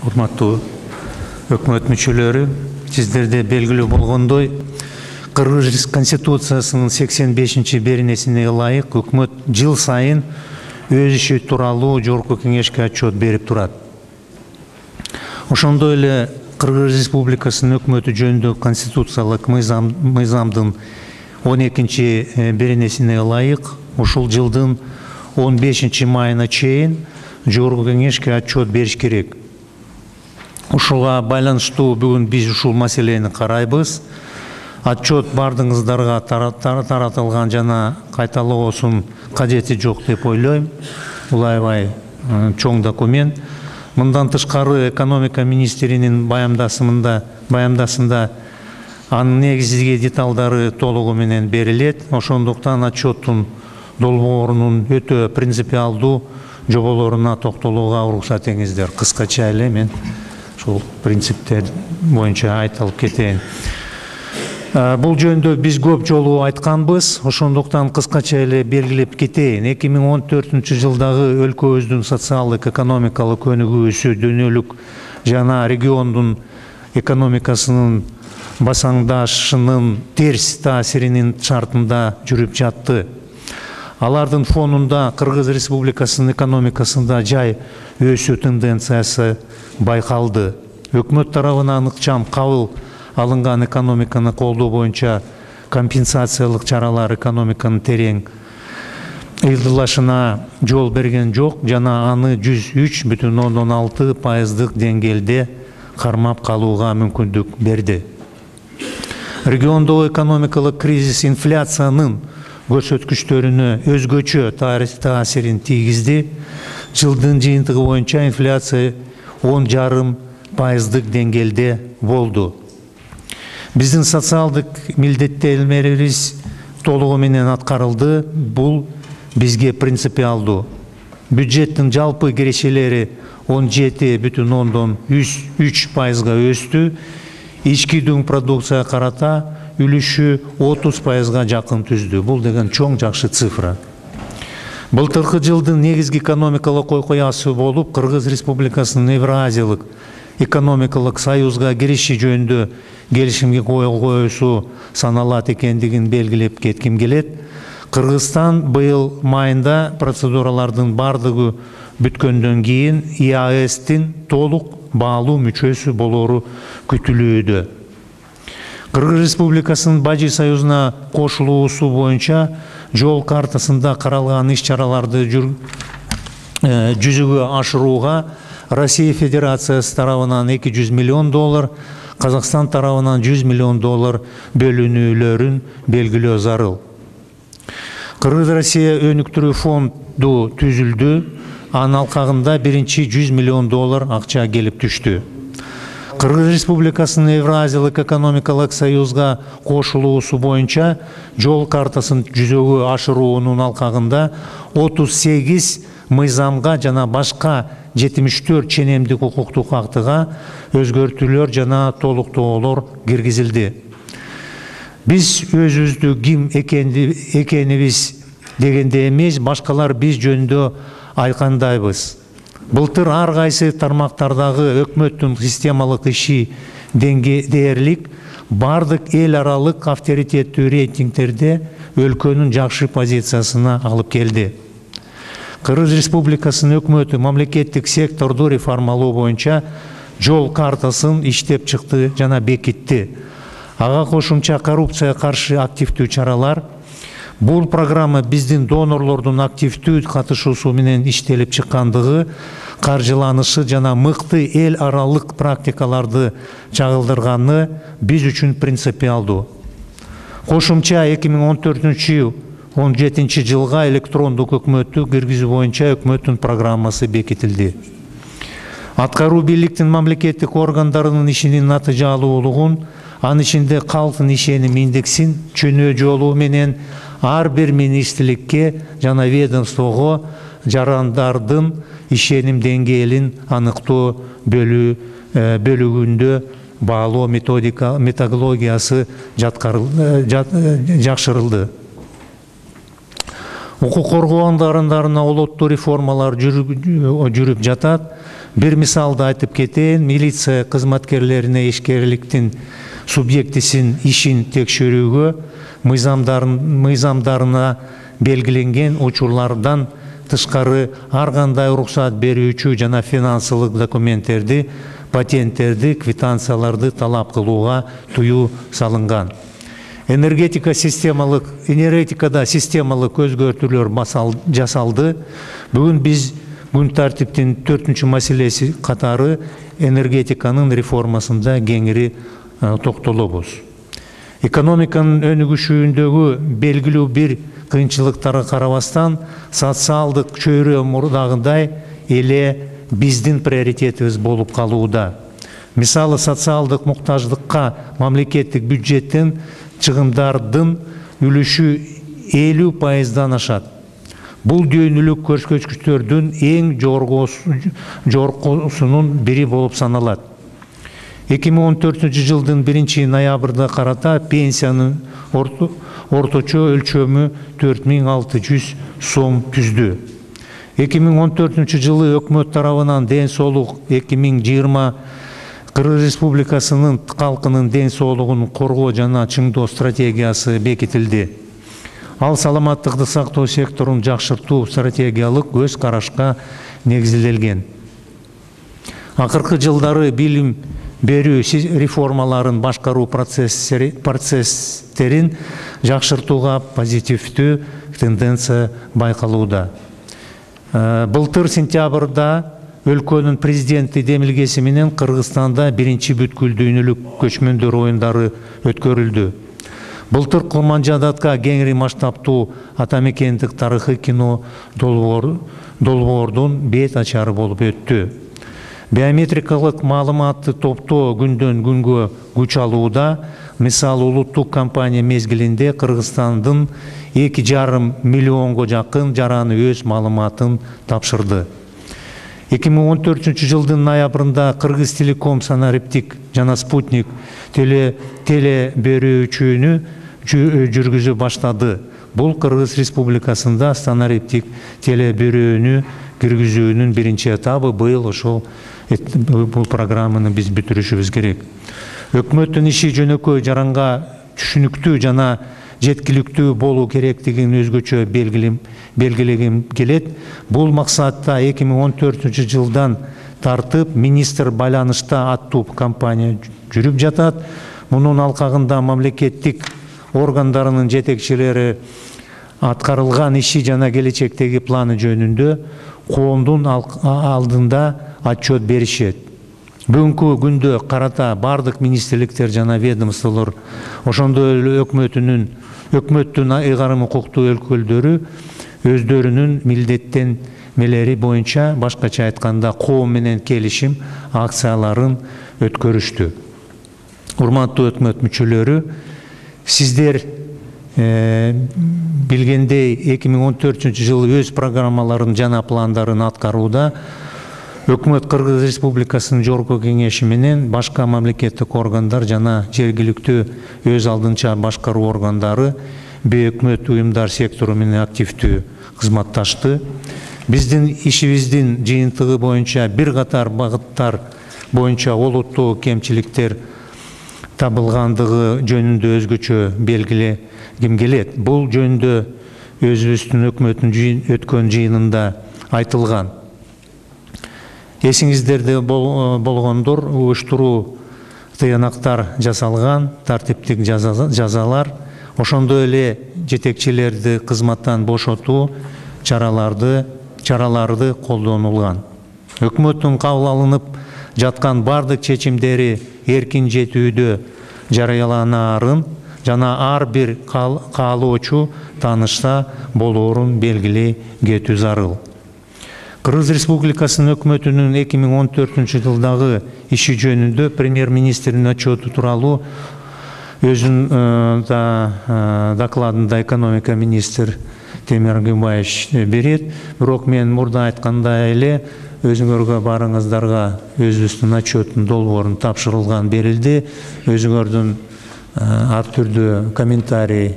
урматтуу өкмөт мүчөлөрү, сиздерде белгилүү болгондой, Кыргыз Конституциясынын 85 беренесине ылайык өкмөт жыл сайын өз иши тууралуу Жогорку Кеңешке отчет берип турат. Ошондой эле Кыргыз Республикасынын өкмөтү жөнүндө конституциялык мыйзамдын 12 беренесине ылайык ушул жылдын 15 майына чейин Жогорку Кеңешке отчет бериш керек. Ушуга байланыштуу бүгүн биз ушул маселени карайбыз. Отчет бардыгыңыздарга таратылган жана кайталоосунун кажети жок деп ойлойм. Бул аябай чоң документ. Мындан тышкары экономика министринин баяндасында анын негизги деталдары толугу менен берилет. Ошондуктан отчеттун долбоорунун өтө принципиалдуу жоболоруна токтолууга уруксат этиңиздер. Кыскача эле мен ушул принциптер боюнча айтылып кетейин. Бул жөнүндө биз көп жолу айтканбыз, ошондуктан кыскача эле белгилеп кетейин. 2014 жылдагы өлкөбүздүн социалдык экономикалык өнүгүүсү дүйнөлүк жана региондун экономикасынын басаңдашынын терс таасиринин шартында жүрүп жатты. Алардын фонунда Кыргыз Республикасынын экономикасында жай өсүү тенденциясы байкалды. Өкмөт тарабынан ыкчам кабыл алынган экономиканы колдоо боюнча компенсациялык чаралар экономиканын терең ыйылдашына жол берген жок жана аны 103,6% деңгээлде кармап калууга мүмкүндүк берди. Региондогу экономикалык кризис инфляциянын көрсөткүчтөрүнө өзгөчө таасирин тийгизди. Жылдын жыйынтыгы боюнча инфляция 10,5% деңгээлде болду. Биздин социалдык милдеттенмелерибиз толугу менен аткарылды. Бул бизге принципиалдуу. Бюджеттин жалпы кирешелери 17,3%га өстү. Ички дүң продукцияга карата үлүшү 30%га жакын түздү. Бул деген чоң жакшы цифра. Былтыркы жылдын негизги экономикалык окуясы болуп, Кыргыз Республикасынын Евразиялык экономикалык союзга кириши жөнүндө келишимге кол коюусу саналат экендигин белгилеп кетким келет. Кыргызстан быйыл майында процедуралардын бардыгы бүткөндөн кийин ЕАЭСтин толук баалуу мүчөсү болору күтүлүүдө. Кыргыз Республикасынын Бажи союзуна кошулуусу боюнча жол картасында каралган иш-чараларды жүзөгө ашырууга Россия Федерациясы тарабынан $200 миллион, Казакстан тарабынан $100 миллион бөлүнүүлөрүн белгилөө зарыл. Кыргыз-Россия өнүктүрүү фонду түзүлдү. Анын алкагында биринчи $100 миллион акча келип түштү. Кыргыз Республикасынын Евразиялык экономикалык союзга кошулуусу боюнча жол картасын жүзөгө ашыруунун алкагында 38 мыйзамга жана башка 74 ченемдик укуктук актыга өзгөртүүлөр жана толуктоолор киргизилди. Биз өзүбүздү ким экенибиз дегенде эмес, башкалар биз жөнүндө айкандайбыз. Былтыр ар кайсы тармактардагы өкмөттүн системалык иши дээрлик бардык эл аралык авторитеттүү рейтингдерде өлкөнүн жакшы позициясына алып келди. Кыргыз Республикасынын өкмөтү мамлекеттик секторду реформалоо боюнча жол картасын иштеп чыкты жана бекитти. Ага кошумча коррупцияга каршы активдүү чаралар. Бул программа биздин донорлордун активдүү катышуусу менен иштелип чыккандыгы, каржыланышы жана мыкты эл аралык практикаларды чагылдырганы биз үчүн принципиалдуу. Кошумча 2014-17 жылга электрондук өкмөттү киргизүү боюнча өкмөттүн программасы бекитилди. Аткаруу бийликтин мамлекеттик органдарынын ишинин натыйжалуулугун, анын ичинде калктын ишеним индексин чөнөө жолу менен ар бир министрликке жана ведомствого жарандардын ишеним деңгээлин аныктоо бөлүгүндө баалоо методологиясы жакшырылды. Укук коргоо органдарына олоттуу реформалар жүрүп жатат. Бир мисалды айтып кетейин, милиция кызматкерлерине ишкерликтин субъектисин ишин текшерүүгө мыйзамдарына белгиленген учурлардан тышкары ар кандай уруксат берүүчү жана финансылык документтерди, патенттерди, квитанцияларды талап кылууга тыюу салынган. Энергетикада системалык өзгөртүүлөр жасалды. Бүгүн биз күн тартиптин 4-чү маселеси катары энергетиканын реформасында кеңири токтолобуз. Экономиканын өнүгүшүндөгү белгилүү бир кыйынчылыктарга карабастан, социалдык чөйрө мурдагыдай эле биздин приоритетибиз болуп калууда. Мисалы, социалдык муктаждыкка мамлекеттик бюджеттин чыгымдардын үлүшү 50% ашат. Бул дүйнөлүк көрсөткүчтөрдүн эң жогоркусунун бири болуп саналат. 2014-жылдын 1-ноябрда карата пенсиянын орточо өлчөмү 4600 сом түздү. 2014-жылы өкмөт тарабынан ден соолук 2020 Кыргыз Республикасынын калкынын ден соолугун коргоо жана чыңдоо стратегиясы бекитилди. Ал саламаттыкты сактоо секторун жакшыртуу стратегиялык көз карашка негизделген. Акыркы жылдары билим берүү реформаларын башкаруу процесстерин жакшыртууга позитивдүү тенденция байкалууда. Былтыр сентябрда өлкөнүн президенти демилгеси менен Кыргызстанда 1-чи бүткүл дүйнөлүк көчмөндөр оюндары өткөрүлдү. Былтыр Курманжадатка кеңири масштабтуу атамекендик тарыхый кино долбоордун бет ачары болуп өттү. Биометрикалык маалыматты топтоо күндөн күнгө күч алууда. Мисалы, улуттук компания мезгилинде Кыргызстандын 2,5 миллионго жакын жараны өз маалыматын тапшырды. 2014-жылдын ноябрында Кыргыз Телеком санариптик жана спутник телеберүүчүнү жүргүзө баштады. Бул Кыргыз Республикасында санариптик телеберүүнү киргизүүнүн биринчи этабы. Быйыл ошол бул программаны биз бүтүрүшүбүз керек. Өкмөттүн иши жөнөкөй, жаранга түшүнүктүү жана жеткиликтүү болуу керектигин өзгөчө белгилегим келет. Бул максатта 2014-жылдан тартып министр байланышта аттуу кампания жүрүп жатат. Мунун алкагында мамлекеттик органдарынын жетекчилери аткарылган иши жана келечектеги планы жөнүндө коомдун алдында отчет беришет. Бүгүнкү күндө карата бардык министрликтер жана ведомстволор, ошондой эле өкмөттүн ыйгарым укуктуу өкүлдөрү өздөрүнүн милдеттенмелери боюнча, башкача айтканда, коом менен келишим акцияларын өткөрүштү. Урматтуу өкмөт мүчөлөрү, сиздер билгендей 2014-жылы өз программаларын жана пландарын аткарууда. Өкмөт Кыргыз Республикасынын жогорку кеңеши менен башка мамлекеттик органдар жана жергиликтүү өз алдынча башкаруу органдары, бейөкмөт уюмдар сектору менен активдүү кызматташты. Биздин ишибиздин жыйынтыгы боюнча бир катар багыттар боюнча олуттуу кемчиликтер табылгандыгы жөнүндө өзгөчө белгилегим келет. Бул жөнүндө өзүбүздүн өкмөттүн өткөн жыйынында айтылган. Эсиңиздерде болгондор, уюштуруу тыянактар жасалган, тартиптик жазалар, ошондой эле жетекчилерди кызматтан бошотуу чаралары колдонулган. Өкмөттүн кабыл алынып жаткан бардык чечимдери эркин жетүүдө жарыяланарын жана ар бир каалоочу таанышса болоорун белгилей кетүү зарыл. Кыргыз Республикасынын өкмөтүнүн 2014-жылдагы иши жөнүндө премьер-министрдин отчету тууралуу өзүнүн докладында экономика министр Темир Гымбаевич берет. Бирок мен мурда айткандай эле өзүңөргө барыңыздарга өзүбүздүн отчеттун долбоорун тапшырылган, берилди. Өзүңөрдүн ар түрдүү комментарий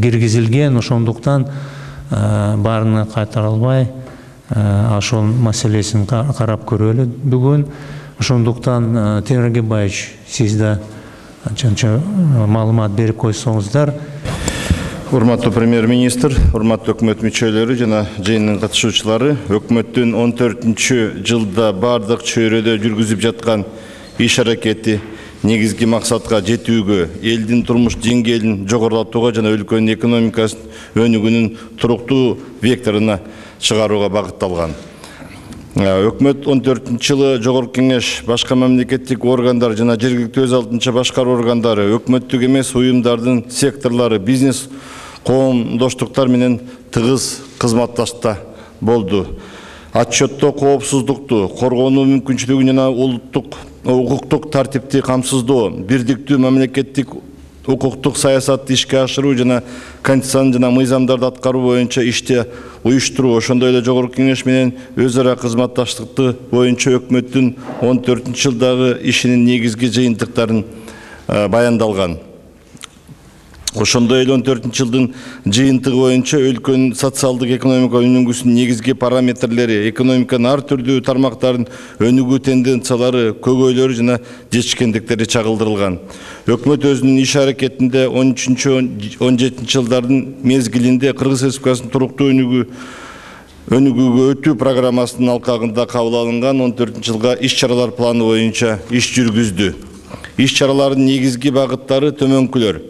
киргизилген, ошондуктан баарына кайтара албай ошол маселесин карап көрөлү бүгүн. Ошондуктан Темир Агебаевич, сиз да анча маалымат берип койсоңуздар. Урматтуу премьер-министр, урматтуу өкмөт мүчөлөрү жана жыйындын катышуучулары, өкмөттүн 14-жылда бардык чөйрөдө жүргүзүп жаткан иш аракети негизги максатка жетүүгө, элдин турмуш деңгээлин жогорулатууга жана өлкөнүн экономикасынын өнүгүүнүн туруктуу векторуна чыгарууга багытталган. Өкмөт 14-жылы Жогорку Кеңеш, башка мамлекеттик органдар жана жергиликтүү өз алдынча башкаруу органдары, өкмөттүк эмес уюмдардын секторлору, бизнес коомдоштуктар менен тыгыз кызматташта болду. Отчетто коопсуздукту, коргонуу мүмкүнчүлүгүн жана улуттук укуктук тартипти камсыздоо, бирдиктүү мамлекеттик укуктук саясатты ишке ашыруу жана конституциянын жана мыйзамдарды аткаруу боюнча ишти уюштуруу, ошондой эле Жогорку Кеңеш менен өз ара кызматташтыкты боюнча өкмөттүн 14-жылдагы ишинин негизги жыйынтыктарын баяндалган. Ошондой эле 14-жылдын жыйынтыгы боюнча өлкөнүн социалдык экономикалык өнүгүүсүнүн негизги параметрлери, экономиканын ар түрдүү тармактарынын өнүгүү тенденциялары, көйгөйлөрү жана жетишкендиктери чагылдырылган. Өкмөт өзүнүн иш аракетинде 13-17 жылдардын мезгилинде Кыргыз Республикасынын туруктуу өнүгүүгө өтүү программасынын алкагында кабыл алынган 14-жылга иш-чаралар планы боюнча иш жүргүздү. Иш-чаралардын негизги багыттары төмөнкүлөр: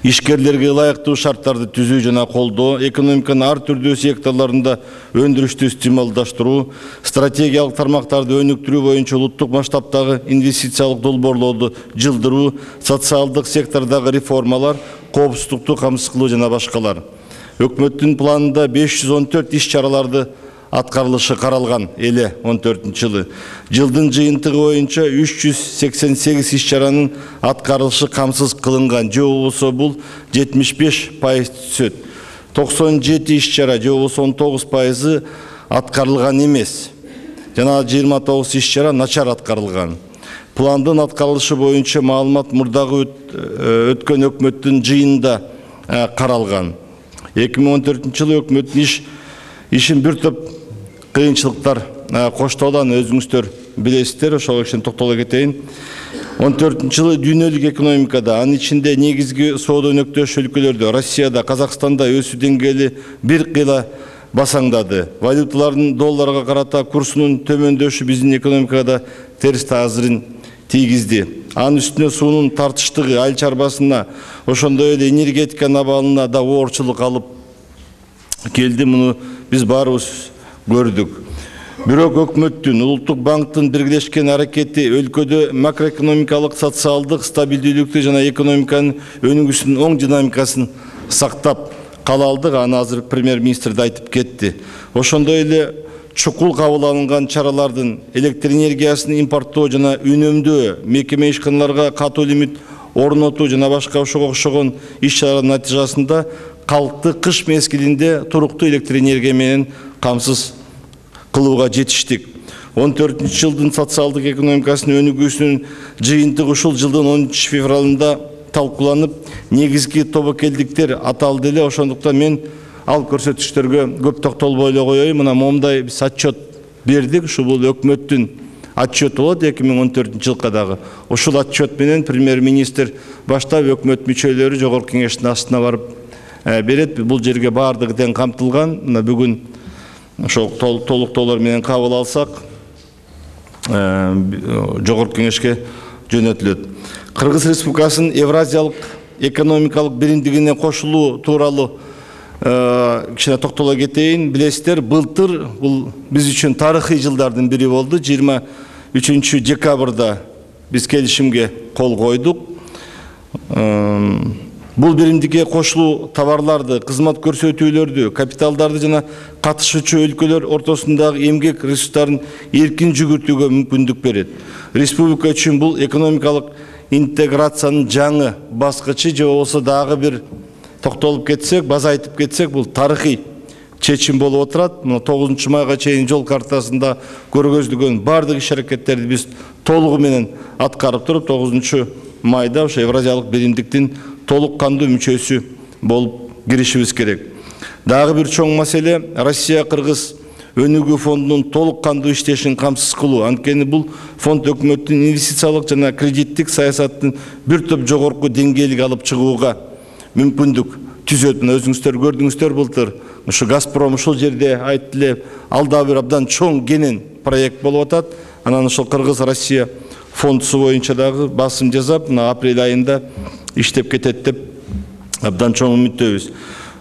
ишкерлерге ылайыктуу шарттарды түзүү жана колдоо, экономиканын ар түрдүү секторлорунда өндүрүштү стимулдаштыруу, стратегиялык тармактарды өнүктүрүү боюнча улуттук масштабтагы инвестициялык долбоорлорду жылдыруу, социалдык сектордогу реформалар, коопсуздукту камсыз кылуу жана башкалар. Өкмөттүн планында 514 иш-чараларды аткарылышы каралган эле 14-жылы. Жылдын жыйынтыгы боюнча 388 иш-чаранын аткарылышы камсыз кылынган, же болбосо бул 75% түзөт. 97 иш-чара, же болбосо 19% аткарылган эмес. Жана 29 иш-чара начар аткарылган. Пландын аткарылышы боюнча маалымат мурдагы өткөн өкмөттүн жыйынында каралган. 2014-жылы өкмөттүн ишин бир топ кыйынчылыктар коштолгон, өзүңүздөр билесиздер, ошого кичине токтоло кетейин. 14-жылы дүйнөлүк экономикада, анын ичинде негизги соода өнөктөш өлкөлөрдө, Россияда, Казакстанда өсүү деңгээли бир кыйла басаңдады. Валюталардын долларга карата курсунун төмөндөшү биздин экономикада терс таасирин тийгизди. Анын үстүнө суунун тартыштыгы айыл чарбасына, ошондой эле энергетиканын абалына да оорчулук алып келди. Муну биз баарыбыз көрдүк. Бирок өкмөттүн, улуттук банктын биргелешкен аракети өлкөдө макроэкономикалык, социалдык стабилдүүлүктү жана экономиканын өнүгүүсүнүн оң динамикасын сактап кала алдык. Аны азыр премьер-министр да айтып кетти. Ошондой эле чукул кабыл алынган чаралардын электр энергиясын импорттоо жана үнөмдөө, мекеме ишканаларга катуу лимит орнотуу жана башка ошого окшогон иш-чаралардын натыйжасында калкты кыш мезгилинде туруктуу электр энергия менен камсыз кылууга жетиштик. 14-жылдын социалдык экономикасынын өнүгүүсүнүн жыйынтыгы ушул жылдын 10 февралында талкууланып, негизги тобокелдиктер аталды эле. Ошондуктан мен ал көрсөтүштөргө көп токтолбой эле коеюн. Мына момундай биз отчет бердик. Ушу бул өкмөттүн отчет болот 2014-жылга дагы. Ушул отчет менен премьер-министр баштап өкмөт мүчөлөрү Жогорку Кеңештин астына барып берет. Бул жерге баардыгы тең камтылган. Мына бүгүн ошол толуктоолор менен кабыл алсак, Жогорку Кеңешке жөнөтүлөт. Кыргыз Республикасынын Евразиялык экономикалык биримдигине кошулуу тууралуу кичине токтоло кетейин. Билесиздер, былтыр бул биз үчүн тарыхый жылдардын бири болду. 23 декабрда биз келишимге кол койдук. Бул биримдикке кошулуу товарларды, кызмат көрсөтүүлөрдү, капиталдарды жана катышуучу өлкөлөр ортосундагы эмгек ресурстарын эркин жүгүртүүгө мүмкүндүк берет. Республика үчүн бул экономикалык интеграциянын жаңы баскычы, же болбосо дагы бир токтолуп кетсек, база айтып кетсек, бул тарыхый чечим болуп отурат. Мына 9 майга чейин жол картасында көргөзүлгөн бардык иш-аракеттерди биз толугу менен аткарып туруп, 9 майда ошо Евразиялык биримдиктин толук кандуу мүчөсү болуп киришибиз керек. Дагы бир чоң маселе Россия-Кыргыз өнүгүү фондунун толук кандуу иштешин камсыз кылуу. Анткени бул фонд өкмөттүн инвестициялык жана кредиттик саясаттын бир топ жогорку деңгээлге алып чыгууга мүмкүндүк түзөт. Мына өзүңүздөр көрдүңүздөр былтыр ушу Газпром ушул жерде айтты эле, ал дагы бир абдан чоң кенен проект болуп атат. Анан ошол Кыргыз-Россия фондусу боюнча дагы басым жасап, мына апрель айында иштеп кетет деп абдан чоң үмүттөбүз.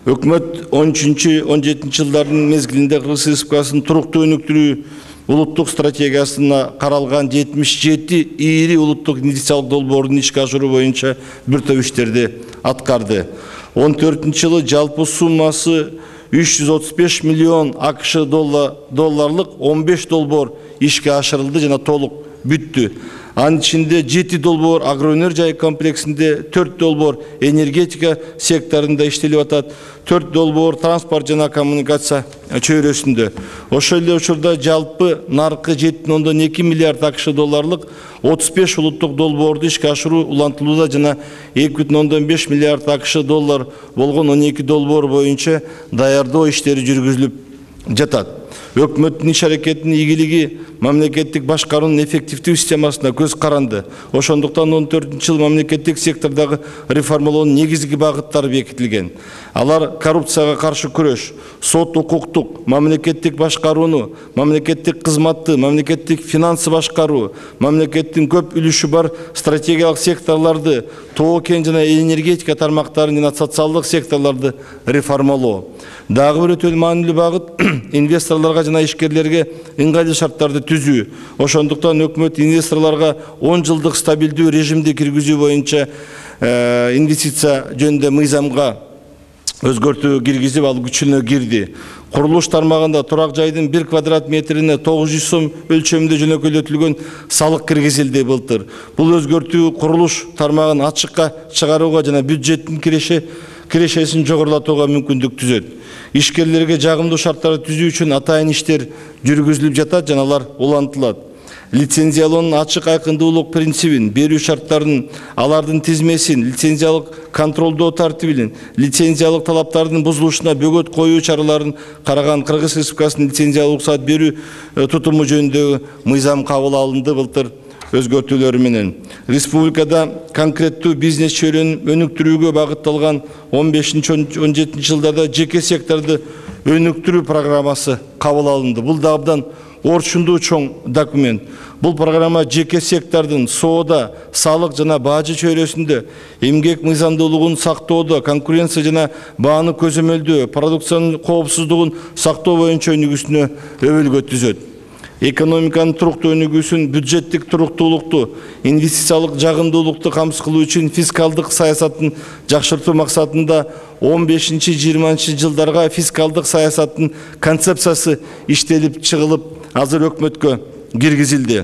Өкмөт 13-17 жылдардын мезгилинде Кыргыз Республикасынын туруктуу өнүктүрүү улуттук стратегиясына каралган 77 ири улуттук инвестициялык долбоордун ишке ашыруу боюнча бир топ иштерди аткарды. 14-жылы жалпы суммасы 335 миллион АКШ долларлык 15 долбоор ишке ашырылды жана толук бүттү. Анын ичинде 7 долбоор агроэнергия комплексинде, 4 долбоор энергетика секторунда иштелип атат, 4 долбоор транспорт жана коммуникация чөйрөсүндө. Ошол эле учурда жалпы наркы 7,2 миллиард АКШ долларлык 35 улуттук долбоорду ишке ашыруу улантылууда жана 2,5 миллиард АКШ доллар болгон 12 долбоор боюнча даярдоо иштери жүргүзүлүп жатат. Өкмөттүн иш аракетинин ийгилиги мамлекеттик башкаруунун эффективдүү системасына көз каранды. Ошондуктан 14-жыл мамлекеттик сектордагы реформалоонун негизги багыттары бекитилген. Алар коррупцияга каршы күрөш, сот укуктук, мамлекеттик башкарууну, мамлекеттик кызматты, мамлекеттик финансы башкаруу, мамлекеттин көп үлүшү бар стратегиялык секторлорду, тоо кен жана энергетика тармактарын жана социалдык секторлорду реформалоо. Дагы бир өтө маанилүү багыт инвесторлорго жана ишкерлерге ыңгайлуу шарттарды түзүү. Ошондуктан өкмөт инвесторлорго 10 жылдык стабилдүү режимди киргизүү боюнча инвестиция жөнүндө мыйзамга өзгөртүү киргизип, ал күчүнө кирди. Курулуш тармагында турак жайдын 1 квадрат метрине 900 сом өлчөмүндө жөнөкөйлөтүлгөн салык киргизилди былтыр. Бул өзгөртүү курулуш тармагын ачыкка чыгарууга жана бюджеттин кирешесин жогорулатууга мүмкүндүк түзөт. Ишкерлерге жагымдуу шарттарды түзүү үчүн атайын иштер жүргүзүлүп жатат жана алар улантылат. Лицензиялоонун ачык айкындуулук принцибин, берүү шарттарын, алардын тизмесин, лицензиялык контролдоо тартибин, лицензиялык талаптардын бузулушуна бөгөт коюу чараларын караган Кыргыз Республикасынын лицензиялык уруксат берүү тутуму жөнүндөгү мыйзам кабыл алынды былтыр өзгөртүүлөрү менен. Республикада конкреттүү бизнес чөйрөнүн өнүктүрүүгө багытталган 15-17 жылдарда жеке секторду өнүктүрүү программасы кабыл алынды. Бул да абдан орчундуу чоң документ. Бул программа жеке сектордун соода, салык жана бажы чөйрөсүндө эмгек мыйзамдуулугун сактоодо, конкуренция жана бааны көзөмөлдөө, продукциянын коопсуздугун сактоо боюнча өнүгүүсүнө өбөлгө түзөт. Экономиканын туруктуу өнүгүүсүн, бюджеттик туруктуулукту, инвестициялык жагымдуулукту камсыз кылуу үчүн фискалдык саясаттын жакшыртуу максатында 15-20 жылдарга фискалдык саясаттын концепциясы иштелип чыгылып, азыр өкмөткө киргизилди.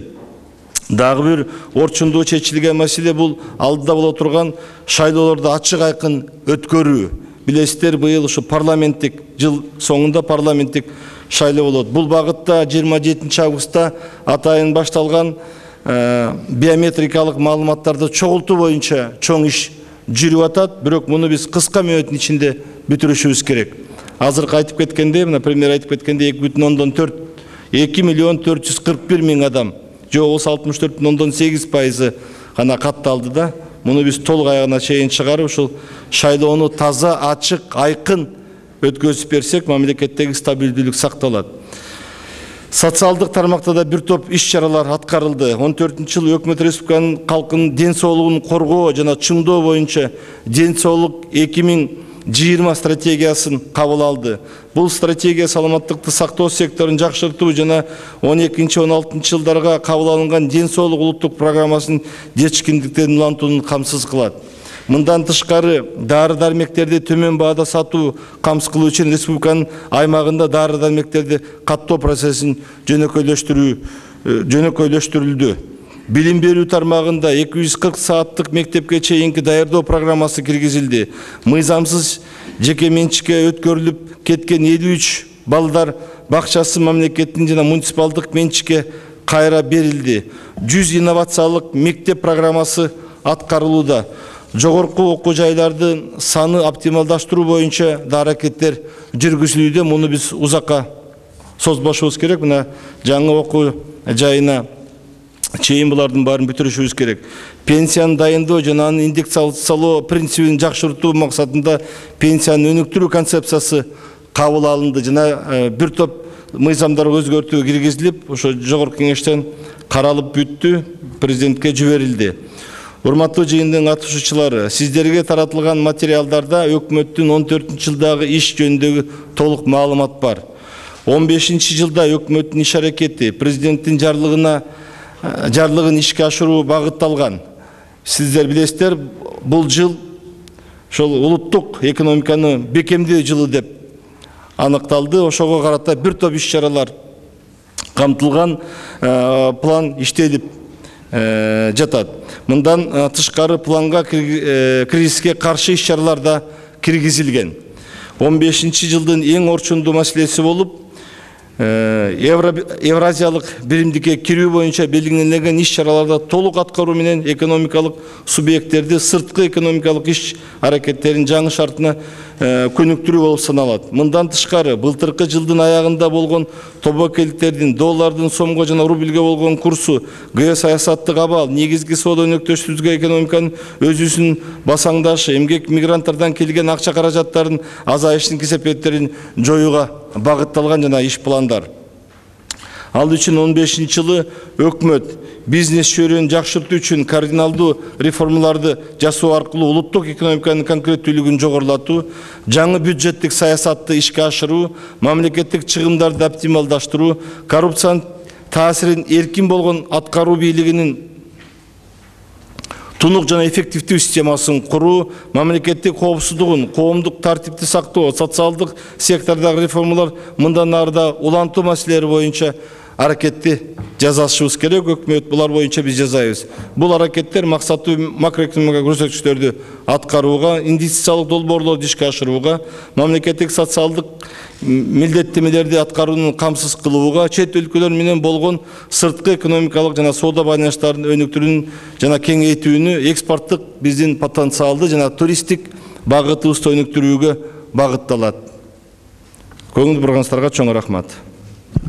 Дагы бир орчундуу чечилген маселе бул алдыда боло турган шайлоолорду ачык айкын өткөрүү. Билесиздер, быйыл ушу парламенттик жыл соңунда парламенттик шайлоо болот. Бул багытта 27 августта атайын башталган биометрикалык маалыматтарды чогултуу боюнча чоң иш жүрүп атат, бирок муну биз кыска мөөнөттүн ичинде бүтүрүшүбүз керек. Азыркы айтып кеткенде, мына премьер айтып кеткенде 2 миллион 441 миң адам, же 64,8% гана катталды да. Муну биз толук аягына чейин чыгарып, ушул шайлоону таза, ачык, айкын өткөзүп берсек, мамлекеттеги стабилдүүлүк сакталат. Социалдык тармакта да бир топ иш-чаралар аткарылды. 14-жылы өкмөт республиканын калкынын ден соолугун коргоо жана чыңдоо боюнча ден соолук 2020 стратегиясын кабыл алды. Бул стратегия саламаттыкты сактоо секторун жакшыртуу жана 12-16 жылдарга кабыл алынган ден соолук улуттук программасынын жетишкиндиктерин улантууну камсыз кылат. Мындан тышкары дары-дармектерди төмөн баада сатуу камсыз кылуу үчүн республиканын аймагында дары-дармектерди каттоо процессин жөнөкөйлөштүрүлдү. Билим берүү тармагында 240 сааттык мектепке чейинки даярдоо программасы киргизилди. Мыйзамсыз жеке менчикке өткөрүлүп кеткен 53 балдар бакчасы мамлекеттин жана муниципалдык менчикке кайра берилди. 100 инновациялык мектеп программасы аткарылууда. жогорку окуу жайлардын саны оптималдаштыруу боюнча да аракеттер жүргүзүлүүдө. Муну биз узакка созбошубуз керек. Мына жаңы окуу жайына чейин булардын баарын бүтүрүшүбүз керек. Пенсияны дайындоо жана анын индексациялоо принцибин жакшыртуу максатында пенсияны өнүктүрүү концепциясы кабыл алынды жана бир топ мыйзамдар өзгөртүү киргизилип, ошо жогорку кеңештен каралып бүттү, президентке жиберилди. Урматтуу жыйындын катышуучулары, сиздерге таратылган материалдарда өкмөттүн 14-жылдагы иш жөнүндөгү толук маалымат бар. 15-жылда өкмөттүн иш аракети президенттин жарлыгын ишке ашыруу багытталган. Сиздер билесиздер, бул жыл ошол улуттук экономиканы бекемдөө жылы деп аныкталды. Ошого карата бир топ иш-чаралар камтылган, план иштелип жатат. Мындан тышкары планга кризиске каршы иш-чаралар да киргизилген. 15-жылдын эң орчундуу маселеси болуп, Евразиялык биримдикке кирүү боюнча белгиленген иш-чараларда толук аткаруу менен экономикалык субъекттерди сырткы экономикалык иш аракеттерин жаңы шартына көнүктүрүү болуп саналат. Мындан тышкары, былтыркы жылдын аягында болгон тобокелдиктердин доллардын сомго жана рубльге болгон курсу, геосаясаттык абал, негизги соода өнөктөштүгү экономиканын өзүсүнүн басаңдашы, эмгек мигранттардан келген акча каражаттарын азайыштын кесепеттерин жоюуга багытталган жана иш пландар. Ал үчүн 15-жылы өкмөт бизнес чөйрөнү жакшыртуу үчүн кардиналдуу реформаларды жасоо аркылуу улуттук экономиканын конкреттүүлүгүн жогорулатуу, жаңы бюджеттик саясатты ишке ашыруу, мамлекеттик чыгымдарды оптималдаштыруу, коррупциянын таасирин эркин болгон аткаруу бийлигинин тунук жана эффективдүү системасын куруу, мамлекеттик коопсуздугун, коомдук тартипти сактоо, социалдык сектордагы реформалар мындан ары да улантуу маселелери боюнча аракетти жасашыбыз керек. Өкмөт булар боюнча биз жасайбыз. Бул аракеттер максаттуу макроэкономикалык көрсөткүчтөрдү аткарууга, инвестициялык долбоорлорду ишке ашырууга, мамлекеттик социалдык милдеттемелерди аткаруунун камсыз кылууга, чет өлкөлөр менен болгон сырткы экономикалык жана соода байланыштарын өнүктүрүүнү жана кеңейтүүнү, экспорттук биздин потенциалды жана туристтик багытыбызды өнүктүрүүгө багытталат. Көңүл бурганыңыздарга чоң рахмат.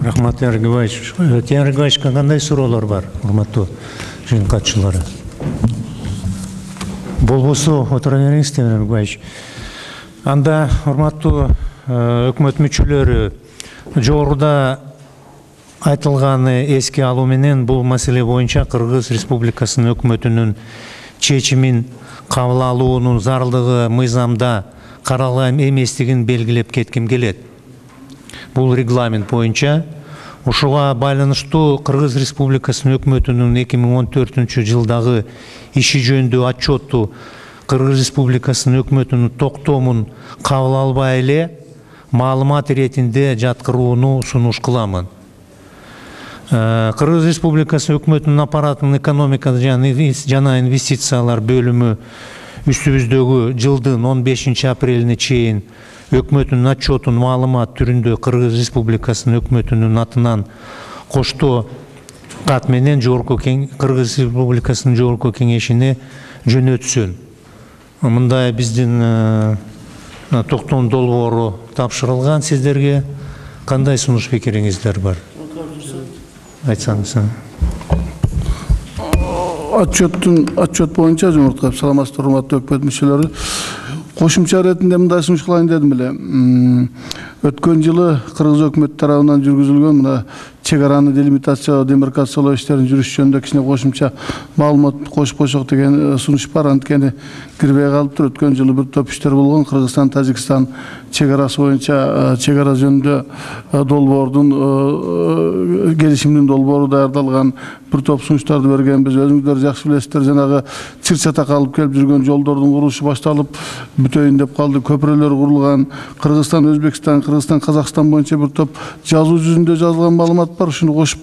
Рахмат, Тенер Григорьевич. Тенер Григорьевичке кандай суроолор бар, урматтуу жыйын катчылары? Болбосо отура бериңиз, Тенер Григорьевич. Анда, урматтуу өкмөт мүчөлөрү, жогоруда айтылганы эске алуу менен бул маселе боюнча Кыргыз Республикасынын өкмөтүнүн чечимин кабыл алуунун зарылдыгы мыйзамда каралган эместигин белгилеп кетким келет. Бул регламент боюнча ошого байланыштуу Кыргыз Республикасынын өкмөтүнүн 2014 жылдагы иши жөнүндө отчетту Кыргыз Республикасынын өкмөтүнүн токтомун кабыл албай эле маалымат иретинде жаткырууну сунуш кыламын. Кыргыз Республикасы өкмөтүнүн аппаратынын экономика жана инвестициялар бөлүмү үстүбүздөгү жылдын 15 апрелине чейин өкмөтүнүн отчетун маалымат түрүндө Кыргыз Республикасынын өкмөтүнүн атынан коштоо кат менен Кыргыз Республикасынын жогорку кеңешине жөнөтсүн. Мындай биздин токтом долбоору тапшырылган сиздерге. Кандай сунуш пикириңиздер бар? Айтсаңыз. Отчет боюнча жумурткап саламатсыздар, урматтуу өкмөт мүчөлөрү. Кошумча иретинде мындай сунуш кылайын дедим эле. Өткөн жылы Кыргыз өкмөтү тарабынан жүргүзүлгөн мына чек араны делимитациялоо, демаркациялоо иштерин жүрүш жөнүндө кичине кошумча маалымат кошуп койсок деген сунуш бар. Анткени кирбей калыптыр. Өткөн жылы бир топ иштер болгон. Кыргызстан, Тажикстан чек арасы боюнча чек ара жөнүндө долбоордун келишимдин долбоору даярдалган, бир топ сунуштарды бергенбиз. Өзүңүздөр жакшы билесиздер, жанагы чыр-чатак алып келип жүргөн жолдордун курулушу башталып бүтөйүн деп калды. Көпүрөлөр курулган. Кыргызстан, Өзбекстан, Кыргызстан, Казакстан боюнча бир топ жазуу жүзүндө жазылган маалымат бар. Ушуну кошуп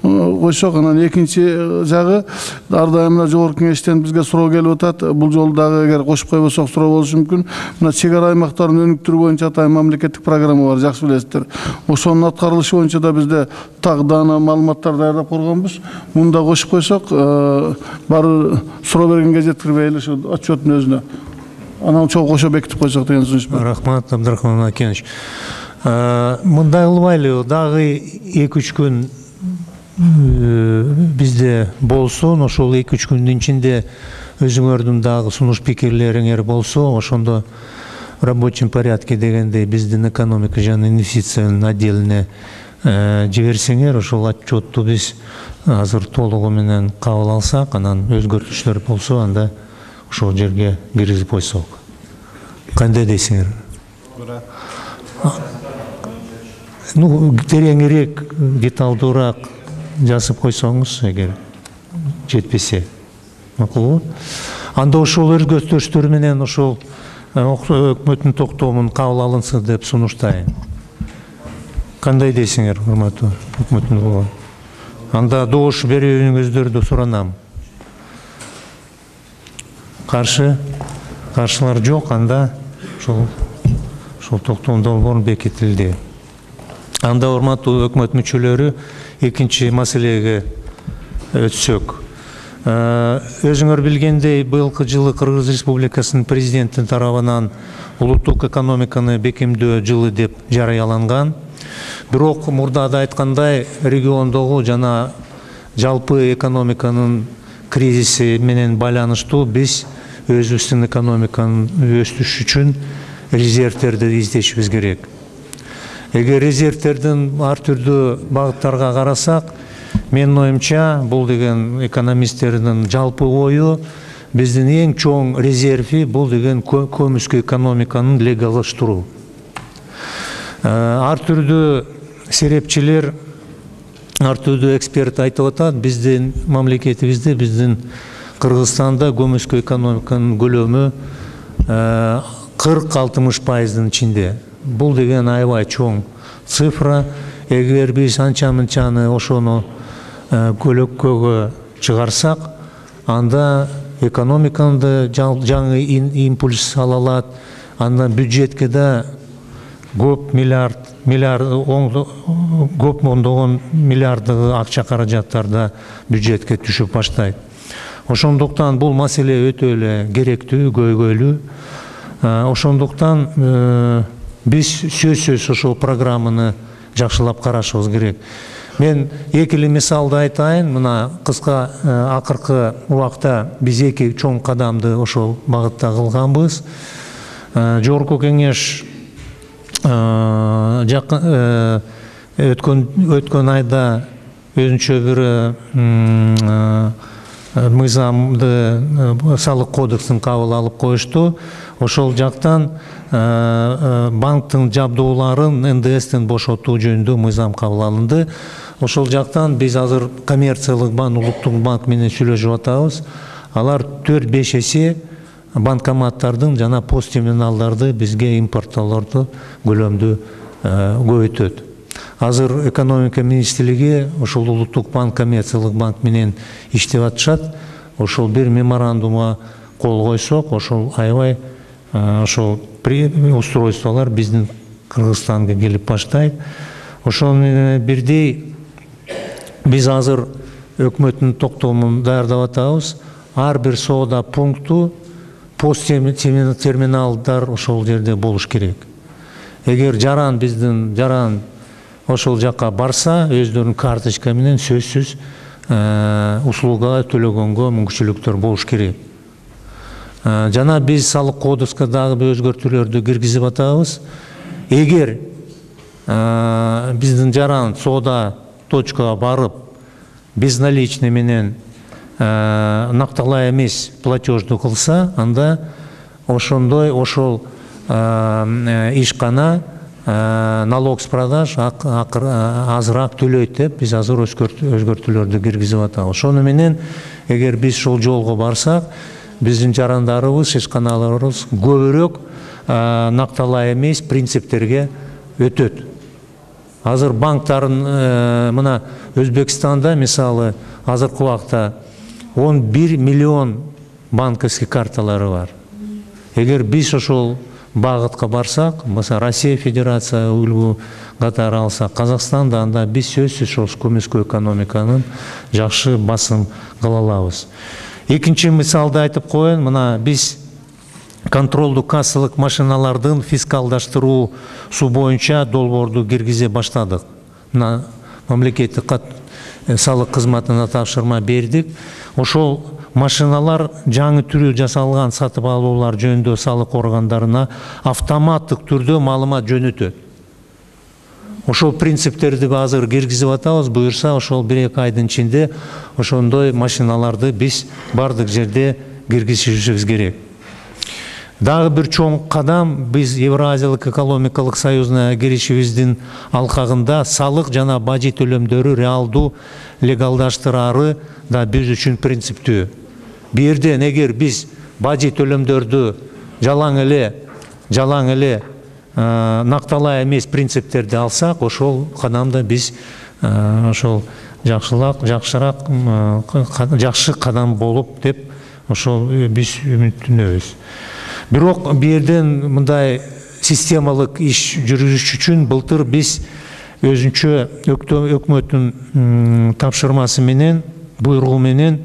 койсок, анан экинчи жагы ар дайым мына жогорку кеңештен бизге суроо келип атат. Бул жолу дагы эгер кошуп койбосок суроо болушу мүмкүн. Мына чек ара аймактарын өнүктүрүү боюнча атайын мамлекеттик программа бар, жакшы билесиздер. Ошонун аткарылышы боюнча да бизде так даана маалыматтар даярдап койгонбуз. Муну да кошуп койсок, баары суроо бергенге жеткирбейли ушу отчеттун өзүнө. Анан чогуу кошо бекитип койсок деген сунуш бар. Рахмат, Абдрахман Акенович. Мындай кылбайлы, дагы 2-3 күн бизде болсун, ошол 2-3 күндүн ичинде өзүңөрдүн дагы сунуш пикирлериңер болсо, ошондо в рабочем порядке дегендей биздин экономика жана инвестициянын отделине жиберсеңер, ошол отчетту биз азыр толугу менен кабыл алсак, анан өзгөртүштөр болсо, анда ошол жерге киргизип койсок. Кандай дейсиңер? Ну, тереңирээк, деталдуураак жазып койсоңуз, эгер жетпесе. Макулбу? Анда ошол өзгөртүштөр менен ошол өкмөттүн токтомун кабыл алынсын деп сунуштайм. Кандай дейсиңер, урматтуу өкмөттүн кулу? Анда добуш берүүңүздөрдү суранам. Каршылар жок, анда ошол токтом долбоор бекитилди. Анда урматтуу өкмөт мүчөлөрү, экинчи маселеге өтсөк. Өзүңөр билгендей, быйылкы жылы Кыргыз Республикасынын президенти тарабынан улуттук экономиканы бекемдөө жылы деп жарыяланган. Бирок мурда айткандай, региондогу жана жалпы экономиканын кризиси менен байланыштуу биз өзүбүздүн экономиканын өсүшү үчүн резервтерди издешибиз керек. Эгер резервтердин ар түрдүү багыттарга карасак, менин оюмча, бул деген экономисттердин жалпы ою, биздин эң чоң резерви бул деген көмүскө экономиканын легалдаштыруу. Ар түрдүү серепчилер, ар түрдүү эксперт айтып атат, биздин мамлекетибизде, биздин Кыргызстанда көмүскө экономиканын көлөмү 40-60%-дын ичинде. Бул деген аябай чоң цифра. Эгер биз анча-мынчаны ошону көлөккөгө чыгарсак, анда экономиканы жаңы импульс ала алат, анда бюджетке да көп көп ондогон миллиарддагы акча каражаттар да бюджетке түшүп баштайт. Ошондуктан бул маселе өтө эле керектүү, көйгөйлүү. Ошондуктан биз сөзсүз ошол программаны жакшылап карашыбыз керек. Мен экили мисалды айтайын. Мына кыска акыркы убакта биз 2 чоң кадамды ошол багытта кылганбыз. Жогорку кеңеш өткөн айда өзүнчө бир мыйзамды, салык кодексин кабыл алып коюшту. Ошол жактан банктын жабдууларын НДСтен бошотуу жөнүндө мыйзам кабыл алынды. Ошол жактан биз азыр коммерциялык банк, улуттук банк менен сүйлөшүп атабыз. Алар 4-5 эсе банкоматтардын жана пост терминалдарды бизге импорттоолорду көлөмдү көбөйтөт. Азыр экономика министрлиги ошол улуттук банк, коммерциялык банк менен иштеп атышат. Ошол бир меморандумга кол койсок, ошол аябай ошол устройстволор биздин Кыргызстанга келип баштайт. Ошол менен бирдей биз азыр өкмөттүн токтомун даярдап атабыз. Ар бир соода пункту пост терминалдар ошол жерде болуш керек. Эгер биздин жаран ошол жакка барса, өздөрүнүн карточка менен сөзсүз услуга төлөгөнгө мүмкүнчүлүктөр болуш керек. Жана биз салык кодекске дагы бир өзгөртүүлөрдү киргизип атабыз. Эгер биздин жаран соода точкага барып, безналичный менен накталай эмес платежду кылса, анда ошол ишкана налог с продаж азыраак төлөйт деп биз азыр өзгөртүүлөрдү киргизип атабыз. Ошону менен эгер биз ушул жолго барсак, биздин жарандарыбыз, ишканаларыбыз көбүрөөк накталай эмес принциптерге өтөт. Азыр банктарын мына Өзбекстанда мисалы азыркы убакта 11 миллион банковский карталары бар. Эгер биз ошол багытка барсак, мисалы Россия Федерация үлгү катары алсак, Казакстанда анда биз сөзсүз ошол көмүскө экономиканын жакшы басым кыла алабыз. Экинчи мисалды айтып коеюн, мына биз контролдуу кассалык машиналардын фискалдаштыруусу боюнча долбоорду киргизе баштадык. Мына мамлекеттик салык кызматына тапшырма бердик. Ошол машиналар жаңы түрү жасалган сатып алуулар жөнүндө салык органдарына автоматтык түрдө маалымат жөнөтөт. Ошол принциптерди азыр киргизип атабыз. Буюрса ошол 1-2 айдын ичинде ошондой машиналарды биз бардык жерде киргизишибиз керек. Дагы бир чоң кадам биз Евразиялык экономикалык союзуна киришибиздин алкагында салык жана бажы төлөмдөрү реалдуу легалдаштырары да биз үчүн принциптүү. Бу жерден эгер биз бажы төлөмдөрдү жалаң эле накталай эмес принциптерди алсак, ошол кадамда биз ошол жакшы кадам болуп деп ошол биз үмүттөнөбүз. Бирок бу жерден мындай системалык иш жүргүзүш үчүн былтыр биз өзүнчө өкмөттүн тапшырмасы менен, буйругу менен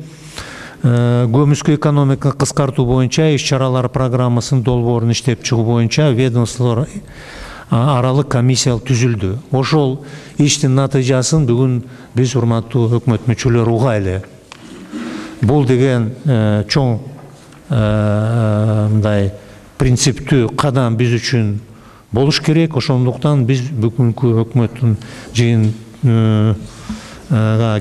көмүскө экономиканы кыскартуу боюнча иш-чаралар программасынын долбоорун иштеп чыгуу боюнча ведомстволор аралык комиссия түзүлдү. Ошол иштин натыйжасын бүгүн биз урматтуу өкмөт мүчөлөрү угайлы. Бул деген чоң мындай принциптүү кадам биз үчүн болуш керек. Ошондуктан биз бүгүнкү өкмөттүн жыйынга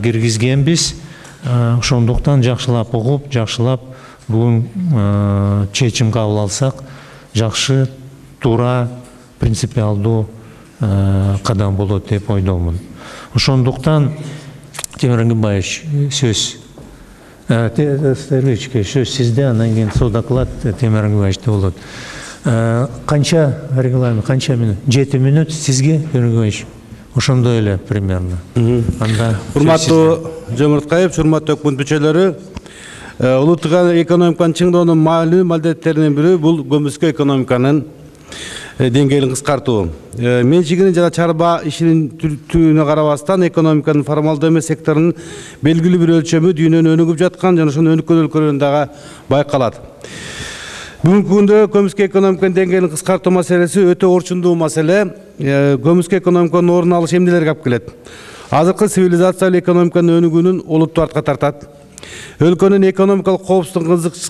киргизгенбиз. Ошондуктан жакшылап угуп, жакшылап бүгүн чечим кабыл алсак, жакшы, туура, принципиалдуу кадам болот деп ойдомун. Ошондуктан Темир Ангимбаевич, сөз сөз сизде, андан кийин доклад Темир Ангимбаевичте болот. Канча регламент, канча минут? 7 минут сизге, Темир Ангимбаевич? Ошондой эле примерно. Урматтуу Жомурткаев, урматтуу өкмөт мүчөлөрү, улуттук экономиканы чыңдоонун маалым милдеттеринин бири бул көмүскө экономиканын деңгээлин кыскартуу. Менчигинин жана чарба ишинин түрүнө карабастан экономиканын формалдуу эмес секторунун белгилүү бир өлчөмү дүйнөнү өнүгүп жаткан жана ошонун өнүккөн өлкөлөрүндө дагы байкалат. Бүгүнкү күндө көмүскө экономиканын деңгээлин кыскартуу маселеси өтө орчундуу маселе. Көмүскө экономиканын ордун алыш эмнелерге алып келет? Азыркы цивилизациялык экономиканын өнүгүүнүн олуттуу артка тартат. Өлкөнүн экономикалык коопсуздук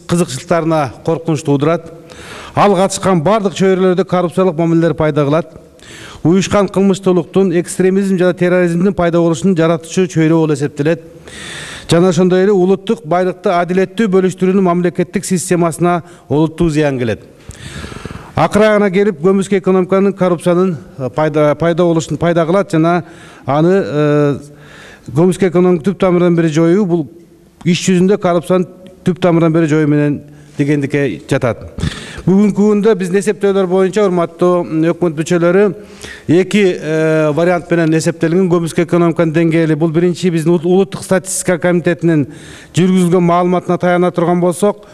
кызыкчылыктарына коркунуч туудурат. Ал катышкан бардык чөйрөлөрдө коррупциялык мамилелер пайда кылат. Уюшкан кылмыштуулуктун, экстремизм жана терроризмдин пайда болушунун жаратуучу чөйрө болуп эсептелет. Жана ошондой эле улуттук байлыкты адилеттүү бөлүштүрүүнүн мамлекеттик системасына олуттуу зыян келет. Акырагына келип, көмүскө экономиканын коррупциянын пайда болушун пайда кылат жана аны көмүскө экономиканы түп тамырдан бери жоюу бул иш жүзүндө коррупциянын түп тамырдан бери жоюу менен дегендикке жатат. Бүгүнкү күндө биздин эсептөөлөр боюнча, урматтуу өкмөт мүчөлөрү, 2 вариант менен эсептелген көмүскө экономиканын деңгээли. Бул биринчи биздин улуттук статистика комитетинин жүргүзүлгөн маалыматына таяна турган болсок,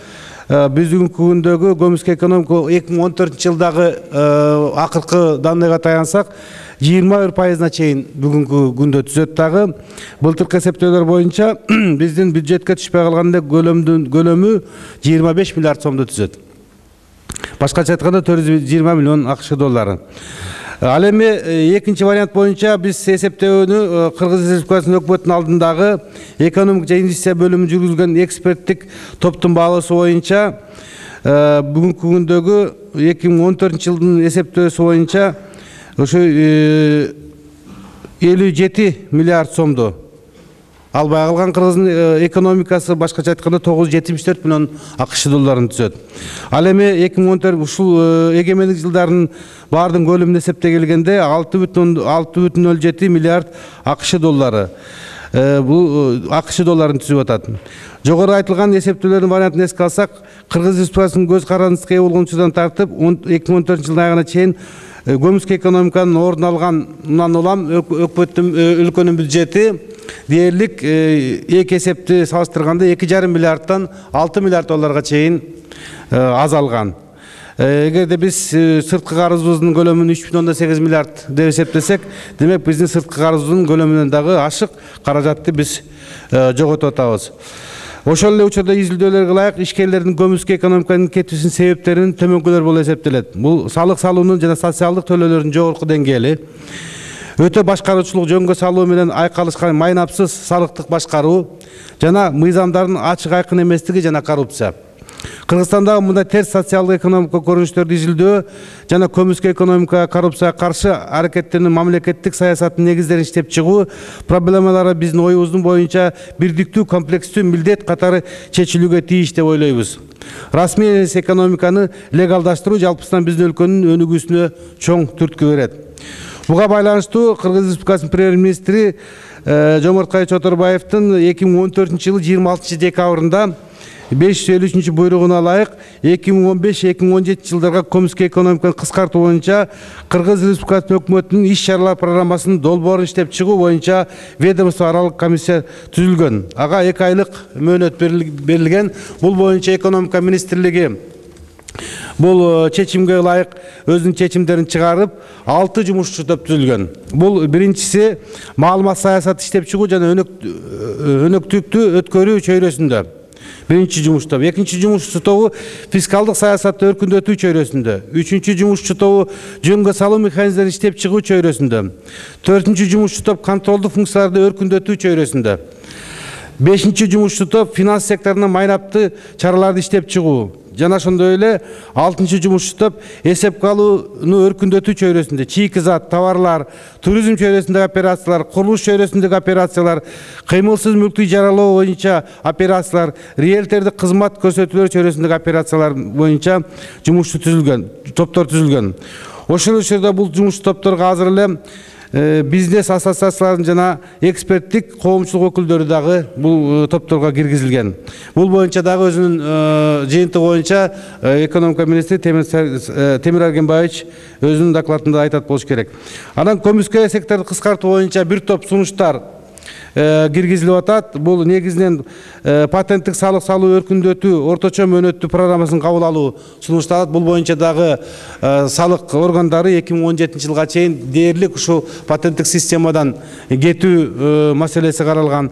биз бүгүнкү күндөгү көмүскө экономика 2014-жылдагы акыркы данныйга таянсак, 21%-на чейин бүгүнкү күндө түзөт. Дагы былтыркы эсептөөлөр боюнча биздин бюджетке түшпөй калган көлөмү 25 миллиард сомду түзөт. Башкача айтканда 420 миллион АКШ доллары. Ал эми экинчи вариант боюнча биз эсептөөнү Кыргыз Республикасынын өкмөтүнүн алдындагы экономика жана инвестиция бөлүмү жүргүзгөн эксперттик топтун баалоосу боюнча бүгүнкү күндөгү 2014-жылдын эсептөөсү боюнча ошо 57 миллиард сомду албай калган Кыргыздын экономикасы, башкача айтканда 974 миллион АКШ долларын түзөт. Ал эми 2014 ушул эгемендик жылдарын баардын көлөмүн эсептей келгенде 6,07 миллиард АКШ доллары. Бул АКШ долларын түзүп атат. Жогору айтылган эсептөөлөрдүн вариантын эске алсак, Кыргыз Республикасынын көз карандысына ээ болгончудан тартып 2014-жылдын аягына чейин көмүскө экономиканын ордун алганынан улам өкмөттүн өлкөнүн бюджети дээрлик эки эсепти салыштырганда 2,5 миллиардтан 6 миллиард долларга чейин азалган. Эгерде биз сырткы карызыбыздын көлөмүн 3,8 миллиард деп эсептесек, демек биздин сырткы карызыбыздын көлөмүнөн дагы ашык каражатты биз жоготуп атабыз. Ошол эле учурда изилдөөлөргө ылайык ишкерлердин көмүскө экономиканын кетүүсүнүн себептеринин төмөнкүлөр болуп эсептелет. Бул салык салуунун жана социалдык төлөөлөрдүн жогорку деңгээли, өтө башкаруучулук жөнгө салуу менен айкалышкан майнапсыз салыктык башкаруу жана мыйзамдардын ачык айкын эместиги жана коррупция. Кыргызстандагы мындай терс социалдык экономикалык көрүнүштөрдү изилдөө жана көмүскө экономикага коррупцияга каршы аракеттеринин мамлекеттик саясаттын негиздерин иштеп чыгуу проблемалары биздин оюбуздун боюнча бирдиктүү комплекстүү милдет катары чечилүүгө тийиш деп ойлойбуз. Расмий эмес экономиканы легалдаштыруу жалпысынан биздин өлкөнүн өнүгүүсүнө чоң түрткү берет. Буга байланыштуу Кыргыз Республикасынын премьер-министри Жомарткай Чотурбаевдин 2014-жылы 26 декабрында 553 буйругуна ылайык 2015-2017 жылдарга көмүскө экономиканы кыскартуу боюнча Кыргыз Республикасынын өкмөтүнүн иш чаралар программасынын долбоорун иштеп чыгуу боюнча ведомство аралык комиссия түзүлгөн. Ага 2 айлык мөөнөт берилген. Бул боюнча экономика министрлиги бул чечимге ылайык өзүнүн чечимдерин чыгарып, 6 жумушчу топ түзүлгөн. Бул биринчиси маалымат саясаты иштеп чыгуу жана өнөктүктү өткөрүү чөйрөсүндө. Биринчи жумуш тобу. Экинчи жумуш тобу фискалдык саясатты өркүндөтүү чөйрөсүндө. Үчүнчү жумуш тобу жөнгө салуу механизмдерин иштеп чыгуу чөйрөсүндө. Төртүнчү жумуш топ контролдук функцияларды өркүндөтүү чөйрөсүндө. Бешинчи жумуш топ финанс секторуна майнапты чараларды иштеп чыгуу. Жана ошондой эле 6-чы жумуш топ эсепке алууну өркүндөтүү чөйрөсүндө чийки зат, товарлар, туризм чөйрөсүндөгү операциялар, курулуш чөйрөсүндөгү операциялар, кыймылсыз мүлктү ижаралоо боюнча операциялар, риэлтордук кызмат көрсөтүүлөр чөйрөсүндөгү операциялар боюнча топтор түзүлгөн. Ошол учурда бул жумуш топторго азыр эле бизнес ассоциацияларын жана эксперттик коомчулук өкүлдөрү дагы бул топторго киргизилген. Бул боюнча дагы өзүнүн жыйынтыгы боюнча экономика министри Темир Аргенбаевич өзүнүн докладында айтат болуш керек. Анан көмүскө секторду кыскартуу боюнча бир топ сунуштар киргизилип атат. Бул негизинен патенттик салык салуу өркүндөтүү орточо мөөнөттүү программасын кабыл алуу сунушталат. Бул боюнча дагы салык органдары 2017 жылга чейин дээрлик ушул патенттик системадан кетүү маселеси каралган.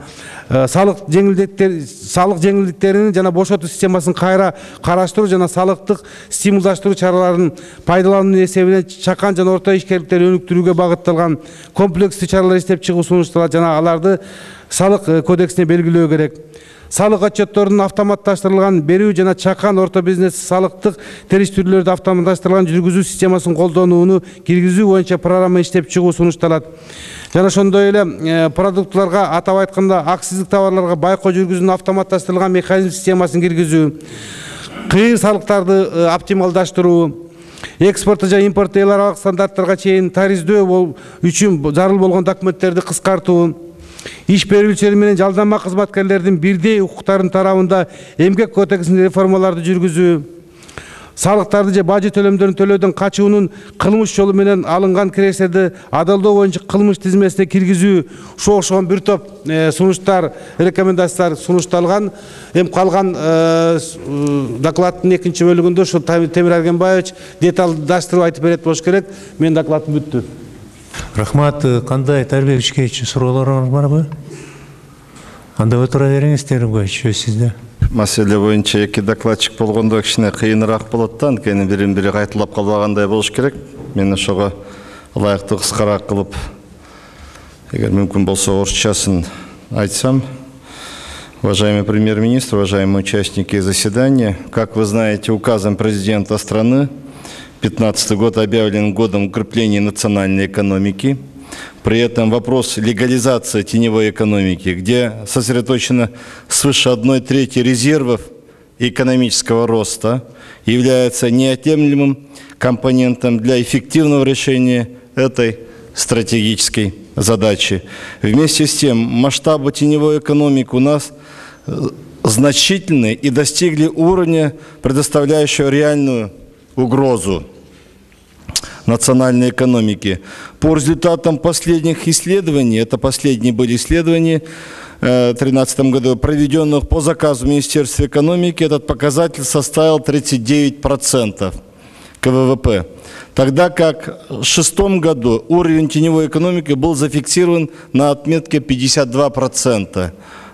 Салык жеңилдиктерин жана бошотуу системасын кайра караштыруу жана салыктык стимулдаштыруу чараларын пайдалануу эсебинен чакан жана орто ишкерликтерди өнүктүрүүгө багытталган комплекстүү чаралар иштеп чыгуу сунушталат жана аларды салык кодексине белгилөө керек. Салык отчетторунун автоматташтырылган берүү жана чакан орто бизнес салыктык териштирүүлөрдү автоматташтырылган жүргүзүү системасын колдонууну киргизүү боюнча программа иштеп чыгуу сунушталат. Жана ошондой эле продуктларга, атап айтканда акциздик товарларга байкоо жүргүзүүнүн автоматташтырылган механизм системасын киргизүү, кыйыр салыктарды оптималдаштыруу, экспортто жана импортто эл аралык стандарттарга чейин тарифдөө үчүн зарыл болгон документтерди кыскартуу, иш берүүчүлөр менен жалданма кызматкерлердин бирдей укуктарын тарабында эмгек кодексинде реформаларды жүргүзүү, салыктарды же бажы төлөмдөрүн төлөөдөн качуунун кылмыш жолу менен алынган кирестерди адалдоо боюнча кылмыш тизмесине киргизүү, ушуга окшогон бир топ сунуштар, рекомендациялар сунушталган. Эми калган докладдын экинчи бөлүгүндө ушул Темир Аргенбаевич деталдаштырып айтып берет болуш керек. Менин докладым бүттү. Рахмат. Кандай Тарбек Ишкевич суроолоруңуз барбы? Анда отура бериңиз, сөз сизде. Маселе боюнча эки докладчик болгондо кичине кыйыныраак болот да, анткени бирин-бири кайталап калбагандай болуш керек. Мен ошого ылайыктуу кыскараак кылып, эгер мүмкүн болсо орусчасын айтсам. Уважаемый премьер-министр, уважаемые участники заседания, как вы знаете, указом президента страны 2015 год объявлен годом укрепления национальной экономики. При этом вопрос легализации теневой экономики, где сосредоточено свыше 1/3 резервов экономического роста, является неотъемлемым компонентом для эффективного решения этой стратегической задачи. Вместе с тем, масштабы теневой экономики у нас значительны и достигли уровня, предоставляющего реальную угрозу национальной экономики. По результатам последних исследований, это последние были исследования, в 2013 году, проведенных по заказу Министерства экономики, этот показатель составил 39% КВВП. Тогда как в 2006 году уровень теневой экономики был зафиксирован на отметке 52%.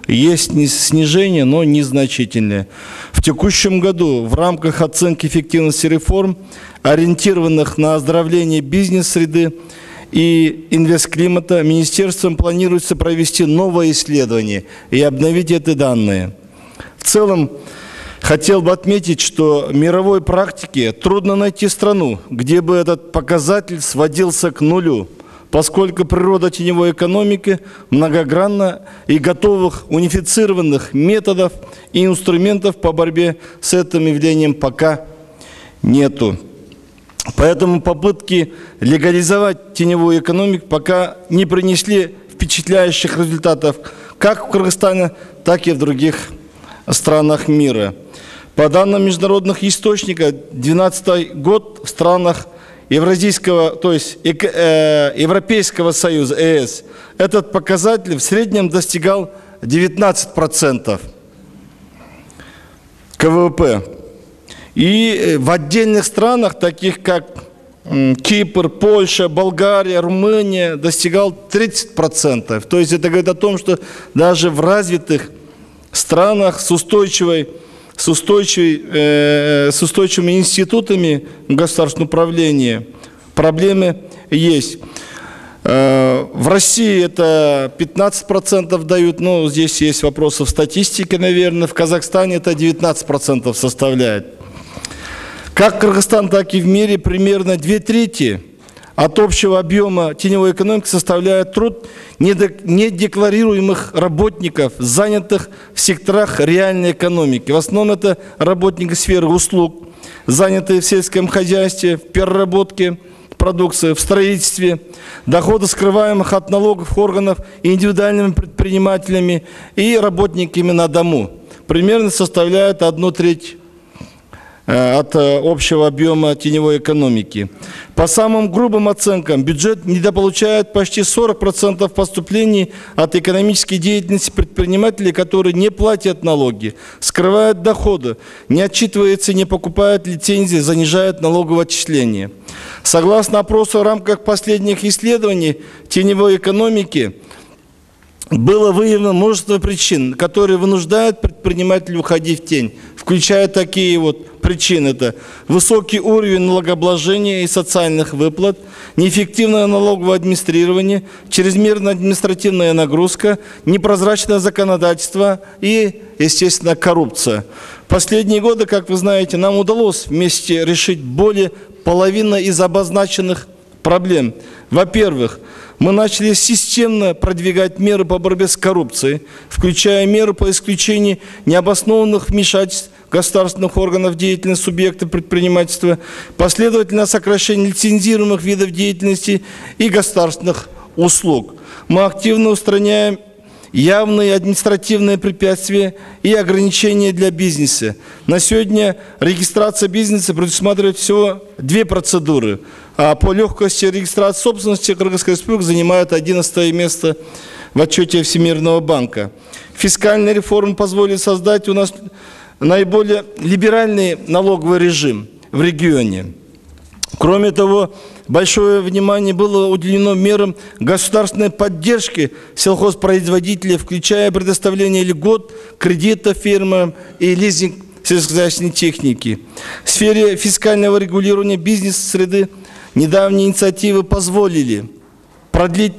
Есть снижение, но незначительное. В текущем году в рамках оценки эффективности реформ, ориентированных на оздоровление бизнес-среды и инвестклимата, министерством планируется провести новое исследование и обновить эти данные. В целом, хотел бы отметить, что в мировой практике трудно найти страну, где бы этот показатель сводился к нулю, поскольку природа теневой экономики многогранна и готовых унифицированных методов и инструментов по борьбе с этим явлением пока нету. Поэтому попытки легализовать теневую экономику пока не принесли впечатляющих результатов как в Кыргызстане, так и в других странах мира. По данным международных источников, 2012 год в странах Евразийского, то есть Европейского Союза, ЕС, этот показатель в среднем достигал 19% КВП. И в отдельных странах, таких как Кипр, Польша, Болгария, Румыния, достигал 30%. То есть это говорит о том, что даже в развитых странах с устойчивыми институтами государственного управления проблемы есть. В России это 15% дают, но здесь есть вопросы в статистике, наверное. В Казахстане это 19% составляет. Как Кыргызстан, так и в мире примерно 2/3 от общего объема теневой экономики составляет труд недекларируемых работников, занятых в секторах реальной экономики. В основном это работники сферы услуг, занятые в сельском хозяйстве, в переработке продукции, в строительстве, доходы скрываемых от налогов органов индивидуальными предпринимателями и работниками на дому. Примерно составляет 1/3 от общего объема теневой экономики. По самым грубым оценкам, бюджет недополучает почти 40% поступлений от экономической деятельности предпринимателей, которые не платят налоги, скрывают доходы, не отчитываются, не покупают лицензии, занижают налоговое отчисление. Согласно опросу в рамках последних исследований теневой экономики, было выявлено множество причин, которые вынуждают предпринимателей уходить в тень, включая такие вот причины. Это высокий уровень налогообложения и социальных выплат, неэффективное налоговое администрирование, чрезмерная административная нагрузка, непрозрачное законодательство и, естественно, коррупция. В последние годы, как вы знаете, нам удалось вместе решить более половины из обозначенных проблем. Во-первых, мы начали системно продвигать меры по борьбе с коррупцией, включая меры по исключению необоснованных вмешательств государственных органов в деятельность субъектов предпринимательства, последовательное сокращение лицензируемых видов деятельности и государственных услуг. Мы активно устраняем явные административные препятствия и ограничения для бизнеса. На сегодня регистрация бизнеса предусматривает всего 2 процедуры, а по легкости регистрации собственности Кыргызская республика занимает 11 место в отчете Всемирного банка. Фискальная реформа позволит создать у нас наиболее либеральный налоговый режим в регионе. Кроме того, большое внимание было уделено мерам государственной поддержки сельхозпроизводителей, включая предоставление льгот, кредитов фирмам и лизинг сельскохозяйственной техники. В сфере фискального регулирования бизнес-среды недавние инициативы позволили продлить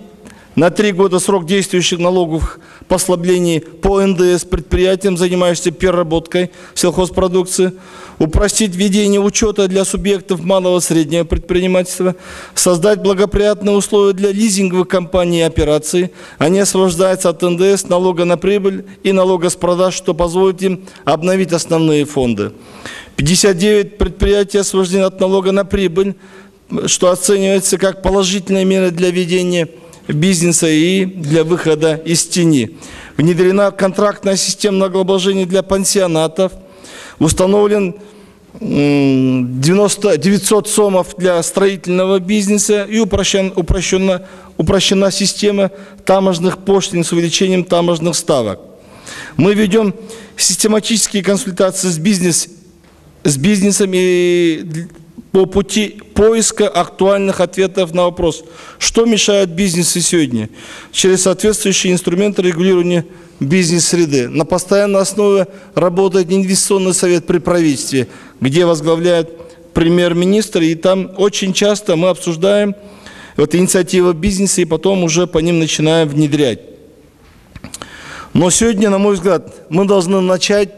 на 3 года срок действующих налоговых послаблений по НДС предприятиям, занимающимся переработкой сельхозпродукции, упростить введение учета для субъектов малого и среднего предпринимательства, создать благоприятные условия для лизинговых компаний и операций. Они освобождаются от НДС, налога на прибыль и налога с продаж, что позволит им обновить основные фонды. 59 предприятий освобождены от налога на прибыль, что оценивается как положительная мера для ведения бизнеса и для выхода из тени. Внедрена контрактная система налогообложения для пансионатов, установлен 900 сомов для строительного бизнеса и упрощена система таможенных пошлин с увеличением таможенных ставок. Мы ведем систематические консультации с бизнесом и по пути поиска актуальных ответов на вопрос, что мешает бизнесу сегодня, через соответствующие инструменты регулирования бизнес-среды. На постоянной основе работает инвестиционный совет при правительстве, где возглавляет премьер-министр, и там очень часто мы обсуждаем инициативы бизнеса и потом уже по ним начинаем внедрять. Но сегодня, на мой взгляд, мы должны начать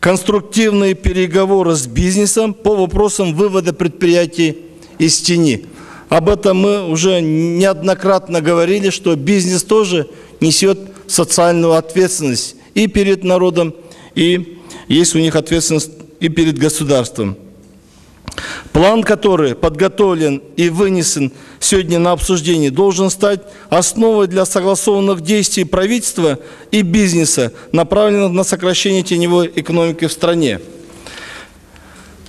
конструктивные переговоры с бизнесом по вопросам вывода предприятий из тени. Об этом мы уже неоднократно говорили, что бизнес тоже несет социальную ответственность и перед народом, и есть у них ответственность и перед государством. План, который подготовлен и вынесен сегодня на обсуждение, должен стать основой для согласованных действий правительства и бизнеса, направленных на сокращение теневой экономики в стране.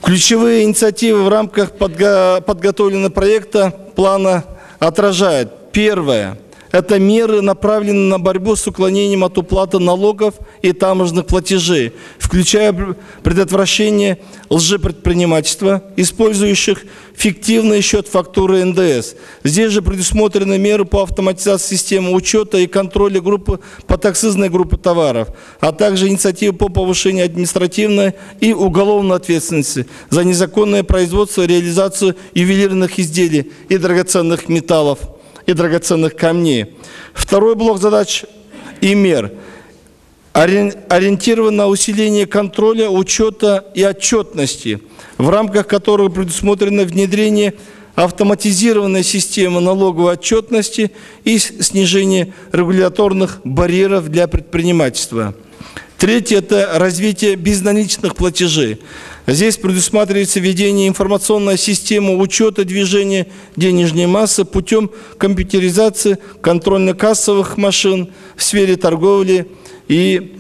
Ключевые инициативы в рамках подготовленного проекта плана отражают. Первое. Это меры, направленные на борьбу с уклонением от уплаты налогов и таможенных платежей, включая предотвращение лжепредпринимательства, использующих фиктивный счет фактуры НДС. Здесь же предусмотрены меры по автоматизации системы учета и контроля группы подакцизной группы товаров, а также инициативы по повышению административной и уголовной ответственности за незаконное производство и реализацию ювелирных изделий и драгоценных металлов и драгоценных камней. Второй блок задач и мер ориентирован на усиление контроля, учета и отчетности, в рамках которого предусмотрено внедрение автоматизированной системы налоговой отчетности и снижение регуляторных барьеров для предпринимательства. Третье – это развитие безналичных платежей. Здесь предусматривается введение информационной системы учета движения денежной массы путем компьютеризации контрольно-кассовых машин в сфере торговли и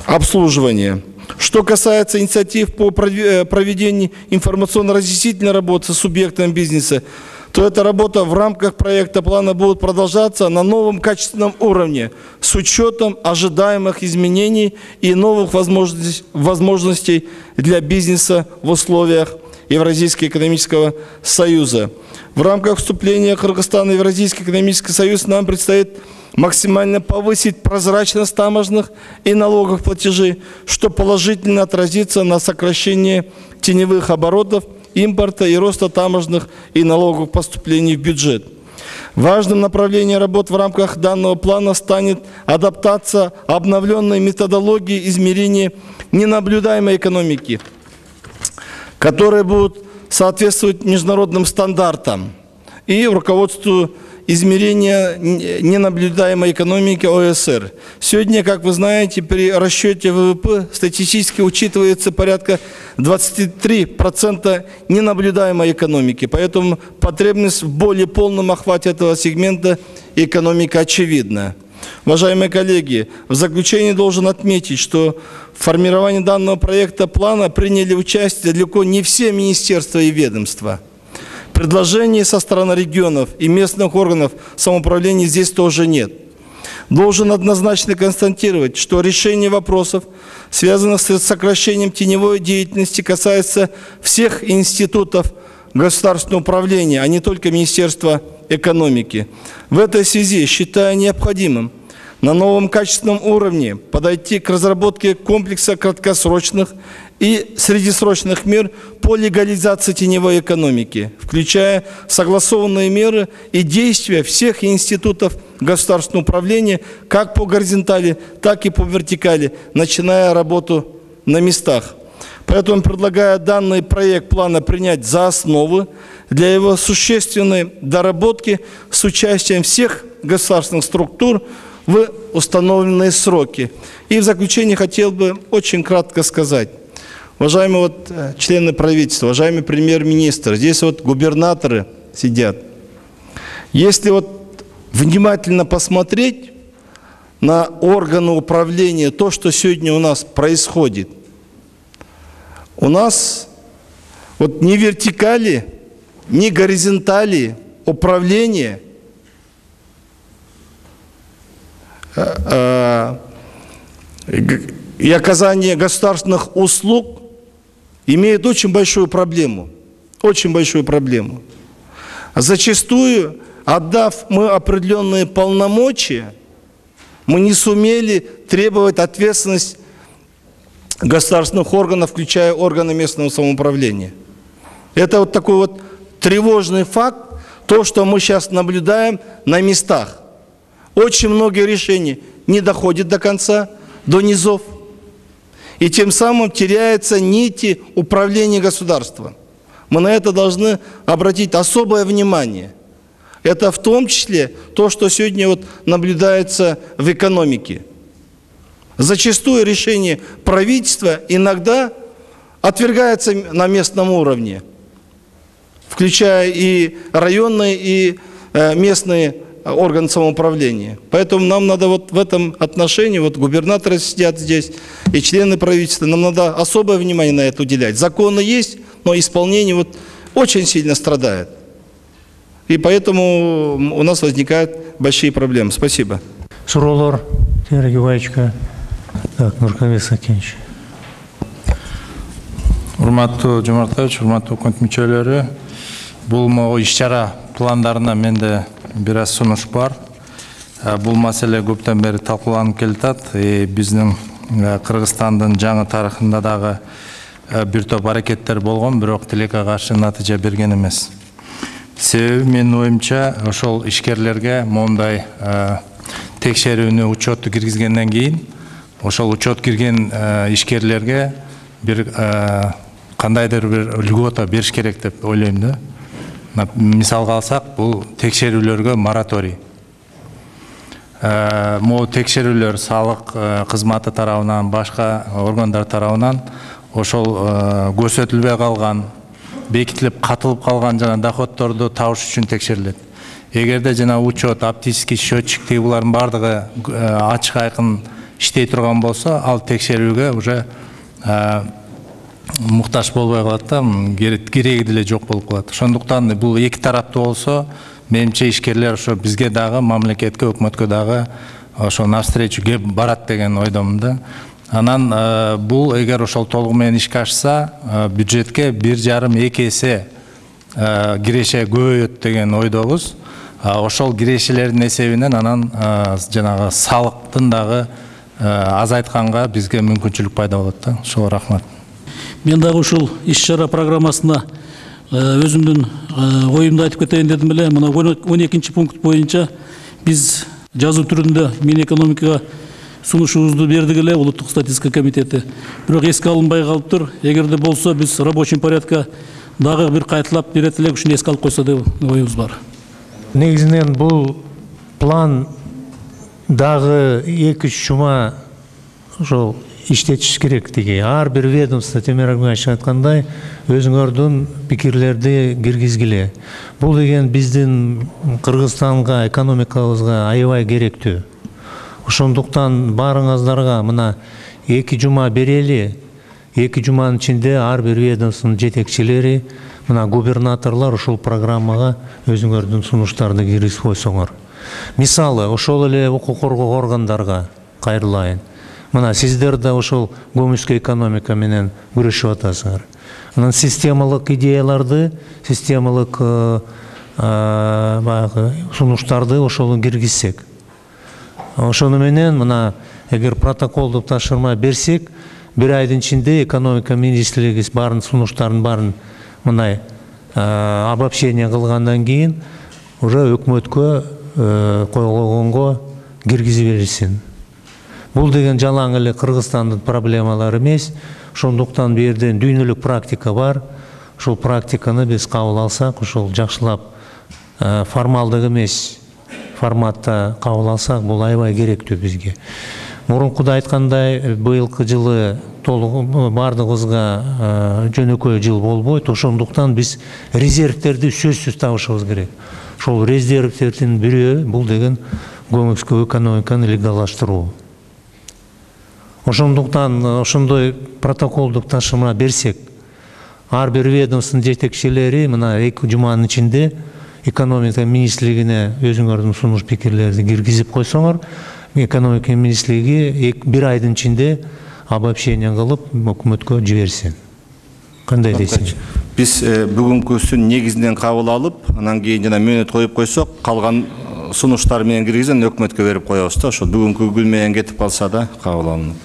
обслуживания. Что касается инициатив по проведению информационно-разъяснительной работы с субъектами бизнеса, то эта работа в рамках проекта плана будет продолжаться на новом качественном уровне с учетом ожидаемых изменений и новых возможностей для бизнеса в условиях Евразийского экономического союза. В рамках вступления Кыргызстана в Евразийский экономический союз нам предстоит максимально повысить прозрачность таможенных и налоговых платежей, что положительно отразится на сокращении теневых оборотов, импорта и роста таможенных и налоговых поступлений в бюджет. Важным направлением работ в рамках данного плана станет адаптация обновленной методологии измерения ненаблюдаемой экономики, которые будут соответствовать международным стандартам и руководству измерения ненаблюдаемой экономики ОСР. Сегодня, как вы знаете, при расчете ВВП статистически учитывается порядка 23% ненаблюдаемой экономики. Поэтому потребность в более полном охвате этого сегмента экономики очевидна. Уважаемые коллеги, в заключение должен отметить, что в формировании данного проекта плана приняли участие далеко не все министерства и ведомства. Предложений со стороны регионов и местных органов самоуправления здесь тоже нет. Должен однозначно констатировать, что решение вопросов, связанных с сокращением теневой деятельности, касается всех институтов государственного управления, а не только Министерства экономики. В этой связи считаю необходимым на новом качественном уровне подойти к разработке комплекса краткосрочных и среднесрочных мер по легализации теневой экономики, включая согласованные меры и действия всех институтов государственного управления как по горизонтали, так и по вертикали, начиная работу на местах. Поэтому предлагаю данный проект плана принять за основу для его существенной доработки с участием всех государственных структур в установленные сроки. И в заключение хотел бы очень кратко сказать. Уважаемые члены правительства, уважаемый премьер-министр, здесь губернаторы сидят. Если внимательно посмотреть на органы управления, то, что сегодня у нас происходит, у нас вот ни вертикали, ни горизонтали управления и оказание государственных услуг имеет очень большую проблему. Очень большую проблему. Зачастую, отдав мы определенные полномочия, мы не сумели требовать ответственность государственных органов, включая органы местного самоуправления. Это вот такой вот тревожный факт, то, что мы сейчас наблюдаем на местах. Очень многие решения не доходят до конца, до низов, и тем самым теряются нити управления государством. Мы на это должны обратить особое внимание. Это в том числе то, что сегодня вот наблюдается в экономике. Зачастую решение правительства иногда отвергается на местном уровне, включая и районные, и местные органы самоуправления. Поэтому нам надо вот в этом отношении, вот губернаторы сидят здесь, и члены правительства, нам надо особое внимание на это уделять. Законы есть, но исполнение вот очень сильно страдает. И поэтому у нас возникают большие проблемы. Спасибо. Суроолор, Тимур Гебаевичка. Так, Нуркабек Сакенович. Урматтуу Жомартович, урматтуу өкмөт мүчөлөрү, бул могу иш-чара пландарына менде бир аз сунуш бар. Бул маселе көптөн бери талкууланып келатат. Биздин Кыргызстандын жаңы тарыхында дагы бир топ аракеттер болгон, бирок тилекке каршы натыйжа берген эмес. Себеби менин оюмча, ошол ишкерлерге мондай текшерүүнү, учетту киргизгенден кийин, ошол учет кирген ишкерлерге бир кандайдыр бир льгота бериш керек деп ойлойм да. Мисалга алсак, бул текшерүүлөргө мораторий. Могу текшерүүлөр салык кызматы тарабынан, башка органдар тарабынан ошол көрсөтүлбөй калган, бекитилип катылып калган жана доходторду табыш үчүн текшерилет. Эгерде жана учет, оптический счетчик булардын бардыгы ачык айкын иштей турган болсо, ал текшерүүгө уже муктаж болбой калат да, кереги деле жок болуп калат. Ошондуктан бул эки тараптуу болсо, менимче ишкерлер ошо бизге дагы, мамлекетке, өкмөткө дагы ошо навстречу кеп барат деген ойдомун да. Анан бул эгер ошол толугу менен ишке ашса, бюджетке 1,5-2 эсе киреше көбөйөт деген ойдобуз. Ошол кирешелердин эсебинен анан жанагы салыктын дагы азайтканга бизге мүмкүнчүлүк пайда болот да. Ошого рахмат. Мен дагы ушул иш-чара программасына өзүмдүн оюмду айтып кетейин дедим эле. Мына 12 пункт боюнча биз жазуу түрүндө Минэкономикага сунушубузду бердик эле, Улуттук статистика комитети. Бирок эске алынбай калыптыр. Эгерде болсо биз рабочий порядка дагы бир кайталап берет элек, ушуну эске алып койсо деп оюбуз бар. Негизинен бул план дагы 2-3 жума ошол иштетиш керек деги. Ар бир ведомство, Темир Агманович айткандай, өзүңөрдүн пикирлерди киргизгиле. Бул деген биздин Кыргызстанга, экономикабызга аябай керектүү. Ошондуктан барыңыздарга мына 2 жума берели. 2 жуманын ичинде ар бир ведомствонун жетекчилери, мына губернаторлор ушул программага өзүңөрдүн сунуштарды киргизип койсоңор. Мисалы, ошол эле укук коргоо органдарга кайрылайын. Мына сиздер да ошол көмүскө экономика менен күрөшүп атасыңар. Анан системалык идеяларды, системалык сунуштарды ошол киргизсек. Ошону менен мына эгер протоколду тапшырма берсек, бир айдын ичинде экономика министрлиги баарын сунуштарын баарын мындай обобщение кылгандан кийин уже өкмөткө койгонго киргизип берилсин. Бул деген жалаң эле Кыргызстандын проблемалары эмес. Ошондуктан бу жерден дүйнөлүк практика бар. Ошол практиканы биз кабыл алсак, ошол жакшылап формалдык эмес форматта кабыл алсак, бул аябай керектүү бизге. Мурункуда айткандай, быйылкы жылы толугу бардыгыбызга жөнөкөй жыл болбойт. Ошондуктан биз резервтерди сөзсүз табышыбыз керек. Ошол резервтердин бирөө бул деген көмүскө экономиканы легалдаштыруу. Ошондуктан ошондой протоколдук тапшырма берсек, ар бир ведомствонун жетекчилери мына 2 жуманын ичинде экономика министрлигине өзүңөрдүн сунуш пикирлерди киргизип койсоңор, экономика министрлиги 1 айдын ичинде обобщение кылып өкмөткө жиберсин. Кандай дейсиң? Биз бүгүнкүсүн негизинен кабыл алып, анан кийин жана мөөнөт коюп койсок, калган сунуштар менен киргизген өкмөткө берип коебуз да. Ошо бүгүнкү күн менен кетип калса да кабыл алынат.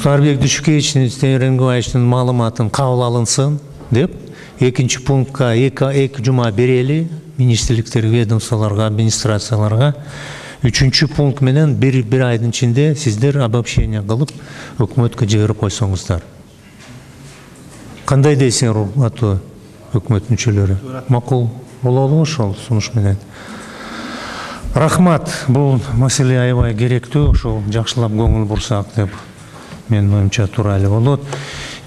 Сарбек Дүйшүкевичтин, Темирбековичтин маалыматын кабыл алынсын деп, 2 пунктка 2 жума берели министрликтер, ведомстволорго, администрацияларга. 3 пункт менен 1 айдын ичинде сиздер обобщение кылып өкмөткө жиберип койсоңуздар. Кандай дейсиңер, урматтуу өкмөт мүчөлөрү? Макул болобу ошол сунуш менен? Рахмат, бул маселе аябай керектүү, ошол жакшылап көңүл бурсак деп мен оюмча туура эле болот.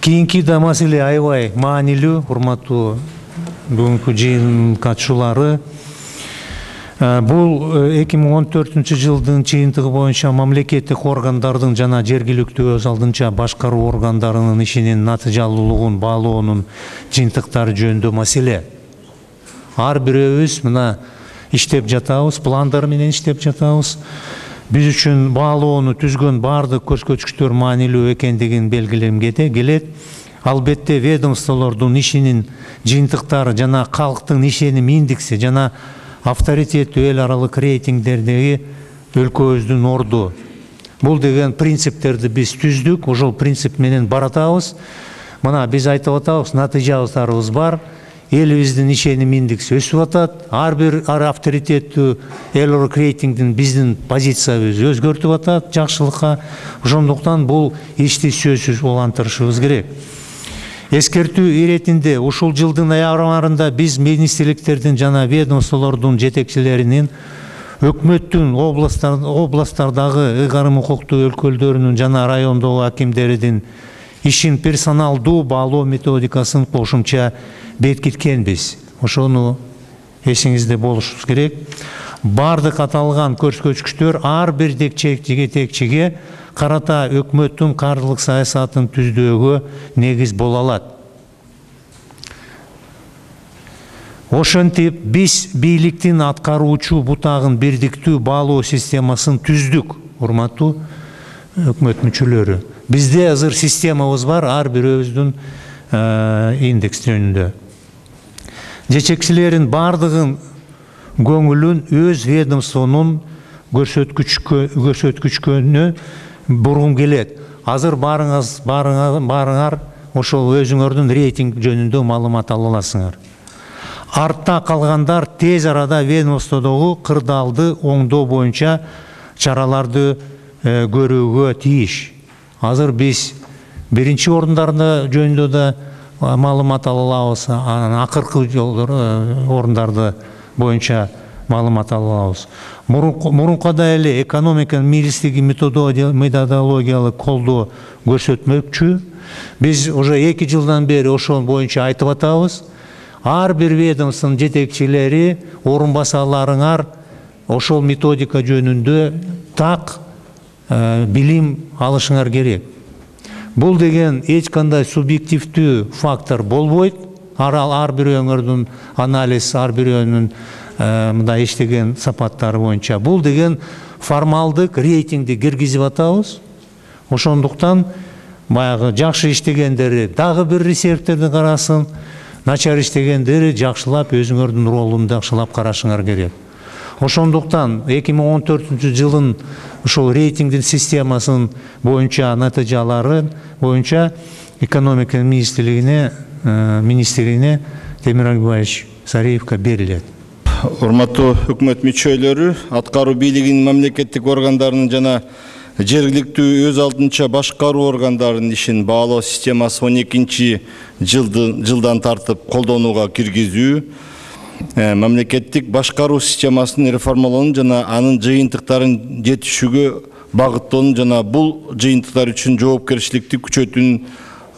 Кийинки да маселе аябай маанилүү, урматтуу бүгүнкү жыйын катчылары. Бул 2014-жылдын жыйынтыгы боюнча мамлекеттик органдардын жана жергиликтүү өз алдынча башкаруу органдарынын ишинин натыйжалуулугун баалоонун жыйынтыктары жөнүндө маселе. Ар бирөөбүз мына иштеп жатабыз, пландар менен иштеп жатабыз. Биз үчүн баалоону түзгөн баардык көрсөткүчтөр маанилүү экендигин белгилемге келет. Албетте ведомстволордун ишинин жыйынтыктары жана калктын ишеним индекси жана авторитеттүү эл аралык рейтингдердеги өлкөбүздүн орду. Бул деген принциптерди биз түздүк, ошол принцип менен баратабыз. Мына биз айтып атабыз, натыйжаларыбыз бар. Элибиздин ишеним индекси өсүп атат. Ар бир авторитеттүү эл аралык рейтингдин биздин позициябызды өзгөртүп атат жакшылыкка. Ошондуктан бул ишти сөзсүз улантырышыбыз керек. Эскертүү иретинде ушул жылдын аярында биз министрликтердин жана ведомстволордун жетекчилеринин өкмөттүн областтардагы ыйгарым укуктуу өлкөлдөрүнүн жана райондогу акимдеридин ишин персоналдуу баалоо методикасын кошумча бекиткенбиз. Ошону эсиңизде болушубуз керек. Бардык аталган көрсөткүчтөр ар бир жетекчиге карата өкмөттүн каржылык саясатын түздөөгө негиз боло алат. Ошентип биз бийликтин аткаруучу бутагын бирдиктүү баалоо системасын түздүк, урматтуу өкмөт мүчөлөрү. Бизде азыр системабыз бар, ар бирөөбүздүн индекс жөнүндө. Жетекчилердин бардыгын көңүлүн өз ведомствонун көрсөткүчкөнү бургум келет. Азыр барыңар ошол өзүңөрдүн рейтинг жөнүндө маалымат ала аласыңар. Артта калгандар тез арада ведомстводогу кырдаалды оңдоо боюнча чараларды көрүүгө тийиш. Азыр биз биринчи орундарда жөнүндө да маалымат ала алабыз, анан акыркы орундарды боюнча маалымат ала алабыз. Мурункуда эле экономика министрлиги методологиялык колдоо көрсөтмөкчү. Биз уже 2 жылдан бери ошол боюнча айтып атабыз. Ар бир ведомствонун жетекчилери, орун басарларыңар ошол методика жөнүндө так билим алышыңар керек. Бул деген эч кандай субъективдүү фактор болбойт. Ар бирөөңөрдүн анализ, ар бирөөнүн мындай иштеген сапаттары боюнча. Бул деген формалдык рейтингди киргизип атабыз. Ошондуктан баягы жакшы иштегендери дагы бир резервтерди карасын, начар иштегендери жакшылап өзүңөрдүн ролун жакшылап карашыңар керек. Ошондуктан 2014-жылдын ошол рейтингдин системасын боюнча натыйжалары боюнча экономика министрлигине Темирбек Сариевке берилет. Урматтуу өкмөт мүчөлөрү, аткаруу бийлигинин мамлекеттик органдарынын жана жергиликтүү өз алдынча башкаруу органдарынын ишин баалоо системасы 12-жылдан тартып колдонууга киргизүү, мамлекеттик башкаруу системасын реформалоонун жана анын жыйынтыктарын жетишүүгө багыттоонун жана бул жыйынтыктар үчүн жоопкерчиликти күчөтүүнүн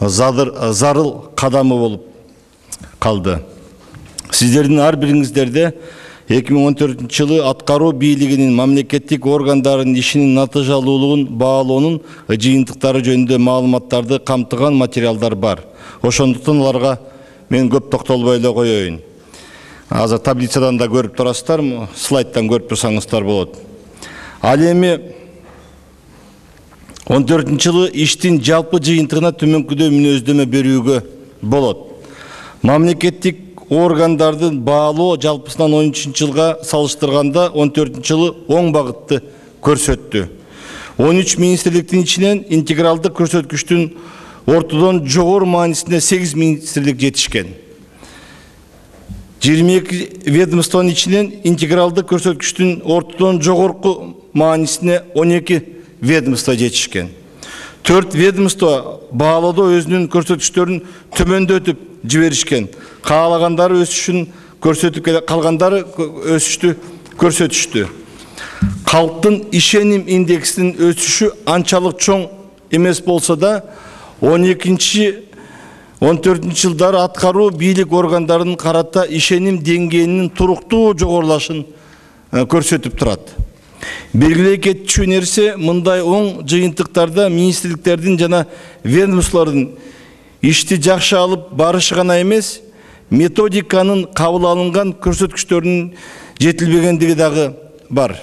зарыл кадамы болуп калды. Сиздердин ар бириңиздерде 2014 жылы аткаруу бийлигинин мамлекеттик органдарынын ишинин натыйжалуулугун баалоонун жыйынтыктары жөнүндө маалыматтарды камтыган материалдар бар. Ошондуктан аларга мен көп токтолбой эле коеюн. Азыр таблицадан да көрүп турасыздар, слайдтан көрүп турсаңыздар болот. Ал эми 14 жылы иштин жалпы жыйынтыгына төмөнкүдөй мүнөздөмө берүүгө болот. Мамлекеттик органдардын баалоо жалпысынан 13 жылга салыштырганда 14 жылы оң багытты көрсөттү. 13 министрликтин ичинен интегралдык көрсөткүчтүн ортодон жогору маанисинде 8 министрлик жетишкен. 22 ведомствонун ичинен интегралдык көрсөткүчтүн ортодон жогорку маанисине 12 ведомство жетишкен. 4 ведомство баалоодо өзүнүн көрсөткүчтөрүн төмөндөтүп жиберишкен. Каалагандары өсүшүн көрсөтүп келе, калгандары өсүштү көрсөтүштү. Калктын ишеним индексинин өсүшү анчалык чоң эмес болсо да 12-14 жылдары аткаруу бийлик органдарынын карата ишеним деңгээлинин туруктуу жогорулашын көрсөтүп турат. Белгилей кетчү нерсе, мындай оң жыйынтыктарда министрликтердин жана ведомстволордун ишти жакшы алып барышы гана эмес, методиканын кабыл алынган көрсөткүчтөрүнүн жетилбегендиги дагы бар.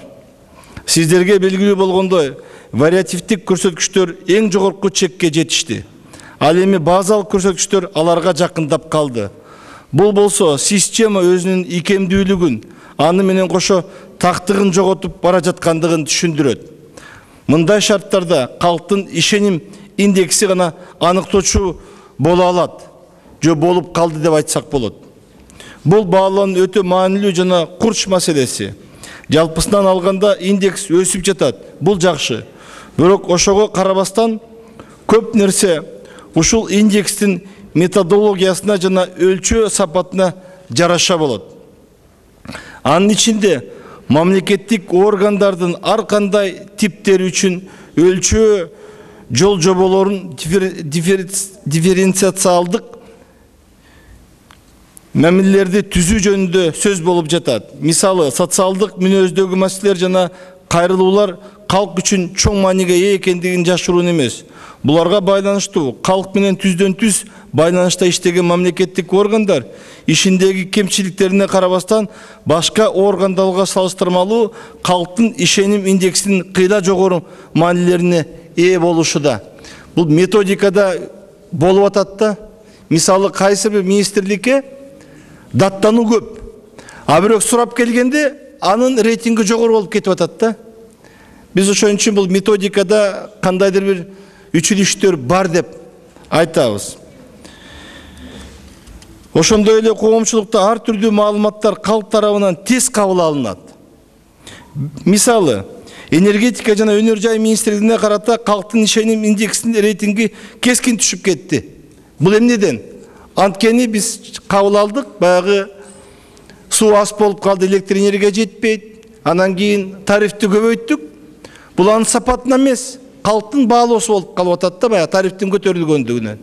Сиздерге белгилүү болгондой, вариативдик көрсөткүчтөр эң жогорку чекке жетишти. Ал эми базалык көрсөткүчтөр аларга жакындап калды. Бул болсо система өзүнүн икемдүүлүгүн, аны менен кошо тактыгын жоготуп бара жаткандыгын түшүндүрөт. Мындай шарттарда калктын ишеним индекси гана аныктоочу боло алат, же болуп калды деп айтсак болот. Бул баалоонун өтө маанилүү жана курч маселеси. Жалпысынан алганда индекс өсүп жатат. Бул жакшы. Бирок ошого карабастан көп нерсе ушул индекстин методологиясына жана өлчөө сапатына жараша болот. Анын ичинде мамлекеттик органдардын ар кандай типтери үчүн өлчөө жол жоболорун дифференциациялдык мамилелерди түзүү жөнүндө сөз болуп жатат. Мисалы, социалдык мүнөздөгү маселелер жана кайрылуулар калк үчүн чоң мааниге ээ экендигин жашыруун эмес. Буларга байланыштуу калк менен түздөн түз байланышта иштеген мамлекеттик органдар ишиндеги кемчиликтерине карабастан башка органдарга салыштырмалуу калктын ишеним индексинин кыйла жогору маанилерине ээ болушуда. Бул методикада болуп атат да. Мисалы, кайсы бир министрликке даттануу көп. А бирок сурап келгенде анын рейтинги жогору болуп кетип атат да. Биз ошон үчүн бул методикада кандайдыр бир үчүлүштөр бар деп айтабыз. Ошондой эле коомчулукта ар түрдүү маалыматтар калк тарабынан тез кабыл алынат. Мисалы, энергетика жана өнөр жай министрлигине карата калктын ишеним индексинин рейтинги кескин түшүп кетти. Бул эмнеден? Анткени биз кабыл алдык, баягы суу аз болуп калды, электр энергия жетпейт, анан кийин тарифти көбөйттүк. Бул анын сапатына эмес, калктын баалоосу болуп калып атат да, баягы тарифтин көтөрүлгөндүгүнөн.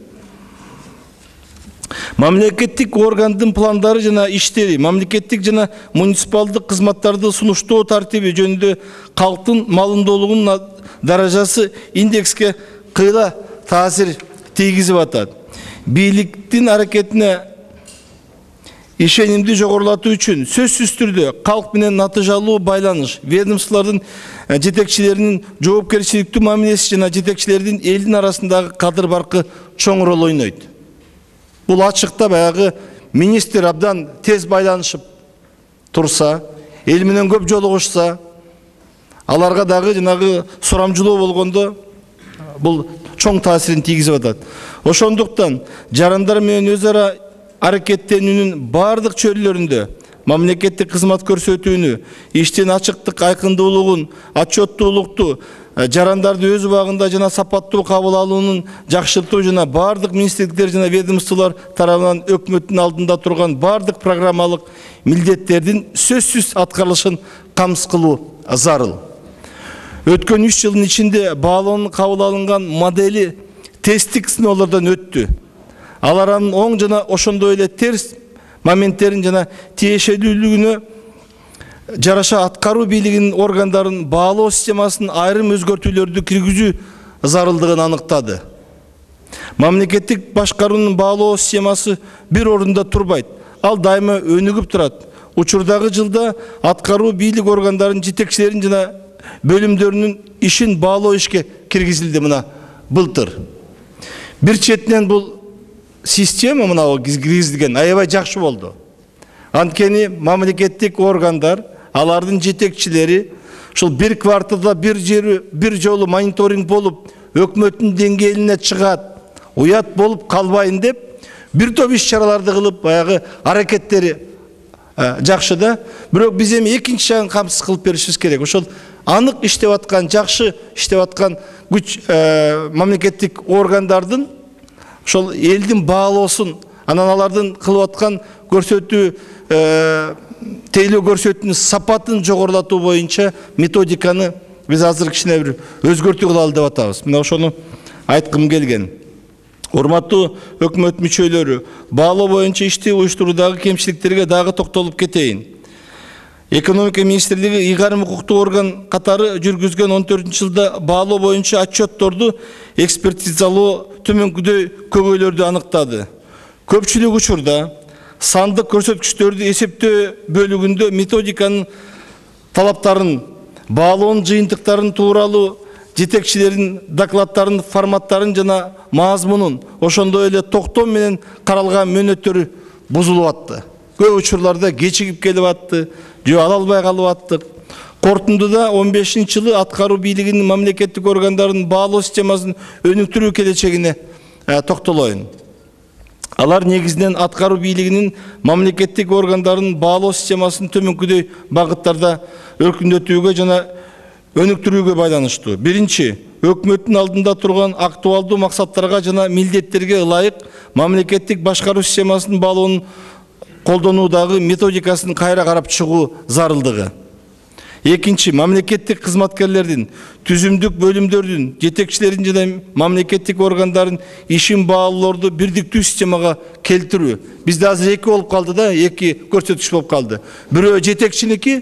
Мамлекеттик органдын пландары жана иштери, мамлекеттик жана муниципалдык кызматтарды сунуштоо тартиби жөнүндө калктын малымдуулугунун даражасы индекске кыйла таасир тийгизип атат. Бийликтин аракетине ишенимди жогорулатуу үчүн сөзсүз түрдө калк менен натыйжалуу байланыш, ведомстволордун жетекчилеринин жоопкерчиликтүү мамилеси жана жетекчилердин элдин арасындагы кадыр баркы чоң роль ойнойт. Бул ачыкта баягы министр абдан тез байланышып турса, эл менен көп жолугушса, аларга дагы жанагы сурамжылоо болгондо бул чоң таасирин тийгизип атат. Ошондуктан жарандар менен өз ара аракеттенүүнүн бардык чөйрөлөрүндө мамлекеттик кызмат көрсөтүүнү, иштин ачыктык, айкындуулугун, отчеттуулукту, жарандарды өз убагында жана сапаттуу кабыл алуунун жакшыртуу жана бардык министрликтер жана ведомстволор тарабынан өкмөттүн алдында турган бардык программалык милдеттердин сөзсүз аткарылышын камсыз кылуу зарыл. Өткөн 3 жылдын ичинде баалоонун кабыл алынган модели тесттик сыноолордон өттү. Алар анын оң жана ошондой эле терс моменттерин жана тиешелүүлүгүнө жараша аткаруу бийлигинин органдарын баалоо системасын айрым өзгөртүүлөрдү киргизүү зарылдыгын аныктады. Мамлекеттик башкаруунун баалоо системасы бир орунда турбайт, ал дайыма өнүгүп турат. Учурдагы жылда аткаруу бийлик органдарынын жетекчилерин жана бөлүмдөрүнүн ишин баалоо ишке киргизилди мына былтыр. Бир четинен бул система мына киргизилген аябай жакшы болду. Анткени мамлекеттик органдар, алардын жетекчилери ушул бир кварталда бир жолу мониторинг болуп, өкмөттүн деңгээлине чыгат, уят болуп калбайын деп, бир топ иш-чараларды кылып, баягы аракеттери жакшы да. Бирок биз эми экинчи жагын камсыз кылып беришибиз керек. Ошол анык иштеп аткан, жакшы иштеп аткан күч мамлекеттик органдардын ошол элдин баалоосун, анан алардын кылып аткан көрсөтүү тейлөө көрсөтүүнүн сапатын жогорулатуу боюнча методиканы биз азыр кичине бир өзгөртүү кылалы деп атабыз. Мына ошону айткым келген. Урматтуу өкмөт мүчөлөрү, баалоо боюнча ишти уюштуруудагы кемчиликтерге дагы токтолуп кетейин. Экономика министрлиги ыйгарым укуктуу орган катары жүргүзгөн 14-жылда баалоо боюнча отчетторду экспертизалоо төмөнкүдөй көбөйлөрдү аныктады. Көпчүлүк учурда сандык көрсөткүчтөрдү эсептөө бөлүгүндө методиканын талаптарын, баалоонун жыйынтыктарын тууралуу жетекчилердин докладдарын форматтарын жана мазмунун, ошондой эле токтом менен каралган мөөнөттөрү бузулуп атты. Көп учурларда кечигип келип атты, же ала албай калып аттык. Кортундуда 15-жылы аткаруу бийлигинин мамлекеттик органдарынын баалоо системасын өнүктүрүү келечегине токтолоюн. Алар негизинен аткаруу бийлигинин мамлекеттик органдарынын баалоо системасын төмөнкүдөй багыттарда өркүндөтүүгө жана өнүктүрүүгө байланыштуу. Биринчи, өкмөттүн алдында турган актуалдуу максаттарга жана милдеттерге ылайык мамлекеттик башкаруу системасынын баалоонун колдонуудагы методикасын кайра карап чыгуу зарылдыгы. Экинчи, мамлекеттик кызматкерлердин, түзүмдүк бөлүмдөрдүн, жетекчилердин жана мамлекеттик органдардын ишин баалоолорду бирдиктүү системага келтирүү. Бизде азыр эки болуп калды да, эки көрсөткүч болуп калды. Бирөө жетекчиники,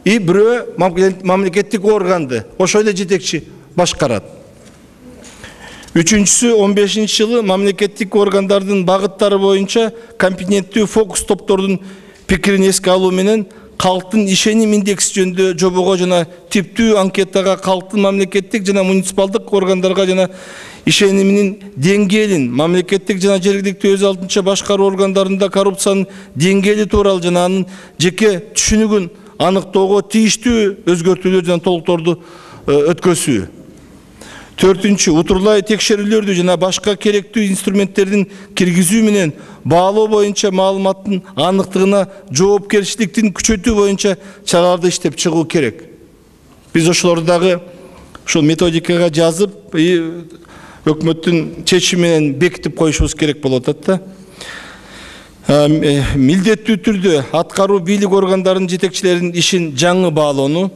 бирөө мамлекеттик органды, ошол эле жетекчи башкарат. Үчүнчүсү, 15-жылы мамлекеттик органдардын багыттары боюнча компетенттүү фокус топтордун пикирин эске алуу менен калктын ишеним индекси жөнүндө жобого жана типтүү анкетага калктын мамлекеттик жана муниципалдык органдарга жана ишениминин деңгээлин, мамлекеттик жана жергиликтүү өз алдынча башкаруу органдарында коррупциянын деңгээли тууралуу жана анын жеке түшүнүгүн аныктоого тийиштүү өзгөртүүлөр жана толуктоорду өткөзүү. Төртүнчү, утурлай текшерүүлөрдү жана башка керектүү инструменттердин киргизүү менен баалоо боюнча маалыматтын аныктыгына жоопкерчиликтин күчөтүү боюнча чараларды иштеп чыгуу керек. Биз ошолорду дагы ушул методикага жазып, өкмөттүн чечими менен бекитип коюшубуз керек болуп атат да. Милдеттүү түрдө аткаруу бийлик органдарынын жетекчилеринин ишин жаңы баалоону,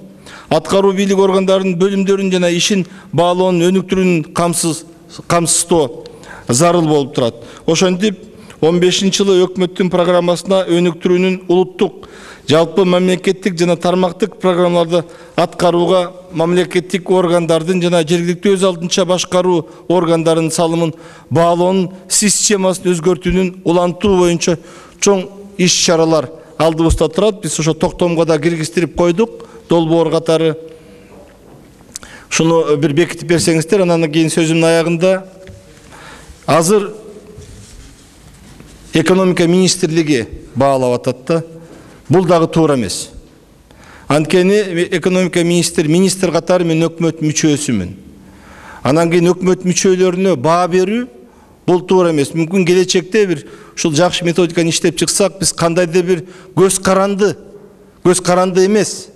аткаруу бийлик органдарынын бөлүмдөрүн жана ишин баалоонун өнүктүрүүнүн камсыздоо зарыл болуп турат. Ошентип, 15-жылы өкмөттүн программасына өнүктүрүүнүн улуттук, жалпы мамлекеттик жана тармактык программаларды аткарууга мамлекеттик органдардын жана жергиликтүү өз алдынча башкаруу органдарынын салымын баалоонун системасын өзгөртүүнүн улантуу боюнча чоң иш-чаралар алдыбызда турат. Биз ошо токтомго да киргизтирип койдук. Долбоор катары шуну бир бекитип берсеңиздер, анан кийин сөзүмдүн аягында азыр экономика министрлиги баалап атат да. Бул дагы туура эмес. Анткени экономика министр катары мен өкмөт мүчөсүмүн. Анан кийин өкмөт мүчөлөрүнө баа берүү бул туура эмес. Мүмкүн келечекте бир ушул жакшы методиканы иштеп чыксак, биз кандайдыр бир көз каранды эмес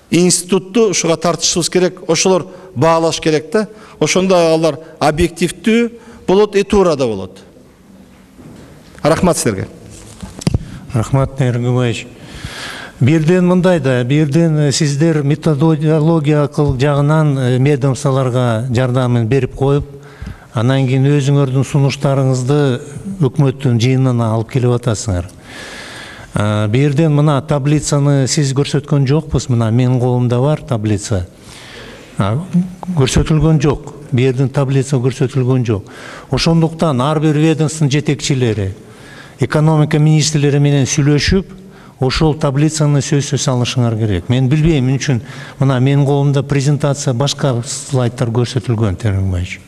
институтту ушуга тартышыбыз керек, ошолор баалаш керек да. Ошондо алар объективдүү болот, туура да болот. Рахмат силерге. Рахмат, Наир Губаевич. Бирден мындай да, бирден сиздер методология жагынан ведомстволорго жардамын берип коюп, анан кийин өзүңөрдүн сунуштарыңызды өкмөттүн жыйынына алып келип атасыңар. Берден мына таблицаны сиз көрсөткөн жокпуз. Мына менин колумда бар таблица. Көрсөтүлгөн жок. Берден таблица көрсөтүлгөн жок. Ошондуктан ар бир ведомствонун жетекчилери, экономика министрлери менен сүйлөшүп, ошол таблицаны сөзсүз алышыңар керек. Мен билбейм, мен үчүн мына менин колумда презентация башка слайдтар көрсөтүлгөн Тереңбаевич.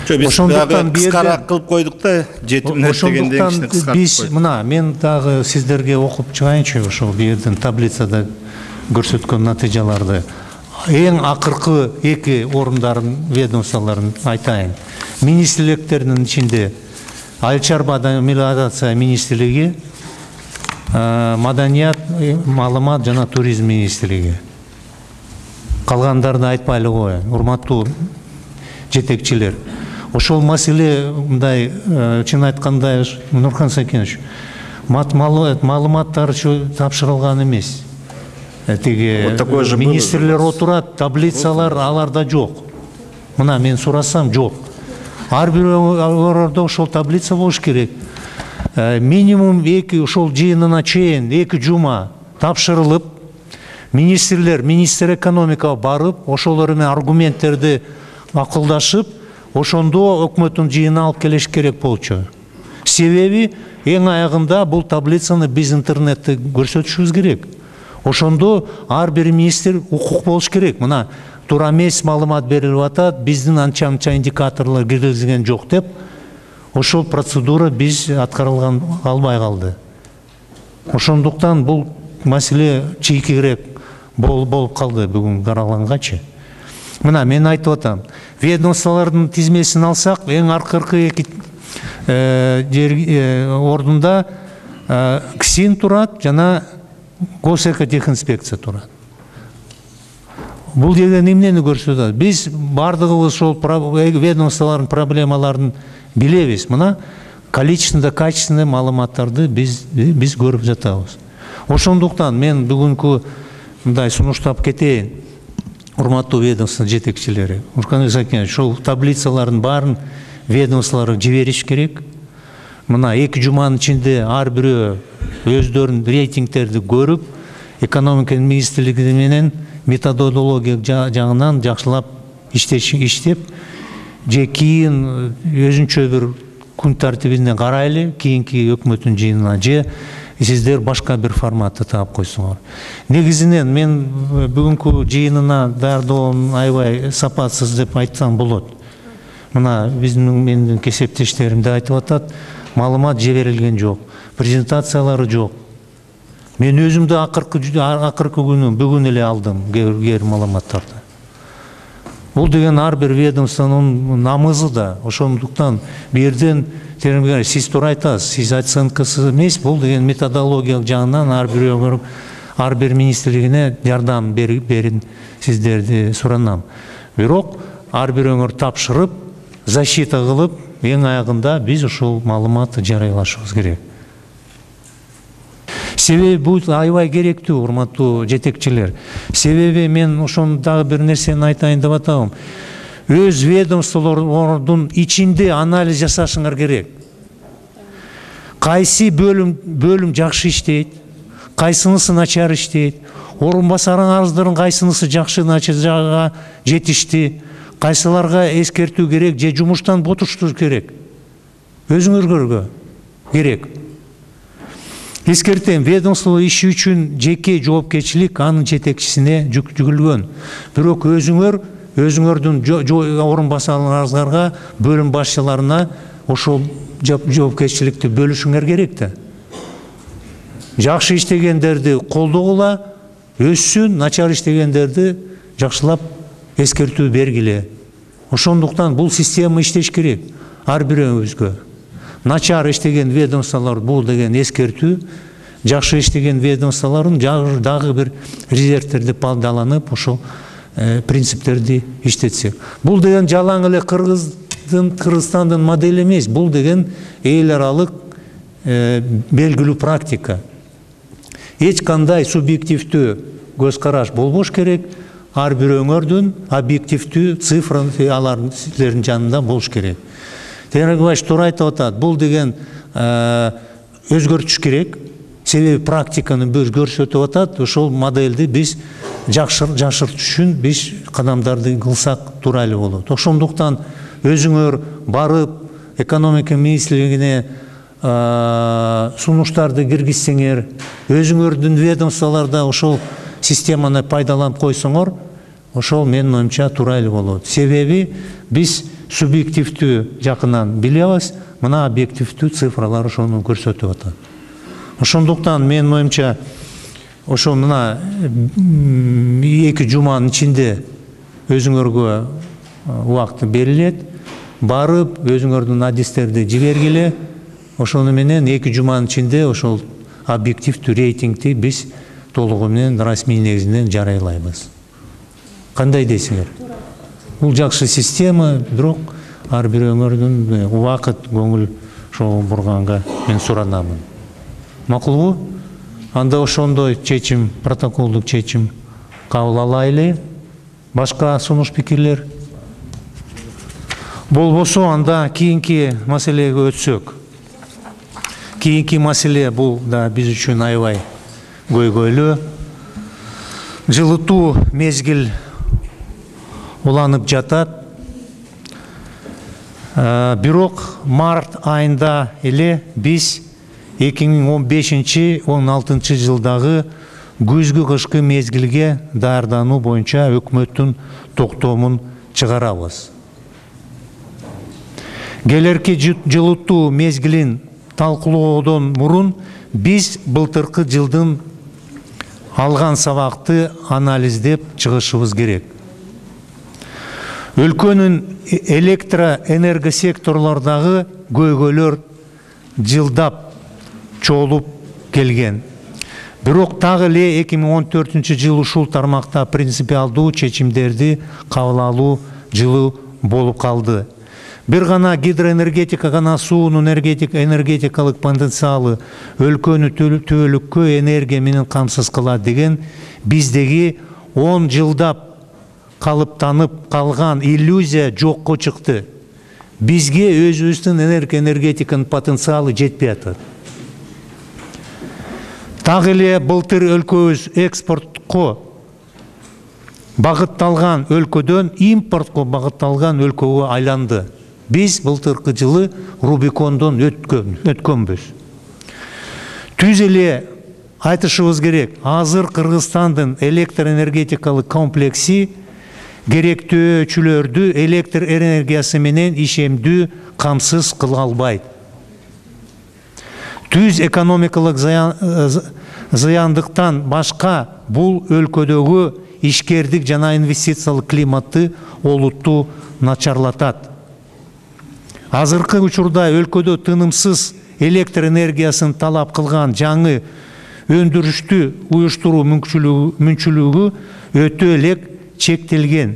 Биз дагы кыскараак кылып койдук да, жетим дегенден кичине кыскартып биз мына мен дагы сиздерге окуп чыгайынчы ошол берден таблицада көрсөткөн натыйжаларды. Эң акыркы 2 орундардын ведомстволорун айтайын. Министрликтердин ичинде Айыл чарба мелиорация министрлиги, маданият, маалымат жана туризм министрлиги. Калгандарды айтпайлы коеюн, урматтуу жетекчилер. Ошол маселе мындай, чын айтканда, Нурхан Сакенович, маалыматтар тапшырылган эмес. Тиги министрлер отурат, таблицалар аларда жок. Мына мен сурасам жок. Ар бир ордо ошол таблица болуш керек. Минимум 2 ошол жыйынына чейин 2 жума тапшырылып, министр экономикага барып, ошолор менен аргументтерди акылдашып, ошондо өкмөттүн жыйынына алып келиш керек болчу. Себеби эң аягында бул таблицаны биз интернетте көрсөтүшүбүз керек. Ошондо ар бир министр укук болуш керек. Мына туура эмес маалымат берилип атат, биздин анча индикаторлор киргизилген жок деп, ошол процедура биз аткарылган албай калды. Ошондуктан бул маселе чийкирээк болуп калды бүгүн каралгангачы. Мына мен айтып атам, ведомстволордун тизмесин алсак, эң акыркы 2 ордунда КСИН турат жана Госэкотехинспекция турат. Бул деген эмнени көрсөтөт? Биз бардыгыбыз ошол ведомстволордун проблемаларын билебиз. Мына количественно, качественно маалыматтарды биз көрүп жатабыз. Ошондуктан мен бүгүнкү мындай сунуштап кетейин. Урматтуу ведомство жетекчилери, Нурхан Сакенович, ошол таблицалардын баарын ведомстволорго жибериш керек. Мына 2 жуманын ичинде ар бирөө өздөрүнүн рейтингтерди көрүп, экономика министрлиги менен методология жагынан жакшылап иштеп, же кийин өзүнчө бир күн тартибине карайлы, кийинки өкмөттүн жыйынына, же сиздер башка бир форматты таап койсоңор. Негизинен мен бүгүнкү жыйынына даярдоом аябай сапатсыз деп айтсам болот. Мына менин кесептештерим да айтып атат, маалымат жиберилген жок, презентациялары жок. Мен өзүм да акыркы күнү бүгүн эле алдым кээ маалыматтарды. Бул деген ар бир ведомствонун намызы да. Ошондуктан берден сиз туура айтасыз, сиз оценкасы эмес, бул деген методологиялык жагынан ар бир министрлигине жардам берин сиздерди суранам. Бирок ар бирөөңөр тапшырып, защита кылып, эң аягында биз ошол маалыматты жарыялашыбыз керек. Себеби бул аябай керектүү, урматтуу жетекчилер. Себеби мен ошону дагы бир нерсени айтайын деп атабым. Өз ведомстволордун ичинде анализ жасашыңар керек. Кайсы бөлүм жакшы иштейт, кайсынысы начар иштейт, орун басарыңыздын кайсынысы жакшы начарга жетишти, кайсыларга эскертүү керек же жумуштан бутуштуу керек. Өзүңөргө керек. Эскертем, ведомство иши үчүн жеке жоопкерчилик анын жетекчисине жүктөлгөн. Бирок өзүңөрдүн орун басарларыңызга, бөлүм башчыларына ошол жоопкерчиликти бөлүшүңөр керек да. Жакшы иштегендерди колдогула, өссүн, начар иштегендерди жакшылап эскертүү бергиле. Ошондуктан бул система иштеш керек ар бирөөбүзгө. Начар иштеген ведомстволор бул деген эскертүү, жакшы иштеген ведомстволордун дагы бир резервтерди пайдаланып, ошол принциптерди иштетсек. Бул деген жалаң эле Кыргызстандын модели эмес, бул деген эл аралык белгилүү практика. Эч кандай субъективдүү көз караш болбош керек, ар бирөөңөрдүн объективдүү цифра алардын силердин жанында болуш керек. Тереңбаевич туура айтып атат, бул деген өзгөртүш керек. Себеби практиканы біз көрсөтүп атат, ошол модельди биз жакшыртыш үчүн биз кадамдарды кылсак туура эле болот. Ошондуктан өзүңөр барып экономика министрлигине сунуштарды киргизсеңер, өзүңөрдүн ведомстволордо ошол системаны пайдаланып койсоңор, ошол менин оюмча туура эле болот. Себеби биз субъективдүү жакынан билебиз, мына объективдүү цифралар ошону көрсөтүп атат. Ошондуктан менин оюмча ошол мына 2 жуманын ичинде өзүңөргө убакыт берилет, барып өзүңөрдүн адистерди жибергиле, ошону менен 2 жуманын ичинде ошол объективдүү рейтингди биз толугу менен расмий негизинен жарыялайбыз. Кандай дейсиңер? Бул жакшы система, бирок ар бирөөңөрдүн убакыт, көңүл ошого бурганга мен суранамын. Макулбу? Анда ошондой чечим, протоколдук чечим кабыл алайлы. Башка сунуш пикирлер? Болбосо анда кийинки маселеге өтсөк. Кийинки маселе бул да биз үчүн аябай көйгөйлүү. Жылытуу мезгил уланып жатат. Бирок март айында эле биз 2015-16 жылдагы күзгү кышкы мезгилге даярдануу боюнча өкмөттүн токтомун чыгарабыз. Келерки жылытуу мезгилин талкуулоодон мурун биз былтыркы жылдын алган сабакты анализдеп чыгышыбыз керек. Өлкөнүн электроэнергосекторлордогу көйгөйлөр жылдап чогулуп келген. Бирок дагы эле 2014 жыл ушул тармакта принципиалдуу чечимдерди кабыл алуу жылы болуп калды. Бир гана гидроэнергетика гана суунун энергетикалык потенциалы өлкөнү түбөлүккө энергия менен камсыз кылат деген биздеги 10 жылдап калыптанып калган иллюзия жокко чыкты. Бизге өзүбүздүн энергетиканын потенциалы жетпей атат. Дагы эле былтыр өлкөбүз экспортко багытталган өлкөдөн импортко багытталган өлкөгө айланды. Биз былтыркы жылы Рубикондон өткөнбүз. Түз эле айтышыбыз керек, азыр Кыргызстандын электроэнергетикалык комплекси керектөөчүлөрдү электр энергиясы менен ишемдүү камсыз кыла албайт. Түз экономикалык зыяндыктан башка бул өлкөдөгү ишкердик жана инвестициялык климатты олуттуу начарлатат. Азыркы учурда өлкөдө тынымсыз электр энергиясын талап кылган жаңы өндүрүштү уюштуруу мүмкүнчүлүгү өтө эле чектелген.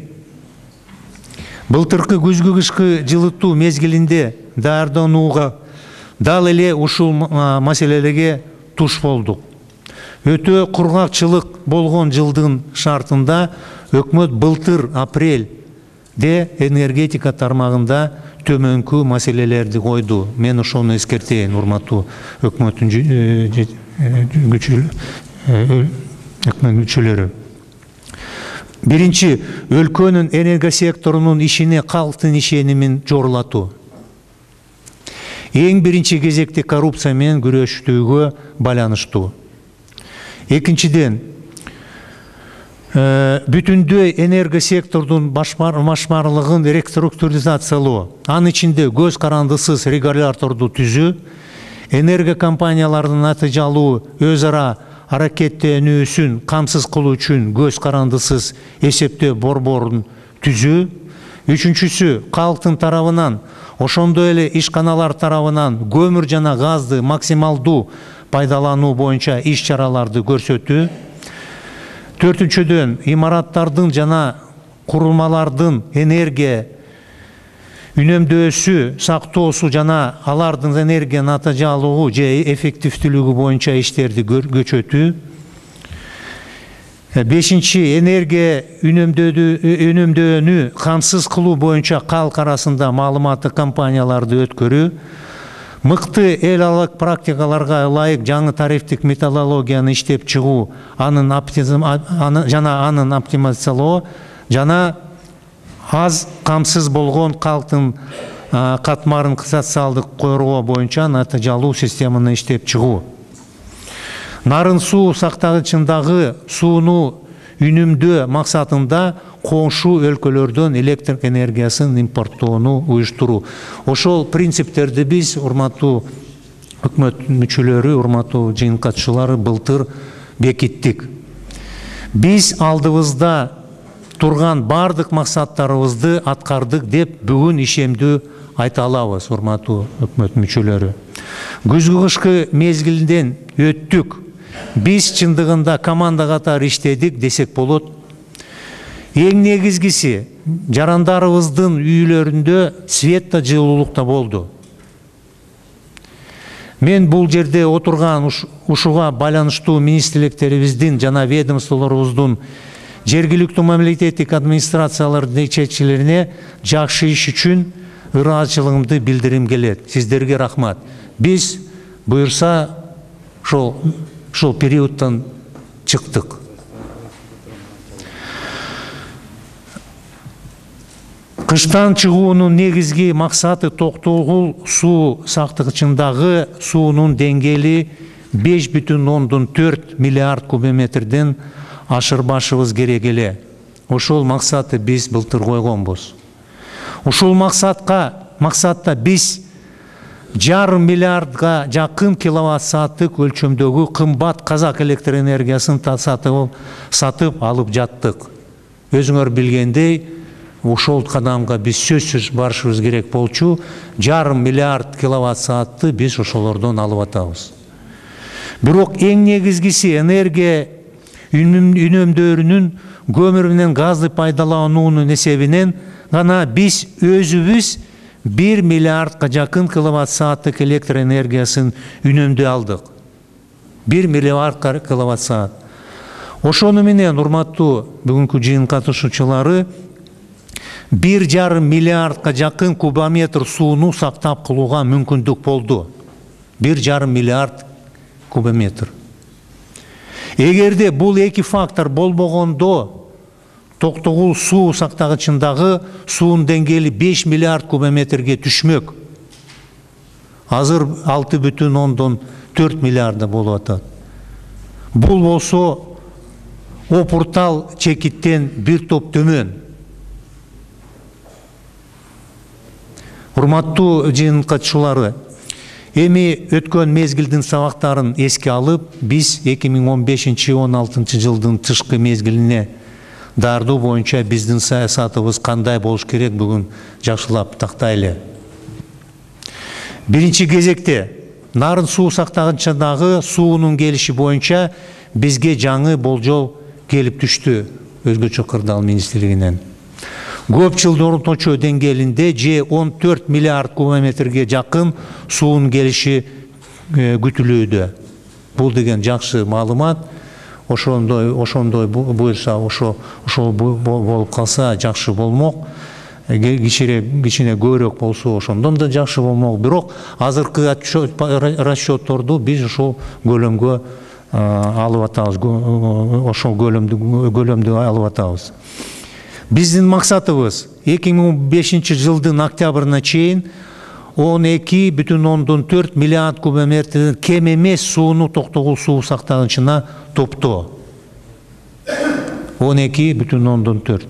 Былтыркы күзгү кышкы жылытуу мезгилинде даярданууга дал эле ушул маселелерге туш болдук. Өтө кургакчылык болгон жылдын шартында өкмөт былтыр апрелде энергетика тармагында төмөнкү маселелерди койду. Мен ошону эскертейин, урматтуу өкмөттүн мүчөлөрү. Биринчи, өлкөнүн энергосекторунун ишине калктын ишенимин жорулатуу. Эң биринчи кезекте коррупция менен күрөштүүгө байланыштуу. Экинчиден, бүтүндөй энергосектордун башкармалыгын реструктуризациялоо, анын ичинде көз карандысыз регуляторду түзүү, энергокомпаниялардын натыйжалуу өз ара аракеттенүүсүн камсыз кылуу үчүн көз карандысыз эсептөө борборун түзүү. Үчүнчүсү, калктын тарабынан, ошондой эле ишканалар тарабынан көмүр жана газды максималдуу пайдалануу боюнча иш чараларды көрсөтүү. Төртүнчүдөн, имараттардын жана курулмалардын энергия үнөмдөөсү, сактоосу жана алардын энергия натыйжалуу же эффективдүүлүгү боюнча иштерди көчөтүү. Бешинчи, энергия үнөмдөөнү камсыз кылуу боюнча калк арасында маалыматтык компанияларды өткөрүү. Мыкты эл аралык практикаларга ылайык жаңы тарифтик методологияны иштеп чыгуу, анын оптимизациялоо жана аз камсыз болгон калктын катмарын социалдык коргоо боюнча натыйжалуу системаны иштеп чыгуу. Нарын суу сактагычындагы сууну үнүмдөө максатында коңшу өлкөлөрдөн электр энергиясын импорттоону уюштуруу. Ошол принциптерди биз, урматтуу өкмөт мүчөлөрү, урматтуу жыйын катчылары, былтыр бекиттик. Биз алдыбызда турган бардык максаттарыбызды аткардык деп бүгүн ишемдүү айта алабыз, урматтуу өкмөт мүчөлөрү. Күзгү кышкы мезгилинен өттүк. Биз чындыгында команда катары иштедик десек болот. Эң негизгиси жарандарыбыздын үйлөрүндө свет да жылуулук да болду. Мен бул жерде отурган ушуга байланыштуу министрликтерибиздин жана ведомстволорубуздун жергиликтүү мамлекеттик администрациялардын жетекчилерине жакшы иш үчүн ыраазычылыгымды билдирим келет. Сиздерге рахмат. Биз буюрса ошол периодтон чыктык. Кыштан чыгуунун негизги максаты Токтогул суу сактагычындагы суунун деңгээли 5,4 миллиард кубометрден ашырбашыбыз керек эле. Ошол максатты биз былтыр койгонбуз. Ушул максатта биз 1,5 миллиардга жакын киловатт сааттык өлчөмдөгү кымбат казак электр энергиясын сатып алып жаттык. Өзүңөр билгендей, ошол кадамга биз сөзсүз барышыбыз керек болчу. 1,5 миллиард киловатт саатты биз ошолордон алып атабыз. Бирок эң негизгиси энергия үнөмдөрүнүн көмүр менен газды пайдалануунун эсебинен гана биз өзүбүз 1 миллиардга жакын киловатт сааттык электр энергиясын үнөмдөй алдык. 1 миллиард киловатт саат. Ошону менен, урматтуу бүгүнкү жыйын катышуучулары, 1,5 миллиардга жакын кубометр сууну сактап калууга мүмкүндүк болду. 1,5 миллиард кубометр. Эгерде бул эки фактор болбогондо, Токтогул суу сактагычындагы суунун деңгээли 5 миллиард кубометрге түшмөк. Азыр 6,4 миллиарда болуп атат. Бул болсо опуртал чекиттен бир топ төмөн. Урматтуу жыйын катышуулары, эми өткөн мезгилдин сабактарын эске алып, биз 2015-16 жылдын тышкы мезгилине даярдоо боюнча биздин саясатыбыз кандай болуш керек бүгүн жакшылап тактайлы. Биринчи кезекте нарын суу сактагычындагы суунун келиши боюнча бизге жаңы болжол келип түштү өзгөчө кырдаал министрлигинен. Көп жылдын орточо деңгээлинде 14 миллиард кубометрге жакын суунун келиши күтүлүүдө. Бул деген жакшы маалымат. Ошондой буюрса, ошол болуп калса жакшы болмок. Кичине көбүрөөк болсо ошондон да жакшы болмок. Бирок азыркы расчетторду биз ошол көлөмгө алып атабыз. Ошол көлөмдү алып атабыз. Биздин максатыбыз 2015 жылдын октябрына чейин 12,4 миллиард кубометрден кем эмес сууну Токтогул суу сактагычына топтоо. 12,4.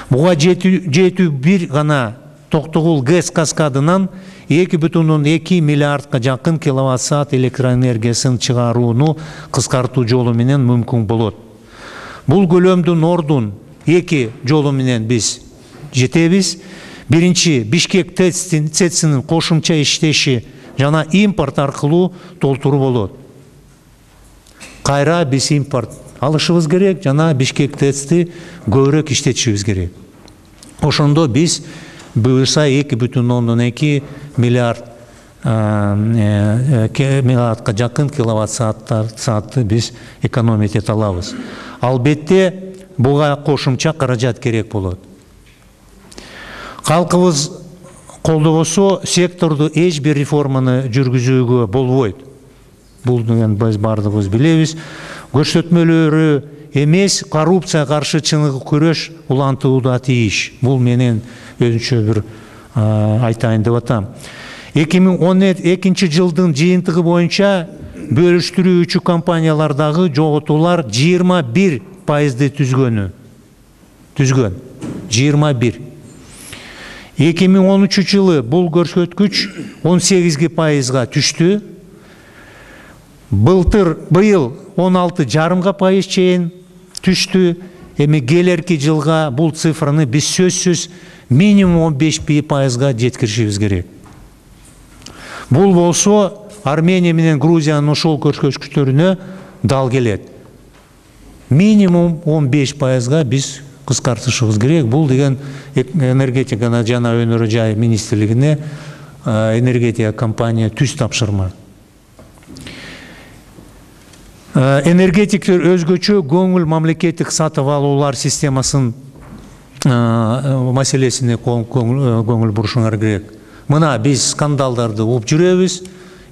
Буга жетүү бир гана Токтогул ГЭС каскадынан 2,2 миллиардга жакын киловатт саат электроэнергиясын чыгарууну кыскартуу жолу менен мүмкүн болот. Бул көлөмдүн ордун эки жолу менен биз жетебиз. Биринчи, Бишкек ТЭЦ-инин кошумча иштеши жана импорт аркылуу толтуруу болот. Кайра биз импорт алышыбыз керек, жана Бишкек ТЭЦ-ти көбүрөөк иштетишибиз керек. Ошондо биз буюрса 2,2 миллиардга жакын киловатт саатты биз экономить эте алабыз. Албетте буга кошумча каражат керек болот. Калкыбыз колдобосо секторду эч бир реформаны жүргүзүүгө болбойт. Бул деген биз бардыгыбыз билебиз. Көрсөтмөлөрү эмес, коррупция каршы чыныгы күрөш улантууга тийиш. Бул менен өзүнчө бир айтайын деп атам. 2012 жылдын жыйынтыгы боюнча бөлүштүрүүчү компаниялардагы жоготуулар 21%-ды түзгөн. 21. 2013 жылы бул көрсөткүч 18%-га түштү. Быйыл 16,5% чейин түштү. Эми келерки жылга бул цифраны биз сөзсүз минимум 15%-га жеткиришибиз керек. Бул болсо Армения менен Грузиянын ошол көрсөткүчтөрүнө дал келет. Минимум 15%-га биз кыскартышыбыз керек. Бул деген энергетика жана өнөр жай министрлигине энергетика компания түз тапшырма. Энергетиктер өзгөчө көңүл мамлекеттик сатып алуулар системасын маселесине көңүл бурушуңар керек. Мына биз скандалдарды угуп жүрөбүз,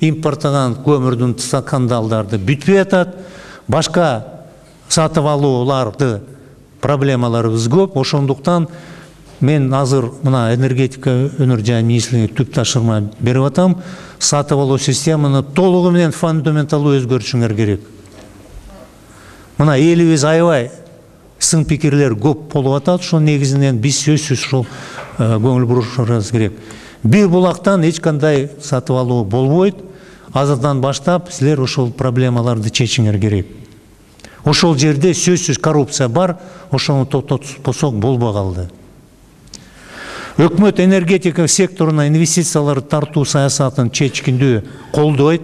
импорттаган көмүрдүн скандалдарды бүтпөй атат, башка сатып алууларды проблемаларыбыз көп. Ошондуктан мен азыр мына энергетика өнөр жай министрлигине түп тапшырма берип атам. Сатып алуу системаны толугу менен фундаменталдуу өзгөртүшүңөр керек. Мына элибиз аябай сын пикирлер көп болуп атат. Ошол негизинен биз сөзсүз ушул көңүл бурушубыз керек. Бир булактан эч кандай сатып алуу болбойт. Азырдан баштап силер ошол проблемаларды чечиңер керек. Ошол жерде сөзсүз коррупция бар, ошону токтотпосок болбой калды. Өкмөт энергетика секторуна инвестицияларды тартуу саясатын чечкиндүү колдойт.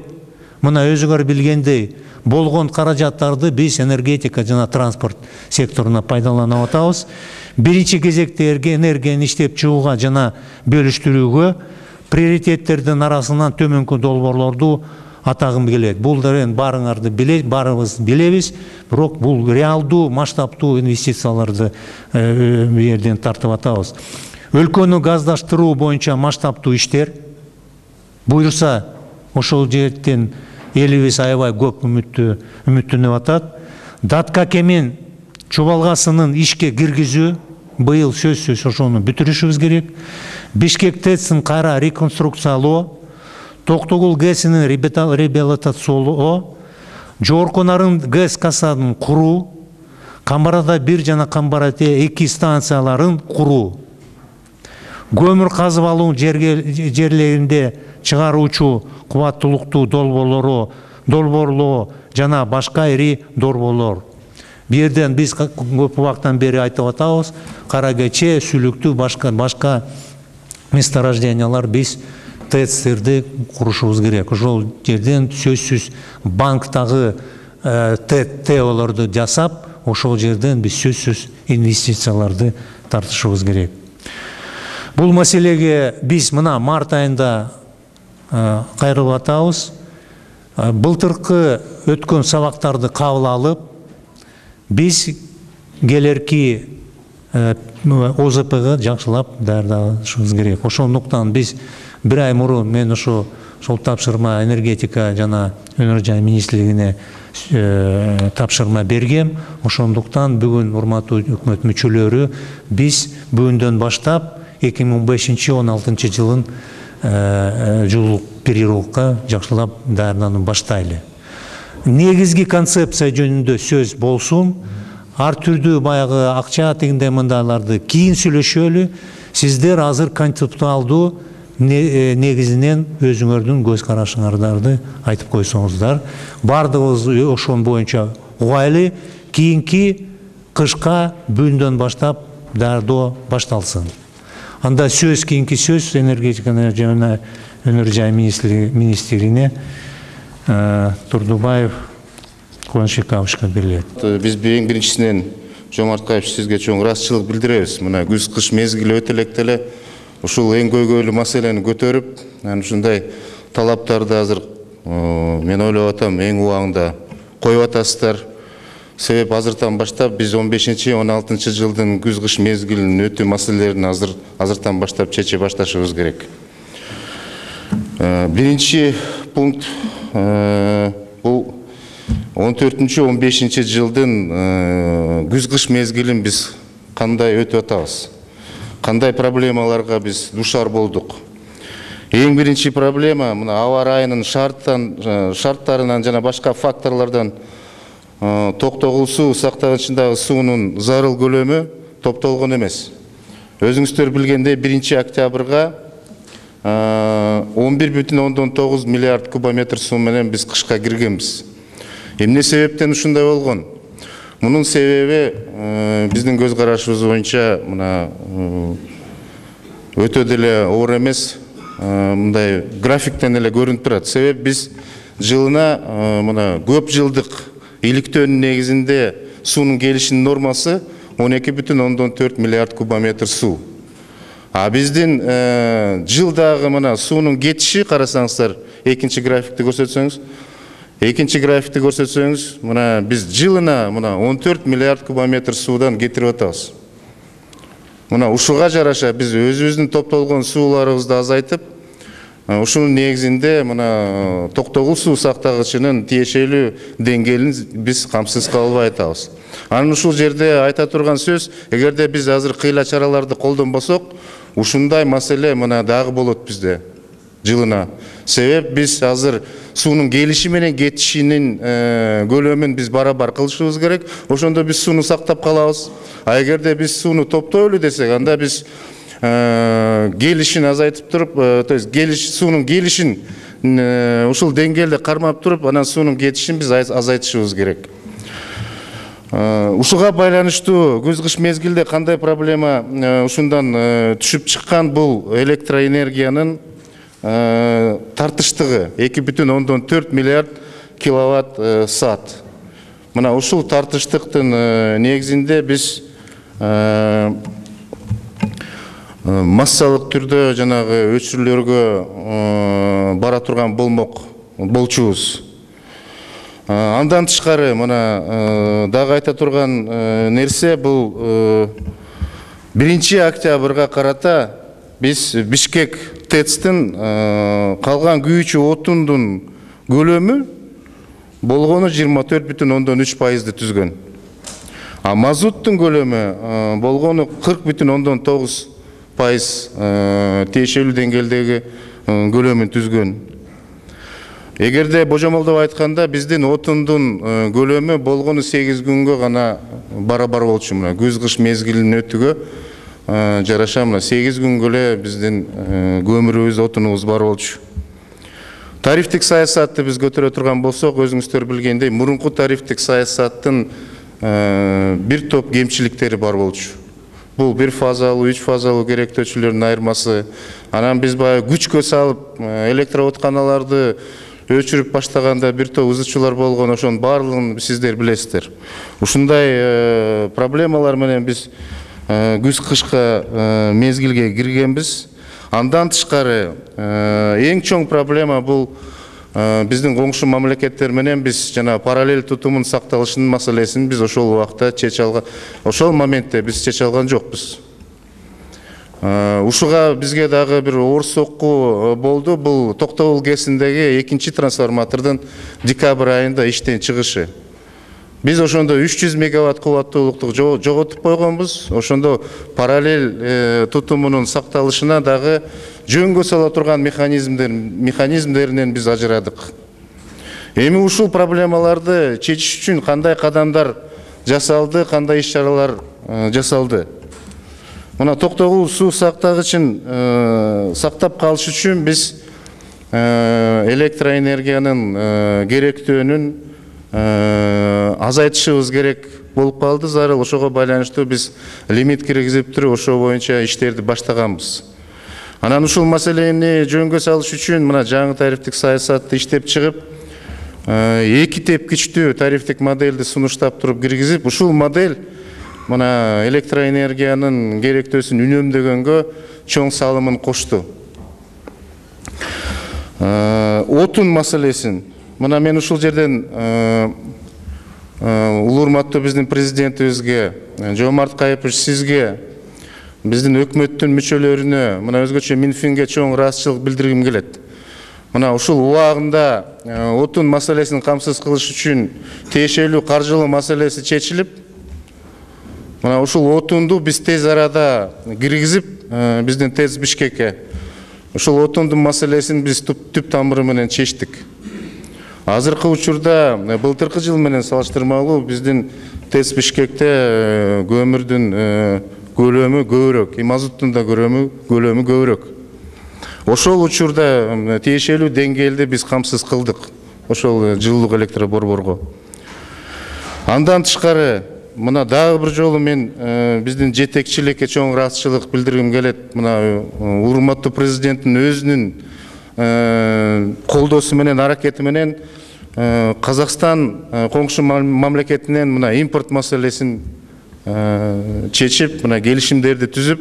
Мына өзүңөр билгендей, болгон каражаттарды биз энергетика жана транспорт секторуна пайдаланып атабыз. Биринчи кезекте энергияны иштеп чыгууга жана бөлүштүрүүгө приоритеттердин арасынан төмөнкү долбоорлорду атагым келет. Бул ден барыңарды барыбыз билебиз, бирок бул реалдуу масштабтуу инвестицияларды жерден тартып атабыз. Өлкөнү газдаштыруу боюнча масштабтуу иштер буйрса ошол жерден элибиз аябай көп үмүттөнүп атат. Даткакемин чубалгасынын ишке киргизүү быйыл сөзсүз ошону бүтүрүшүбүз керек. Бишкек ТЭЦин кайра реконструкциялоо, Токтогул ГЭСинин реабилитациялоо, Жогорку Нарын ГЭС касадын куруу, Камбарада 1 жана Камбарада 2 станцияларын куруу, көмүр казып алуу жерлеринде чыгаруучу кубаттуулуктуу долбоорлоо жана башка ири долбоорлор. Бу жерден биз көп убактан бери айтып атабыз, Каракече, Сүлүктүү, башка месторождениялар биз ТЭЦтерди курушубуз керек. Ошол жерден сөзсүз банктагы ТЭОлорду жасап, ошол жерден биз сөзсүз инвестицияларды тартышыбыз керек. Бул маселеге биз мына март айында кайрылып атабыз. Былтыркы өткөн сабактарды кабыл алып, биз келерки ОЗПга жакшылап даярдашыбыз керек. Ошондуктан биз бир ай мурун мен ошол тапшырма энергетика жана өнөр жай министрлигине тапшырма бергем. Ошондуктан бүгүн урматтуу өкмөт мүчөлөрү биз бүгүндөн баштап 2015-16 жылын жылдык периодка жакшылап даярданып баштайлы. Негизги концепция жөнүндө сөз болсун. Ар түрдүү баягы акча тегинде мындайларды кийин сүйлөшөлү. Сиздер азыр концептуалдуу негизинен өзүңөрдүн көз карашыңарды айтып койсоңуздар. Бардыгыбыз ошон боюнча угайлы, кийинки кышка бүгүндөн баштап даярдоо башталсын. Анда сөз кийинки сөз энергетика жана өнөр жай министригине Турдубаев Куанышбековичке берилет. Биз эң биринчисинен Жомарткаев сизге чоң ыраазычылык билдиребиз. Мына күз-кыш мезгили өтө электе ушул эң көйгөйлүү маселени көтөрүп, ушундай талаптарды азыр мен ойлоп атам эң убагында коюп атасыздар. Себеп азыртан баштап биз 15-16 жылдын күз-кыш мезгилинин өтүү маселелерин азыртан баштап чече башташыбыз керек. Биринчи пункт бул 14-15 жылдын күз-кыш мезгилин биз кандай өтүп атабыз? Кандай проблемаларга биз душар болдук? Эң биринчи проблема мына аба ырайынын шарттарынан жана башка факторлордон токтогул суу сактагычындагы суунун зарыл көлөмү топтолгон эмес. Өзүңүздөр билгендей 1-октябрга 11,9 миллиард кубометр суу менен биз кышка киргенбиз. Эмне себептен ушундай болгон? Мунун себеби биздин көз карашыбыз боюнча мына өтө деле оор эмес, мындай графиктен эле көрүнүп турат. Себеп биз жылына мына көп жылдык иликтөөнүн негизинде суунун келишинин нормасы 12,4 миллиард кубометр суу. А биздин жылдагы мына суунун кетиши карасаңыздар, экинчи графикти көрсөтсөңүз, мына биз жылына мына 14 миллиард кубометр суудан кетирип атабыз. Мына ушуга жараша биз өзүбүздүн топтолгон сууларыбызды азайтып, ушунун негизинде мына токтогул суу сактагычынын тиешелүү деңгээлин биз камсыз кыла албай атабыз. Анын ушул жерде айта турган сөз, эгерде биз азыр кыйла чараларды колдонбосок, ушундай маселе мына дагы болот бизде жылына. Себеп биз азыр суунун келиши менен кетишинин көлөмүн биз барабар кылышыбыз керек. Ошондо биз сууну сактап калабыз. А эгерде биз сууну топтойлу десек, анда биз келишин азайтып туруп, то есть суунун келишин ушул деңгээлде кармап туруп, анан суунун кетишин биз азайтышыбыз керек. Ушуга байланыштуу күз-кыш мезгилде кандай проблема ушундан түшүп чыккан? Бул электроэнергиянын тартыштыгы 2,4 миллиард киловатт саат. Мына ушул тартыштыктын негизинде биз массалык түрдө жанагы өчүрүүлөргө бара турган болчубуз. Андан тышкары мына дагы айта турган нерсе бул 1-октябрга карата биз Бишкек ТЭЦтин калган күйүүчү отундун көлөмү болгону 24,3%-ды түзгөн. А мазуттун көлөмү болгону 40,9% тиешелүү деңгээлдеги көлөмүн түзгөн. Эгерде божомолдоп айтканда биздин отундун көлөмү болгону 8 күнгө гана барабар болчу. Мына күз-кыш мезгилинин өтүүгө жараша мына 8 күнгө эле биздин көмүрүбүз, отунубуз бар болчу. Тарифтик саясатты биз көтөрө турган болсок, өзүңүздөр билгендей, мурунку тарифтик саясаттын бир топ кемчиликтери бар болчу. Бул 1 фазалуу, 3 фазалуу керектөөчүлөрдүн айырмасы. Анан биз баягы күчкө салып электроутканаларды өчүрүп баштаганда бир топ ызычуулар болгон, ошонун баардыгын сиздер билесиздер. Ушундай проблемалар менен биз күз-кышка мезгилге киргенбиз. Андан тышкары эң чоң проблема бул биздин коңшу мамлекеттер менен биз жана параллель тутумун сакталышынын маселесин биз ошол убакта чече алган, ошол моментте биз чече алган жокпуз. Ушуга бизге дагы бир оор сокку болду. Бул Токтогул КЭСиндеги 2-чи трансформатордун декабрь айында иштен чыгышы. Биз ошондо 300 мегаватт кубаттуулукту жоготуп койгонбуз. Ошондо параллель тутумунун сакталышына дагы жөнгө сала турган механизмдеринен биз ажырадык. Эми ушул проблемаларды чечиш үчүн кандай кадамдар жасалды, кандай иш-чаралар жасалды? Мына Токтогул суу сактагычын сактап калыш үчүн биз электроэнергиянын керектөөнүн азайтышыбыз керек болуп калды зарыл. Ошого байланыштуу биз лимит киргизип туруп ошо боюнча иштерди баштаганбыз. Анан ушул маселени жөнгө салыш үчүн мына жаңы тарифтик саясатты иштеп чыгып, 2 тепкичтүү тарифтик модельди сунуштап туруп киргизип, ушул модель мына электроэнергиянын керектөөсүн үнөмдөгөнгө чоң салымын кошту. Отун маселесин мына мен ушул жерден улуу урматтуу биздин президентибизге, Жомарт Кайыпович сизге, биздин өкмөттүн мүчөлөрүнө, мына өзгөчө Минфинге чоң ыраазычылык билдиргим келет. Мына ушул убагында отун маселесин камсыз кылыш үчүн тиешелүү каржылоо маселеси чечилип, мына ушул отунду биз тез арада киргизип, биздин ТЭЦ Бишкекке ушул отундун маселесин биз түп тамыры менен чечтик. Азыркы учурда былтыркы жыл менен салыштырмалуу биздин ТЭЦ Бишкекте көмүрдүн көлөмү көбүрөөк, мазуттун да көлөмү көбүрөөк. Ошол учурда тиешелүү деңгээлде биз камсыз кылдык ошол жылуулук электроборборго. Андан тышкары мына дагы бир жолу мен биздин жетекчиликке чоң ыраазычылык билдиргим келет. Мына урматтуу президенттин өзүнүн колдоосу менен, аракети менен Казакстан коңшу мамлекетинен мына импорт маселесин чечип, мына келишимдерди түзүп,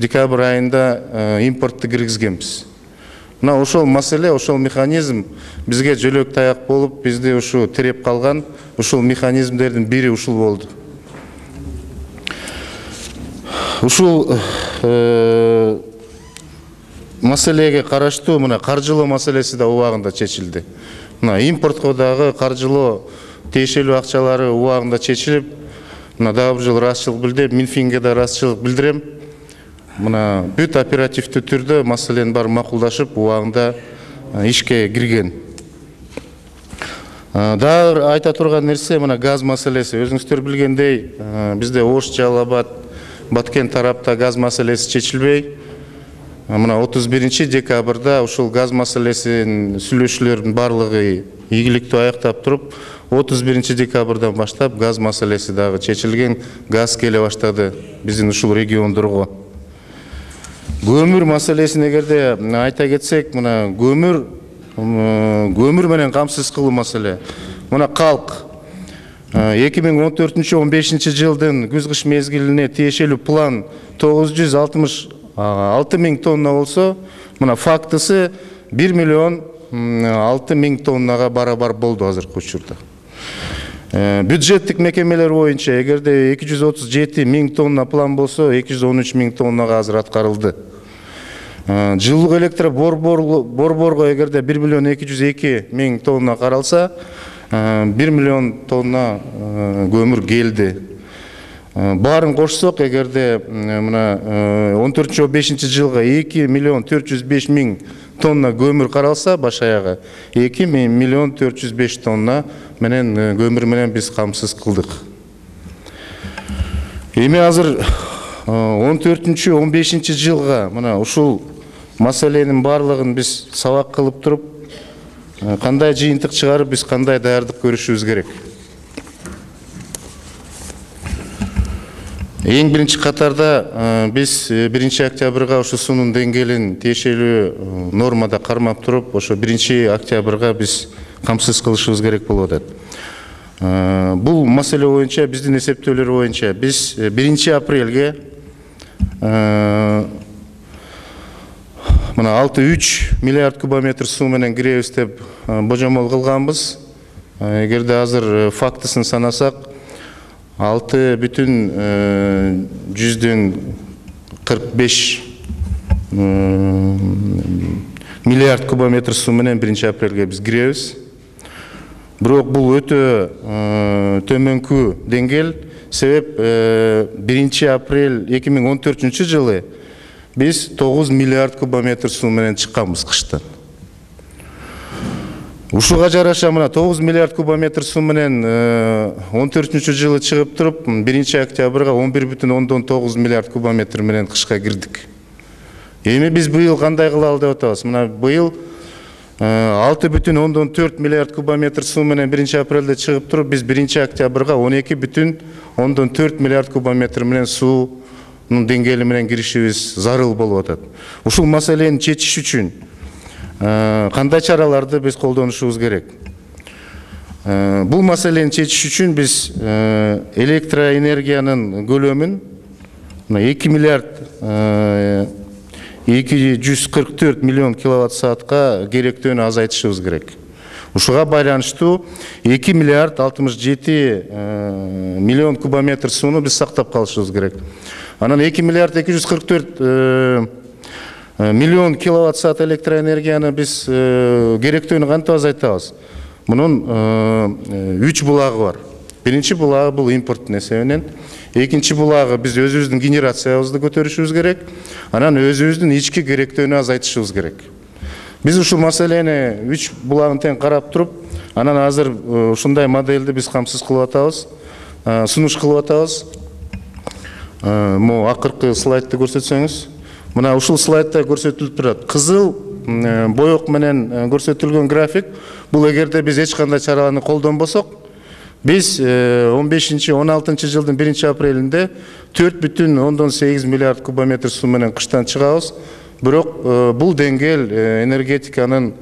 декабрь айында импортты киргизгенбиз. Мына ошол маселе, ошол механизм бизге жөлөк таяк болуп, бизди ушу тиреп калган ушул механизмдердин бири ушул болду. Ушул маселеге караштуу мына каржылоо маселеси да убагында чечилди. Мына импортко дагы каржылоо тиешелүү акчалары убагында чечилип, мына дагы бир жолу ыраазычылык билдирем, Минфинге да ыраазычылык билдирем. Мына бүт оперативдүү түрдө маселенин баары макулдашып, убагында ишке кирген. Дагы айта турган нерсе мына газ маселеси. Өзүңүздөр билгендей, бизде Ош, Жалал Абад, Баткен тарапта газ маселеси чечилбей, мына 31 декабрда ушул газ маселесин сүйлөшүүлөрдүн барлыгы ийгиликтүү аяктап туруп, 31 декабрдан баштап газ маселеси дагы чечилген, газ келе баштады биздин ушул региондорго. Көмүр маселесин эгерде айта кетсек, мына көмүр менен камсыз кылуу маселе. Мына калк 2014-15 жылдын күз-кыш мезгилине тиешелүү план 966 миң тонна болсо, мына фактысы 1 миллион 6 миң тоннага барабар болду азыркы учурда. Бюджеттик мекемелер боюнча эгерде 237 миң тонна план болсо, 213 миң тоннага азыр аткарылды. Жылуулук электроборборго эгерде 1 миллион 202 миң тонна каралса, 1 миллион тонна көмүр келди. Баарын кошсок, эгерде мына 14-15 жылга 2 миллион 405 миң тонна көмүр каралса, баш аягы 2 миллион 405 тонна менен көмүр менен биз камсыз кылдык. Эми азыр 14-15 жылга мына ушул маселенин барлыгын биз сабак кылып туруп, кандай жыйынтык чыгарып, биз кандай даярдык көрүшүбүз керек. Эң биринчи катарда биз 1 октябрга ошо суунун деңгээлин тиешелүү нормада кармап туруп, ошо 1 октябрга биз камсыз кылышыбыз керек болуп атат. Бул маселе боюнча, биздин эсептөөлөр боюнча, биз 1 апрелге мына 6,3 миллиард кубометр суу менен киребиз деп божомол кылганбыз. Эгерде азыр фактысын санасак, 6,45 миллиард кубометр суу менен 1 апрелге биз киребиз. Бирок бул өтө төмөнкү деңгээл, себеп 1 апрель 2014 жылы биз 9 миллиард кубометр суу менен чыкканбыз кыштан. Ушуга жараша мына 9 миллиард кубометр суу менен 14 жылы чыгып туруп, 1 октябрга 11,9 миллиард кубометр менен кышка кирдик. Эми биз быйыл кандай кылалы деп атабыз? Мына быйыл 6,4 миллиард кубометр суу менен 1 апрелде чыгып туруп, биз 1 октябрга 12,4 миллиард кубометр менен суунун деңгээли менен киришибиз зарыл болуп атат. Ушул маселени чечиш үчүн кандай чараларды биз колдонушубуз керек? Бул маселени чечиш үчүн биз электроэнергиянын көлөмүн 2 миллиард 244 миллион киловатт саатка керектөөнү азайтышыбыз керек. Ушуга байланыштуу 2 миллиард 67 миллион кубометр сууну биз сактап калышыбыз керек. Анан 2 миллиард 244 миллион киловатт саат электроэнергияны биз керектөөнү кантип азайтабыз? Мунун 3 булагы бар. Биринчи булагы бул импорттун эсебинен, экинчи булагы биз өзүбүздүн генерациябызды көтөрүшүбүз керек, анан өзүбүздүн ички керектөөнү азайтышыбыз керек. Биз ушул маселени 3 булагын тең карап туруп, анан азыр ушундай модельди биз камсыз кылып атабыз, сунуш кылып атабыз. Могу акыркы слайдты көрсөтсөңүз, мына ушул слайдта көрсөтүлүп турат. Кызыл боек менен көрсөтүлгөн график, бул эгерде биз эч кандай чараларды колдонбосок, biz 15-16 жылдын 1 апрелинде 4,8 миллиард кубометр суу менен кыштан чыгабыз. Бирок бул деңгээл энергетиканын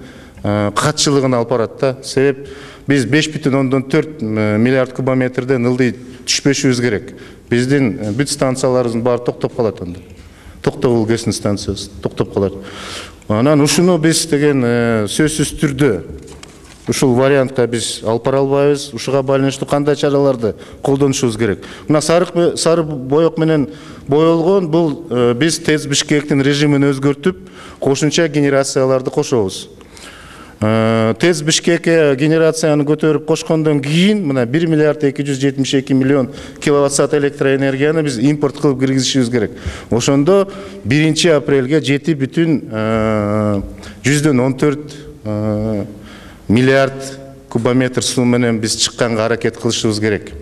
катчылыгына алып барат да. Себеп биз 5,4 миллиард кубометрден ылдый түшпөшүбүз керек. Биздин бүт станцияларыбыздын баары токтоп калат анда. Токтогул ГЭС станциясы токтоп калат. Анан ушуну биз деген сөзсүз түрдө ушул вариантка биз алып бара албайбыз. Ушуга байланыштуу кандай чараларды колдонушубуз керек? Мына сары боек менен боелгон бул биз ТЭЦ Бишкектин режимин өзгөртүп, кошумча генерацияларды кошобуз. ТЭЦ Бишкекке генерацияны көтөрүп кошкондон кийин мына 1 миллиард 272 миллион киловатт саат электроэнергияны биз импорт кылып киргизишибиз керек. Ошондо 1 апрелге 7,14 миллиард кубометр суу менен биз чыкканга аракет кылышыбыз керек.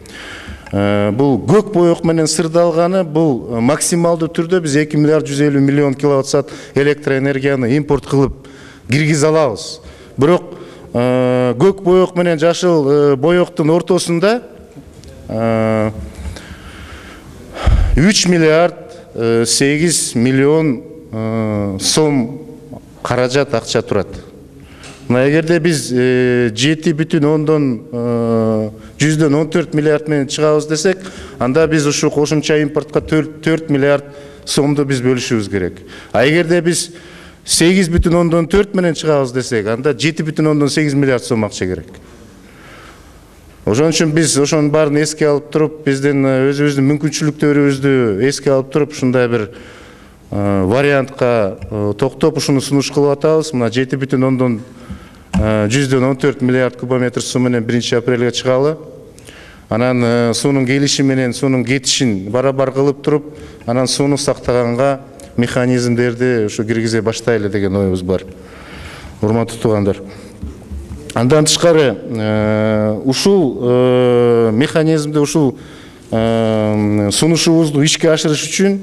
Бул көк боек менен сырдалганы, бул максималдуу түрдө биз 2 миллиард 150 миллион киловатт саат электроэнергияны импорт кылып киргизе алабыз. Бирок көк боек менен жашыл боектун ортосунда 3 миллиард 8 миллион сом каражат акча турат. Мына эгерде биз 7,14 миллиард менен чыгабыз десек, анда биз ушу кошумча импортко 4 миллиард сомду биз бөлүшүбүз керек. А эгерде биз 8,14 менен чыгабыз десек, анда 7,8 миллиард сом акча керек. Ошон үчүн биз ошонун баарын эске алып туруп, биздин өзүбүздүн мүмкүнчүлүктөрүбүздү эске алып туруп, ушундай бир вариантка токтоп ушуну сунуш кылып атабыз. Мына 7,14 миллиард кубометр суу менен 1 апрелге чыгалы. Анан суунун келиши менен суунун кетишин барабар кылып туруп, анан сууну сактаганга механизмдерди ушу киргизе баштайлы деген оюбуз бар. Урматтуу туугандар. Андан тышкары ушул механизмди, ушул сунушубузду ишке ашырыш үчүн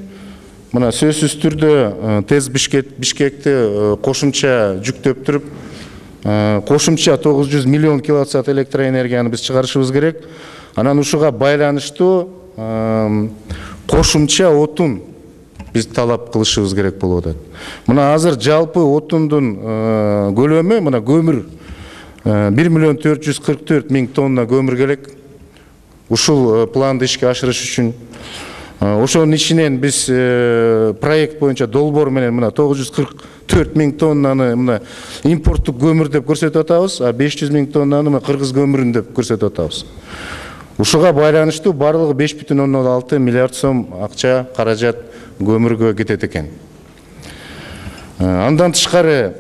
мына сөзсүз түрдө ТЭЦ Бишкекти кошумча жүктөп туруп, кошумча 900 миллион киловатт саат электроэнергияны биз чыгарышыбыз керек. Анан ушуга байланыштуу кошумча отун биз талап кылышыбыз керек болуп атат. Мына азыр жалпы отундун көлөмү, мына көмүр 1 миллион 444 миң тонна көмүр керек. Ушул планды ишке ашырыш үчүн ошонун ичинен биз проект боюнча долбоор менен мына 944 миң тоннаны мына импорттук көмүр деп көрсөтүп атабыз, а 500 миң тоннаны мына кыргыз көмүрүн деп көрсөтүп атабыз. Ушуга байланыштуу барлыгы 5,6 миллиард сом акча каражат көмүргө кетет экен. Андан тышкары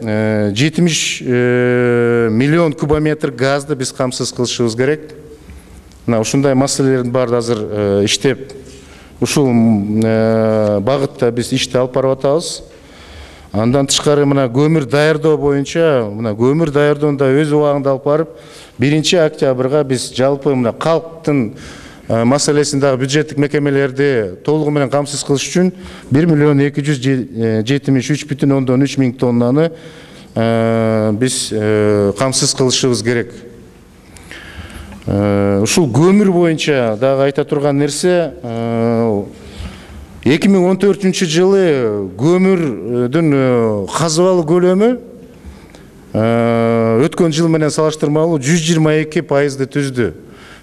70 миллион кубометр газды биз камсыз кылышыбыз керек. Мына ушундай маселелердин баары азыр иштеп, ушул багытта биз ишти алып барып атабыз. Андан тышкары мына көмүр даярдоо боюнча, мына көмүр даярдоону өз убагында алып барып, 1 октябрга биз жалпы мына калктын маселесин дагы бюджеттик мекемелерди толугу менен камсыз кылыш үчүн 1 миллион 273,3 миң тоннаны биз камсыз кылышыбыз керек. Ушул көмүр боюнча дагы айта турган нерсе, 2014 жылы көмүрдүн казыбалуу көлөмү өткөн жыл менен салыштырмалуу 122% түздү.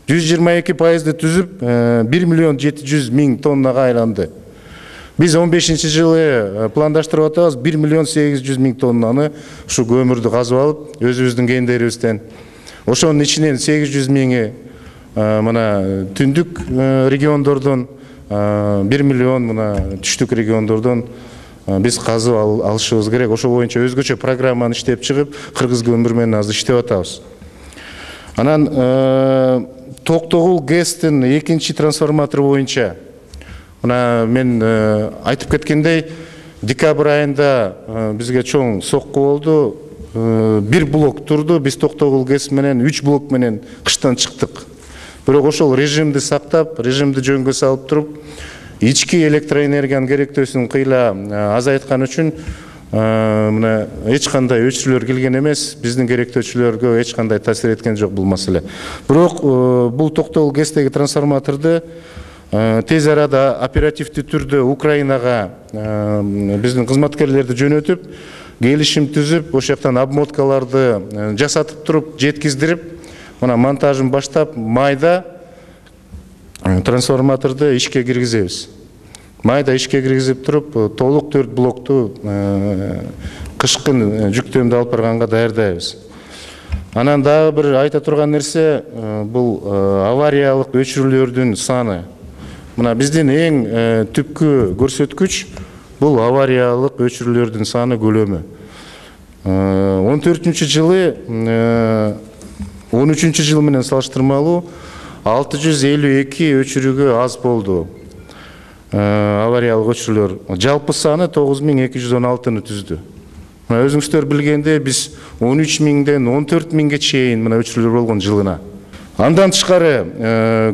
122% түзүп 1 миллион 700 миң тоннага айланды. Биз 15 жылы пландаштырып атабыз 1 миллион 800 миң тоннаны ушу көмүрдү казып алып, өзүбүздүн кендерибизден Ошонун ичинен 800 миңи мына түндүк региондордон, 1 миллион мына түштүк региондордон биз казып алышыбыз керек. Ошо боюнча өзгөчө программаны иштеп чыгып, Кыргыз көмүр менен азыр иштеп атабыз. Анан Токтогул ГЭСтин экинчи трансформатор боюнча мына мен айтып кеткендей, декабрь айында бизге чоң сокку болду. 1 блок турду. Биз Токтогул ГЭС менен 3 блок менен кыштан чыктык. Бирок ошол режимди сактап, режимди жөнгө салып туруп, ички электроэнергиянын керектөөсүн кыйла азайткан үчүн мына эч кандай өчүрүүлөр келген эмес. Биздин керектөөчүлөргө эч кандай таасир эткен жок бул маселе. Бирок бул Токтогул ГЭСтеги трансформаторду тез арада оперативдүү түрдө Украинага биздин кызматкерлерди жөнөтүп, келишим түзүп, ошол жактан обмоткаларды жасатып туруп, жеткиздирип, мына монтажын баштап, майда трансформаторду ишке киргизебиз. Майда ишке киргизип туруп, толук 4 блокту кышкын жүктөмдү алып барганга даярдайбыз. Анан дагы бир айта турган нерсе, бул авариялык өчүрүүлөрдүн саны. Мына биздин эң түпкү көрсөткүч бул авариялык өчүрүүлөрдүн саны көлөмү. 14 жылы 13 жыл менен салыштырмалуу 652 өчүрүүгө аз болду. Авариялык өчүрүүлөр. Жалпы саны 9216-ны түздү. Мына өзүңүздөр билгендей, биз 13 миңден 14 миңге чейин мына өчүрүүлөр болгон жылына. Андан тышкары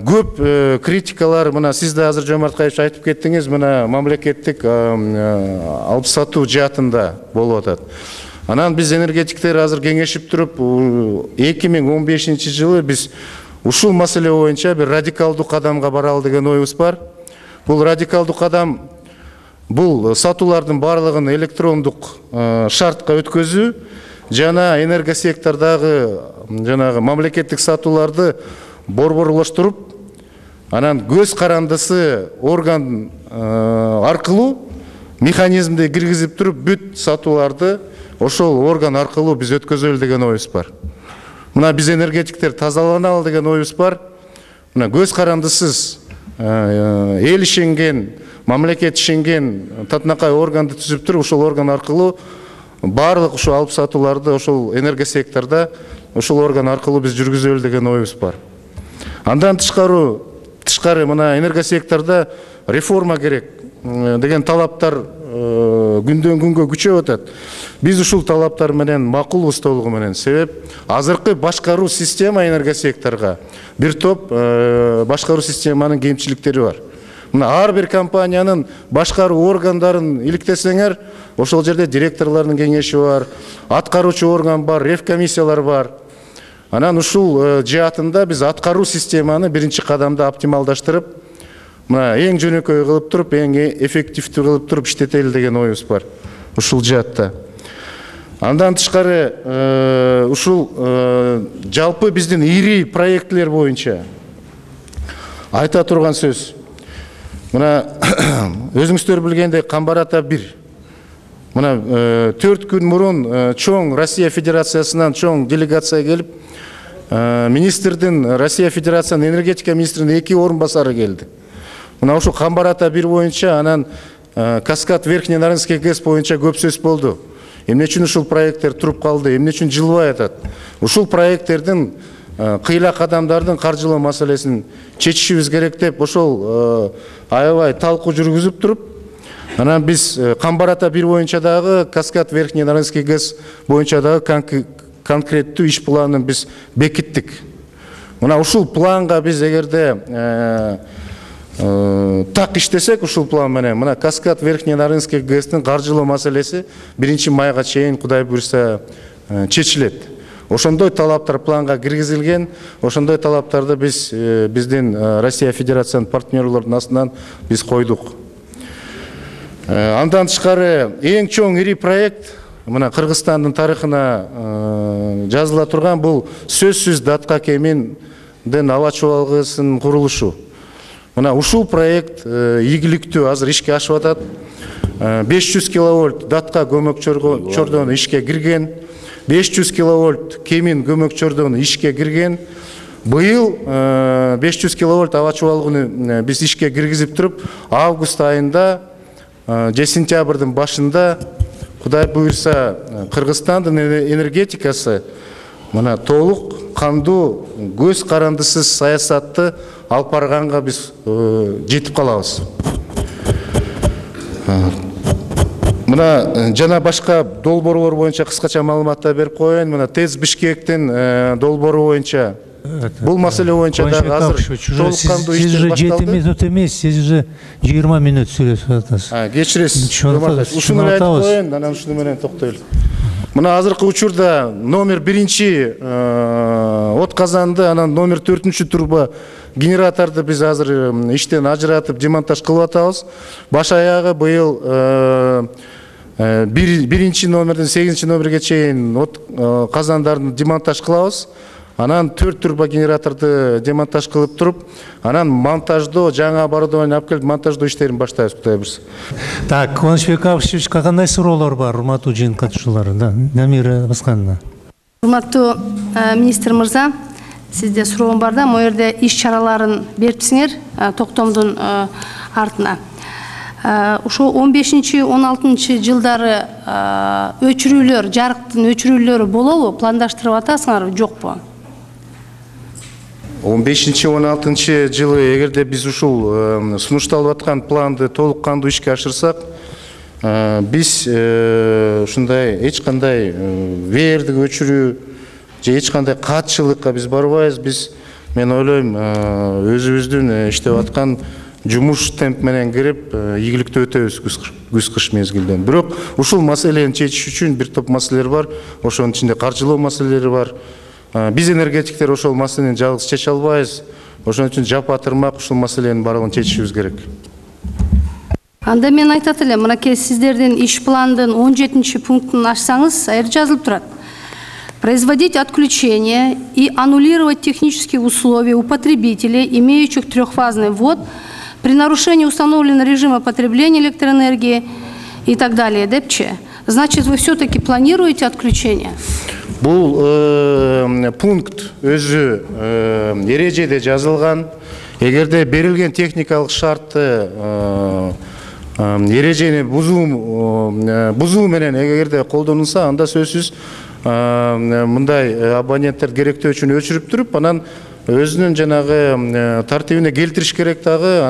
көп критикалар, мына сиз да азыр Жомарткаевич айтып кеттиңиз, мына мамлекеттик алып сатуу жаатында болуп атат. Анан биз энергетиктер азыр кеңешип туруп, 2015 жылы биз ушул маселе боюнча бир радикалдуу кадамга баралы деген оюбуз бар. Бул радикалдуу кадам бул сатуулардын барлыгын электрондук шартка өткөзүү жана энергосектордагы жанагы мамлекеттик сатууларды борборлоштуруп, анан көз карандысы орган аркылуу механизмди киргизип туруп, бүт сатууларды ошол орган аркылуу биз өткөзөлү деген оюбуз бар. Мына биз энергетиктер тазаланалы деген оюбуз бар. Мына көз карандысыз эл ишенген, мамлекет ишенген татынакай органды түзүп туруп, ошол орган аркылуу барлык ушул алып сатууларды ошол энергосектордо ошол орган аркылуу биз жүргүзөлү деген оюбуз бар. Андан тышкары мына энергосектордо реформа керек деген талаптар күндөн күнгө күчөп атат. Биз ушул талаптар менен макулбуз толугу менен. Себеп азыркы башкаруу система энергосекторго бир топ башкаруу системанын кемчиликтери бар. Мына ар бир компаниянын башкаруу органдарын иликтесеңер, ошол жерде директорлордун кеңеши бар, аткаруучу орган бар, ревкомиссиялар бар. Анан ушул жаатында биз аткаруу системаны биринчи кадамда оптималдаштырып, мына эң жөнөкөй кылып туруп, эң эффективдүү кылып туруп иштетели деген оюбуз бар ушул жаатта. Андан тышкары ушул жалпы биздин ири проектлер боюнча айта турган сөз. Мына өзүңүздөр билгендей Камбар ата 1. Мына 4 күн мурун чоң Россия Федерациясынан чоң делегация келип, министрдин, Россия Федерациясынын энергетика министринин 2 орун басары келди. Мына ошо Камбар ата 1 боюнча, анан Каскад Верхний Нарынский ГЭС боюнча көп сөз болду. Эмне үчүн ушул проекттер туруп калды, эмне үчүн жылбай атат? Ушул проекттердин кыйла кадамдардын каржылоо маселесин чечишибиз керек деп ошол аябай талкуу жүргүзүп туруп, анан биз Камбар ата 1 боюнча дагы, Каскад Верхний Нарынский ГЭС боюнча дагы конкреттүү иш планын биз бекиттик. Мына ушул планга биз эгерде так иштесек, ушул план менен мына Каскад Верхний Нарынский ГЭСтин каржылоо маселеси 1 майга чейин Кудай буйрса чечилет. Ошондой талаптар планга киргизилген, ошондой талаптарды биз биздин Россия Федерациянын партнерлордун астынан биз койдук. Андан тышкары эң чоң ири проект мына Кыргызстандын тарыхына жазыла турган бул сөзсүз датка кеминдин аба чуалгысынын курулушу. Мына ушул проект ийгиликтүү азыр ишке ашып атат. 500 киловольт датка көмөк чордон ишке кирген. 500 киловольт кемин көмөкчөрдөн ишке кирген. Быйыл 500 киловольт аба чубалгыны биз ишке киргизип туруп, август айында же сентябрдын башында Кудай буйрса Кыргызстандын энергетикасы мына толук кандуу көз карандысыз саясатты алып барганга биз жетип калабыз. Мына жана башка долбоорлор боюнча кыскача маалыматтар берип коеюн. Мына ТЭЦ Бишкектин долбоору боюнча бул маселе боюнча дагы азыр толук кандуу иштер башталды. Сиз 7 минут эмес, сиз уже 20 минут сүйлөшүп атасыз. Кечиресиз. Ушуну айтып коеюн, анан ушуну менен токтойлу. Мына азыркы учурда номер 1 от казанды, анан номер 4 турбо генераторду биз азыр иштен ажыратып демонтаж кылып атабыз. Баш аягы быйыл 1 номерден 8 номерге чейин от казандарын демонтаж кылабыз. Анан 4 турбо генераторду демонтаж кылып туруп, анан монтаждоо, жаңы оборудование алып келип монтаждоо иштерин баштайбыз, Кудай буйрса. Так, Кубанычбек Абышевичке кандай суроолор бар, урматтуу жыйын катышуучулары? Намира Баскановна. Урматтуу министр мырза, сизде суроом бар да, могу жерде иш чараларын берипсиңер токтомдун артына. Ошо 15-16 жылдары өчүрүүлөр, жарыктын өчүрүүлөрү болобу? Пландаштырып атасыңарбы, жокпу? 15-16 жылы эгерде биз ушул сунушталып аткан планды толук кандуу ишке ашырсак, биз ушундай эч кандай веердик өчүрүү же эч кандай катчылыкка биз барбайбыз. Биз, мен ойлойм, өзүбүздүн иштеп аткан жумуш темп менен кирип, ийгиликтүү өтөбүз күз-кыш мезгилден. Бирок ушул маселени чечиш үчүн бир топ маселелер бар. Ошонун ичинде каржылоо маселелери бар. Биз энергетиктер ошол маселени жалгыз чече албайбыз. Ошон үчүн жапа-тырмак ушул маселенин баардыгын чечишибиз керек. Анда мен айтат элем, мынакей сиздердин иш пландын 17 пунктун ачсаңыз, аер жазылып турат. Производить отключение и аннулировать технические условия у потребителей, имеющих трехфазный ввод, при нарушении установленного режима потребления электроэнергии и так далее. Депче. Значит, вы все-таки планируете отключение? Бул пункт өзү эрежеде жазылган. Эгерде берилген техникалык шартты эрежени бузуу менен эгерде колдонулса, анда сөзсүз мындай абоненттер керектөө үчүн өчүрүп туруп, анан өзүнүн жанагы тартибине келтириш керек дагы,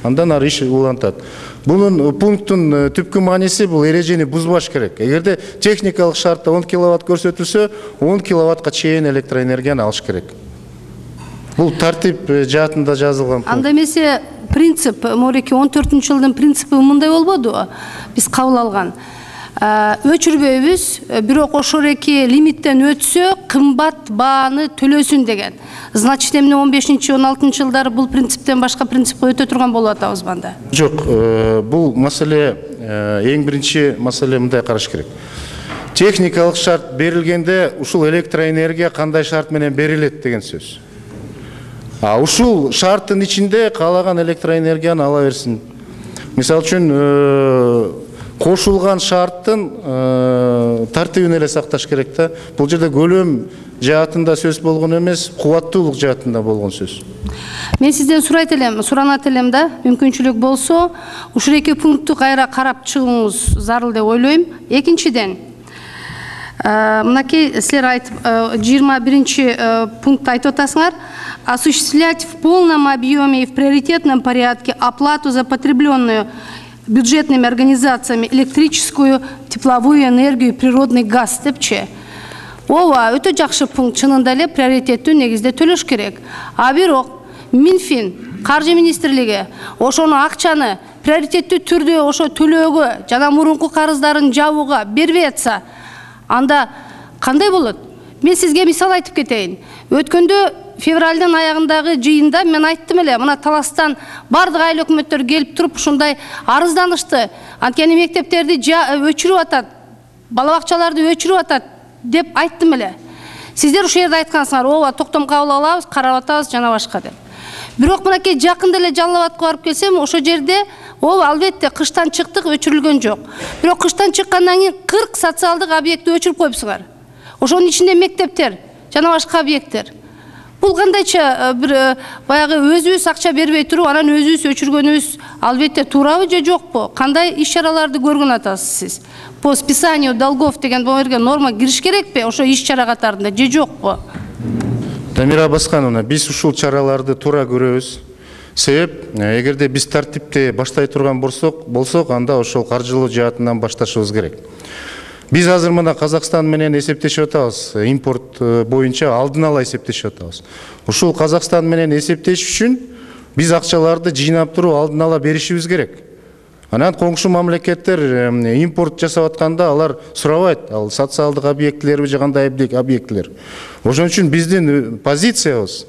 андан ары иш улантат. Бунун пункттун түпкү мааниси бул эрежени бузбаш керек. Эгерде техникалык шартта 10 киловатт көрсөтүлсө, 10 киловаттка чейин электроэнергияны алыш керек. Бул тартип жаатында жазылган. Анда эмесе принцип, мореки 14-жылдын принципи мындай болбоду? Биз кабыл алган. Өчүрбөйбүз, бирок ошореки лимиттен өтсө, кымбат бааны төлөсүн деген. Значит, эмне 15-16 жылдары бул принциптен башка принципке өтө турган болуп атабыз банда? Жок, бул маселе, эң биринчи маселе мындай караш керек. Техникалык шарт берилгенде, ушул электроэнергия кандай шарт менен берилет деген сөз. Ушул шарттын ичинде каалаган электроэнергияны ала берсин. Мисалы үчүн, кошулган шарттын тартибин эле сакташ керек да. Бул жерде көлөм жаатында сөз болгон эмес, кубаттуулук жаатында болгон сөз. Мен сизден суранат элем да, мүмкүнчүлүк болсо, ушул эки пунктту кайра карап чыгууңуз зарыл деп ойлойм. Экинчиден, мынакей силер айтып 21 пунктты айтып атасыңар, осуществлять в полном объеме и в приоритетном порядке оплату за потребленную бюджетными организациями электрическую, тепловую энергию и природный газ депчи. Ооба, өтө жакшы пункт, чынында эле приоритеттүү негизде төлөш керек. Бирок Минфин, Каржы министрлиги ошону акчаны приоритеттүү түрдө ошо төлөөгө жана мурунку карыздарын жабууга бербей атса, анда кандай болот? Мен сизге мисал айтып кетейин. Өткөндө февралдын аягындагы жыйында мен айттым эле, мына Таластан бардык айыл өкмөттөр келип туруп ушундай арызданышты. Анткени мектептерди өчүрүп атат, бала бакчаларды өчүрүп атат деп айттым эле. Сиздер ушул жерде айткансыңар, ооба, токтом кабыл алабыз, карап атабыз жана башка деп. Бирок мынакей жакында эле Жалал Абадка барып келсем, ошол жерде ооба, албетте кыштан чыктык, өчүрүлгөн жок. Бирок кыштан чыккандан кийин 40 социалдык объектти өчүрүп коюпсуңар. ошонун ичинде мектептер жана башка объекттер. Бул кандайча бир баягы өзүбүз акча бербей туруп, анан өзүбүз өчүргөнүбүз албетте туурабы же жокпу? Кандай иш-чараларды көргөн атасыз сиз? По списанию долгов деген бу жерге норма кириш керекпи ошо иш-чара катарында же жокпу? Дамира Баскановна, биз ушул чараларды туура көрөбүз. Себеп, эгерде биз тартипти баштай турган болсок, анда ошол каржылуу жаатынан башташыбыз керек. Биз азыр мына Казакстан менен эсептешип атабыз. Импорт боюнча алдын ала эсептешип атабыз. Ушул Казакстан менен эсептеш үчүн биз акчаларды жыйнап туруп алдын ала беришибиз керек. Анан коңшу мамлекеттер импорт жасап атканда алар сурабайт, ал социалдык объектилерби же кандай объектилер. Ошон үчүн биздин позициябыз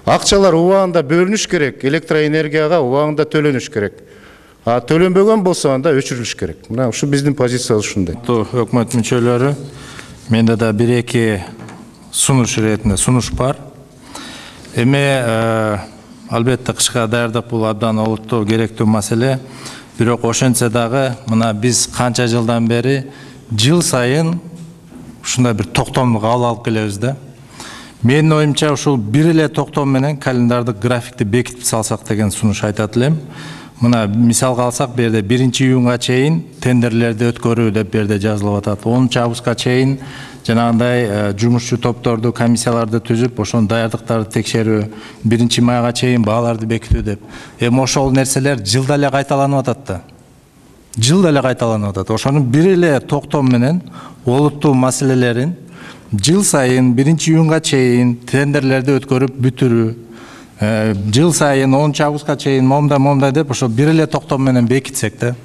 акчалар убагында бөлүнүш керек, электроэнергияга убагында төлөнүш керек. А төлөнбөгөн болсо анда өчүрүлүш керек. Мына ушу биздин позициябыз ушундай. Өкмөт мүчөлөрү, менде да бир-эки сунуш иретинде сунуш бар. Эми албетте кышка даярдык бул абдан олуттуу керектүү маселе. Бирок ошентсе дагы мына биз канча жылдан бери жыл сайын ушундай бир токтомду кабыл алып келебиз да. Менин оюмча ушул бир эле токтом менен календардык графикти бекитип салсак деген сунуш айтат элем. Мына мисалга алсак, бу жерде 1-июнга чейин тендерлерди өткөрүү деп бу жерде жазылып атат. 10 августка чейин жанагындай жумушчу топторду, комиссияларды түзүп, ошонун даярдыктарды текшерүү, 1-майга чейин бааларды бекитүү деп. Эми ошол нерселер жылда эле кайталанып атат да. Жылда эле кайталанып атат. Ошонун бир эле токтом менен олуттуу маселелерин жыл сайын 1-июнга чейин тендерлерди өткөрүп бүтүрүү, жыл сайын 10 августка чейин момдай деп ошо бир эле токтом менен бекитсек да.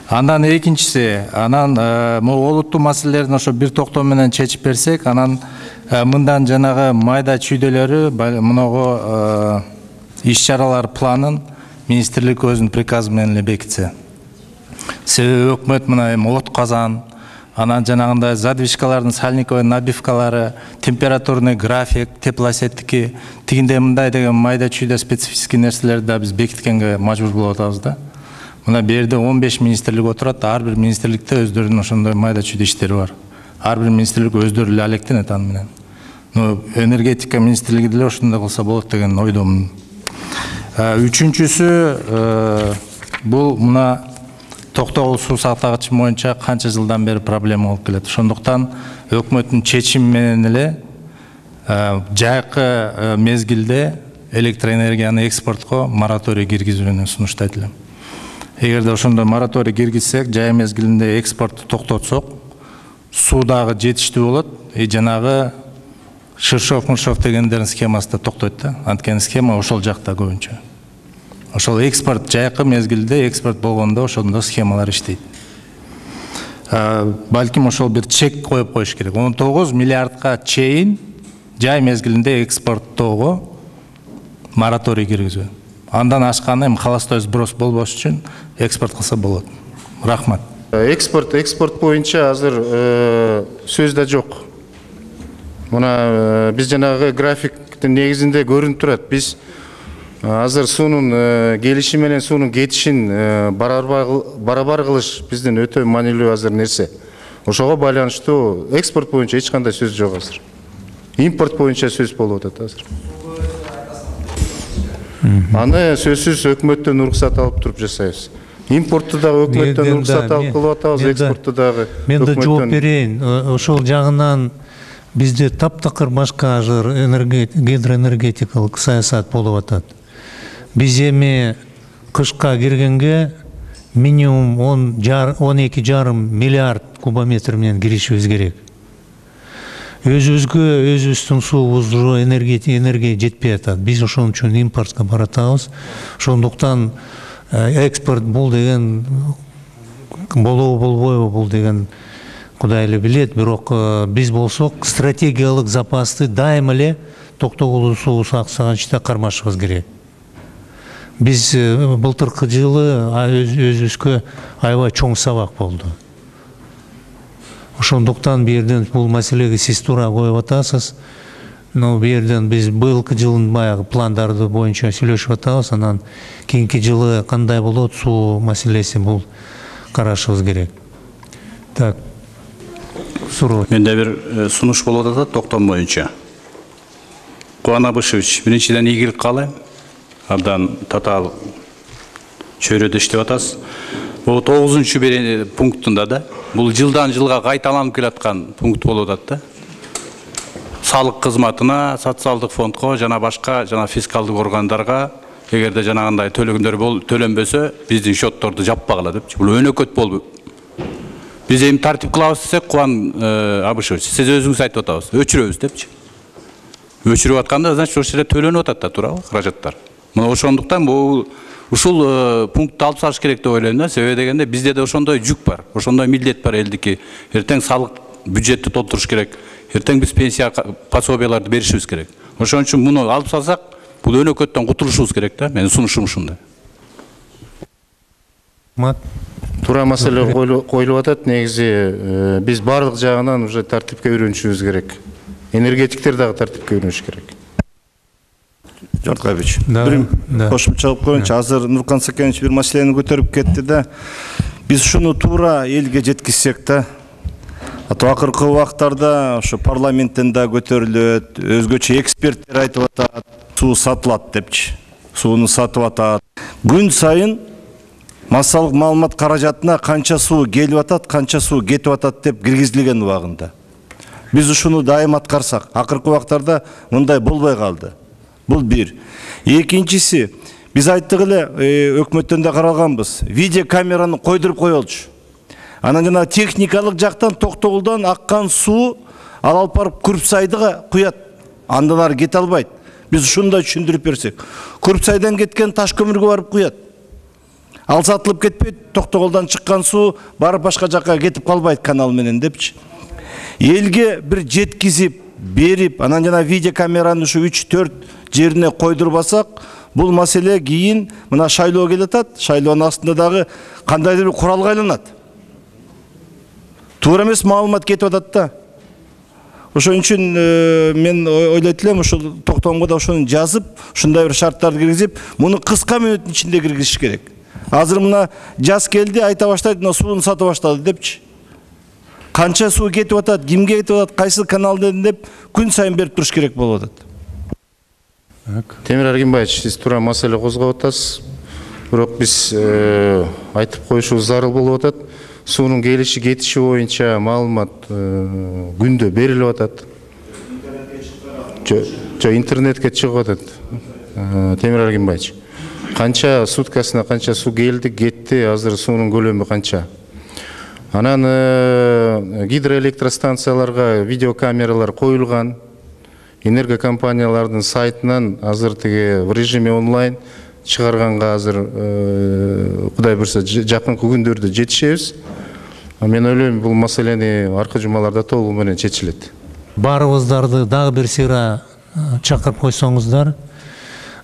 Андан экинчиси, могу олуттуу маселелерин ошо бир токтом менен чечип берсек, анан мындан жанагы майда чүйдөлөрү мынагу иш-чаралар планын министрлик өзүнүн приказы менен эле бекитсе. Себеби өкмөт мына эми от казан, анан жанагындай задвижкалардын сальниковый набивкалары, температурный график, теплосеттики, тигинде мындай деген майда чүйдө специфический нерселерди да биз бекиткенге мажбур болуп атабыз да. Мына бу жерде 15 министрлик отурат, ар бир министрликте өздөрүнүн ошондой майда чүйдө иштери бар. Ар бир министрлик өздөрү эле алектенет аны менен. Энергетика министрлиги деле ошондой кылса болот деген ойдомун. Үчүнчүсү, бул мына токтогул суу сактагыч боюнча канча жылдан бери проблема болуп келет. Ошондуктан өкмөттүн чечими менен эле жайкы мезгилде электроэнергияны экспортко мораторий киргизүүнү сунуштайт элем. Эгерде ошондой мораторий киргизсек, жай мезгилинде экспортду токтотсок, суу дагы жетиштүү болот, жанагы Ширшов-Муршов дегендердин схемасы да токтойт да. Анткени схема ошол жакта көбүнчө. Ошол экспорт жайкы мезгилде экспорт болгондо ошондо схемалар иштейт. Балким ошол бир чек коюп коюш керек. 19 миллиардка чейин жай мезгилинде экспорттоого мораторий киргизүү. Андан ашканы эми холостой сброс болбош үчүн экспорт кылса болот. Рахмат. Экспорт боюнча азыр сөз да жок. Мына биз жанагы графиктин негизинде көрүнүп турат. Биз азыр суунун келиши менен суунун кетишин барабар кылыш биздин өтө маанилүү азыр нерсе. Ошого байланыштуу экспорт боюнча эч кандай сөз жок азыр. Импорт боюнча сөз болуп атат азыр. Аны сөзсүз өкмөттөн уруксат алып туруп жасайбыз. Импортту дагы өкмөттөн уруксат алып кылып атабыз, экспортту дагы. Мен да жооп берейин. Ошол жагынан бизде таптакыр башка ажыр гидроэнергетикалык саясат болуп атат. Биз эми кышка киргенге минимум 12,5 миллиард кубометр менен киришибиз керек. Өзүбүздүн суубузду энергия жетпей атат. Биз ошон үчүн импортко баратабыз. Ошондуктан экспорт бул деген болобу болбойбу бул деген Кудай эле билет, бирок биз болсок стратегиялык запасты дайыма эле токтогул суу сактагычта кармашыбыз керек. Биз былтыркы жылы өзүбүзгө аябай чоң сабак болду. Ошондуктан бу жерден бул маселеге сиз туура коюп атасыз. Бу жерден биз быйылкы жылдын баягы пландарды боюнча сүйлөшүп атабыз. Анан кийинки жылы кандай болот суу маселеси бул карашыбыз керек. Так. суроо. Менде бир сунуш болуп атат токтом боюнча. Кубан Абышевич, биринчиден ийгилик каалайм. Абдан татаал чөйрөдө иштеп атасыз. Бул 9-пунктунда да бул жылдан жылга кайталанып келаткан пункт болуп атат да. Салык кызматына, социалдык фондко жана башка жана фискалдык органдарга эгерде жанагындай төлөгөндөр төлөнбөсө биздин счетторду жаппагыла депчи. Бул өнөкөт болуп. Биз эми тартип кылабыз десек, Кубан Абышевич, сиз өзүңүз айтып атабыз, өчүрөбүз депчи. Өчүрүп атканда, значит, ошол жерде төлөнүп атат да, туурабы, каражаттар. Мына ошондуктан бул ушул пунктты алып салыш керек деп ойлойм да. Себеби дегенде бизде да ошондой жүк бар, ошондой милдет бар элдики. Эртең салык бюджетти толтуруш керек. Эртең биз пенсия пособияларды беришибиз керек. Ошон үчүн муну алып салсак, бул өнөкөттөн кутулушубуз керек да. Менин сунушум ушундай. Туура маселе коюлуп атат. Негизи биз баардык жагынан уже тартипке үйрөнүшүбүз керек. Энергетиктер дагы тартипке үйрөнүш керек. Жортаевич, бир кошумча кылып коеюнчу. Азыр Нуркан Сакенович бир маселени көтөрүп кетти да. Биз ушуну туура элге жеткизсек да. Акыркы убактарда ошо парламенттен да көтөрүлөт, өзгөчө эксперттер айтып атат, суу сатылат депчи. Сууну сатып атат. Күн сайын массалык маалымат каражатына канча суу келип атат, канча суу кетип атат деп киргизилген убагында. Биз ушуну дайым аткарсак, акыркы убактарда мындай болбой калды. Бул бир. Экинчиси, биз айттык эле, өкмөттөн да каралганбыз. Видео камераны койдуруп коелучу. Анан жана техникалык жактан Токтогулдан аккан суу алып барып Күрпсайдыга куят. Андан ары кете албайт. Биз ушундай түшүндүрүп берсек. Күрпсайдан кеткен таш көмүргө барып куят. Ал сатылып кетпейт, Токтогулдан чыккан суу барып башка жакка кетип калбайт канал менен депчи. Элге бир жеткизип берип, анан жана видео камераны ушу 3-4 жерине койдурбасак, бул маселе кийин мына шайлоо келе атат. Шайлоонун астында дагы кандайдыр бир куралга айланат. Туура эмес маалымат кетип атат да. Ошон үчүн мен ойлойт элем, ушул токтомго да ошону жазып, ушундай бир шарттарды киргизип, муну кыска мүнөттүн ичинде киргизиш керек. Азыр мына жаз келди, айта баштайт, мына сууну сатып баштады депчи. Канча суу кетип атат, кимге кетип атат, кайсы каналдан деп күн сайын берип туруш керек болуп атат. Темир Аргимбаевич, сиз туура маселе козгоп атасыз. Бирок биз айтып коюшубуз зарыл болуп атат. Суунун келиши кетиши боюнча маалымат күндө берилип атат. Интернетке чыгып атат. Темир Аргимбаевич, канча суткасына канча суу келди, кетти, азыр суунун көлөмү канча? Анан гидроэлектростанцияларга видеокамералар коюлган. Энергокомпаниялардын сайтынан азыр тиги в режиме онлайн чыгарганга азыр Кудай буйрса жакынкы күндөрдө жетишебиз. Мен ойлойм, бул маселени аркы жумаларда толугу менен чечилет. Баарыбыздарды дагы бир сыйра чакырып койсоңуздар.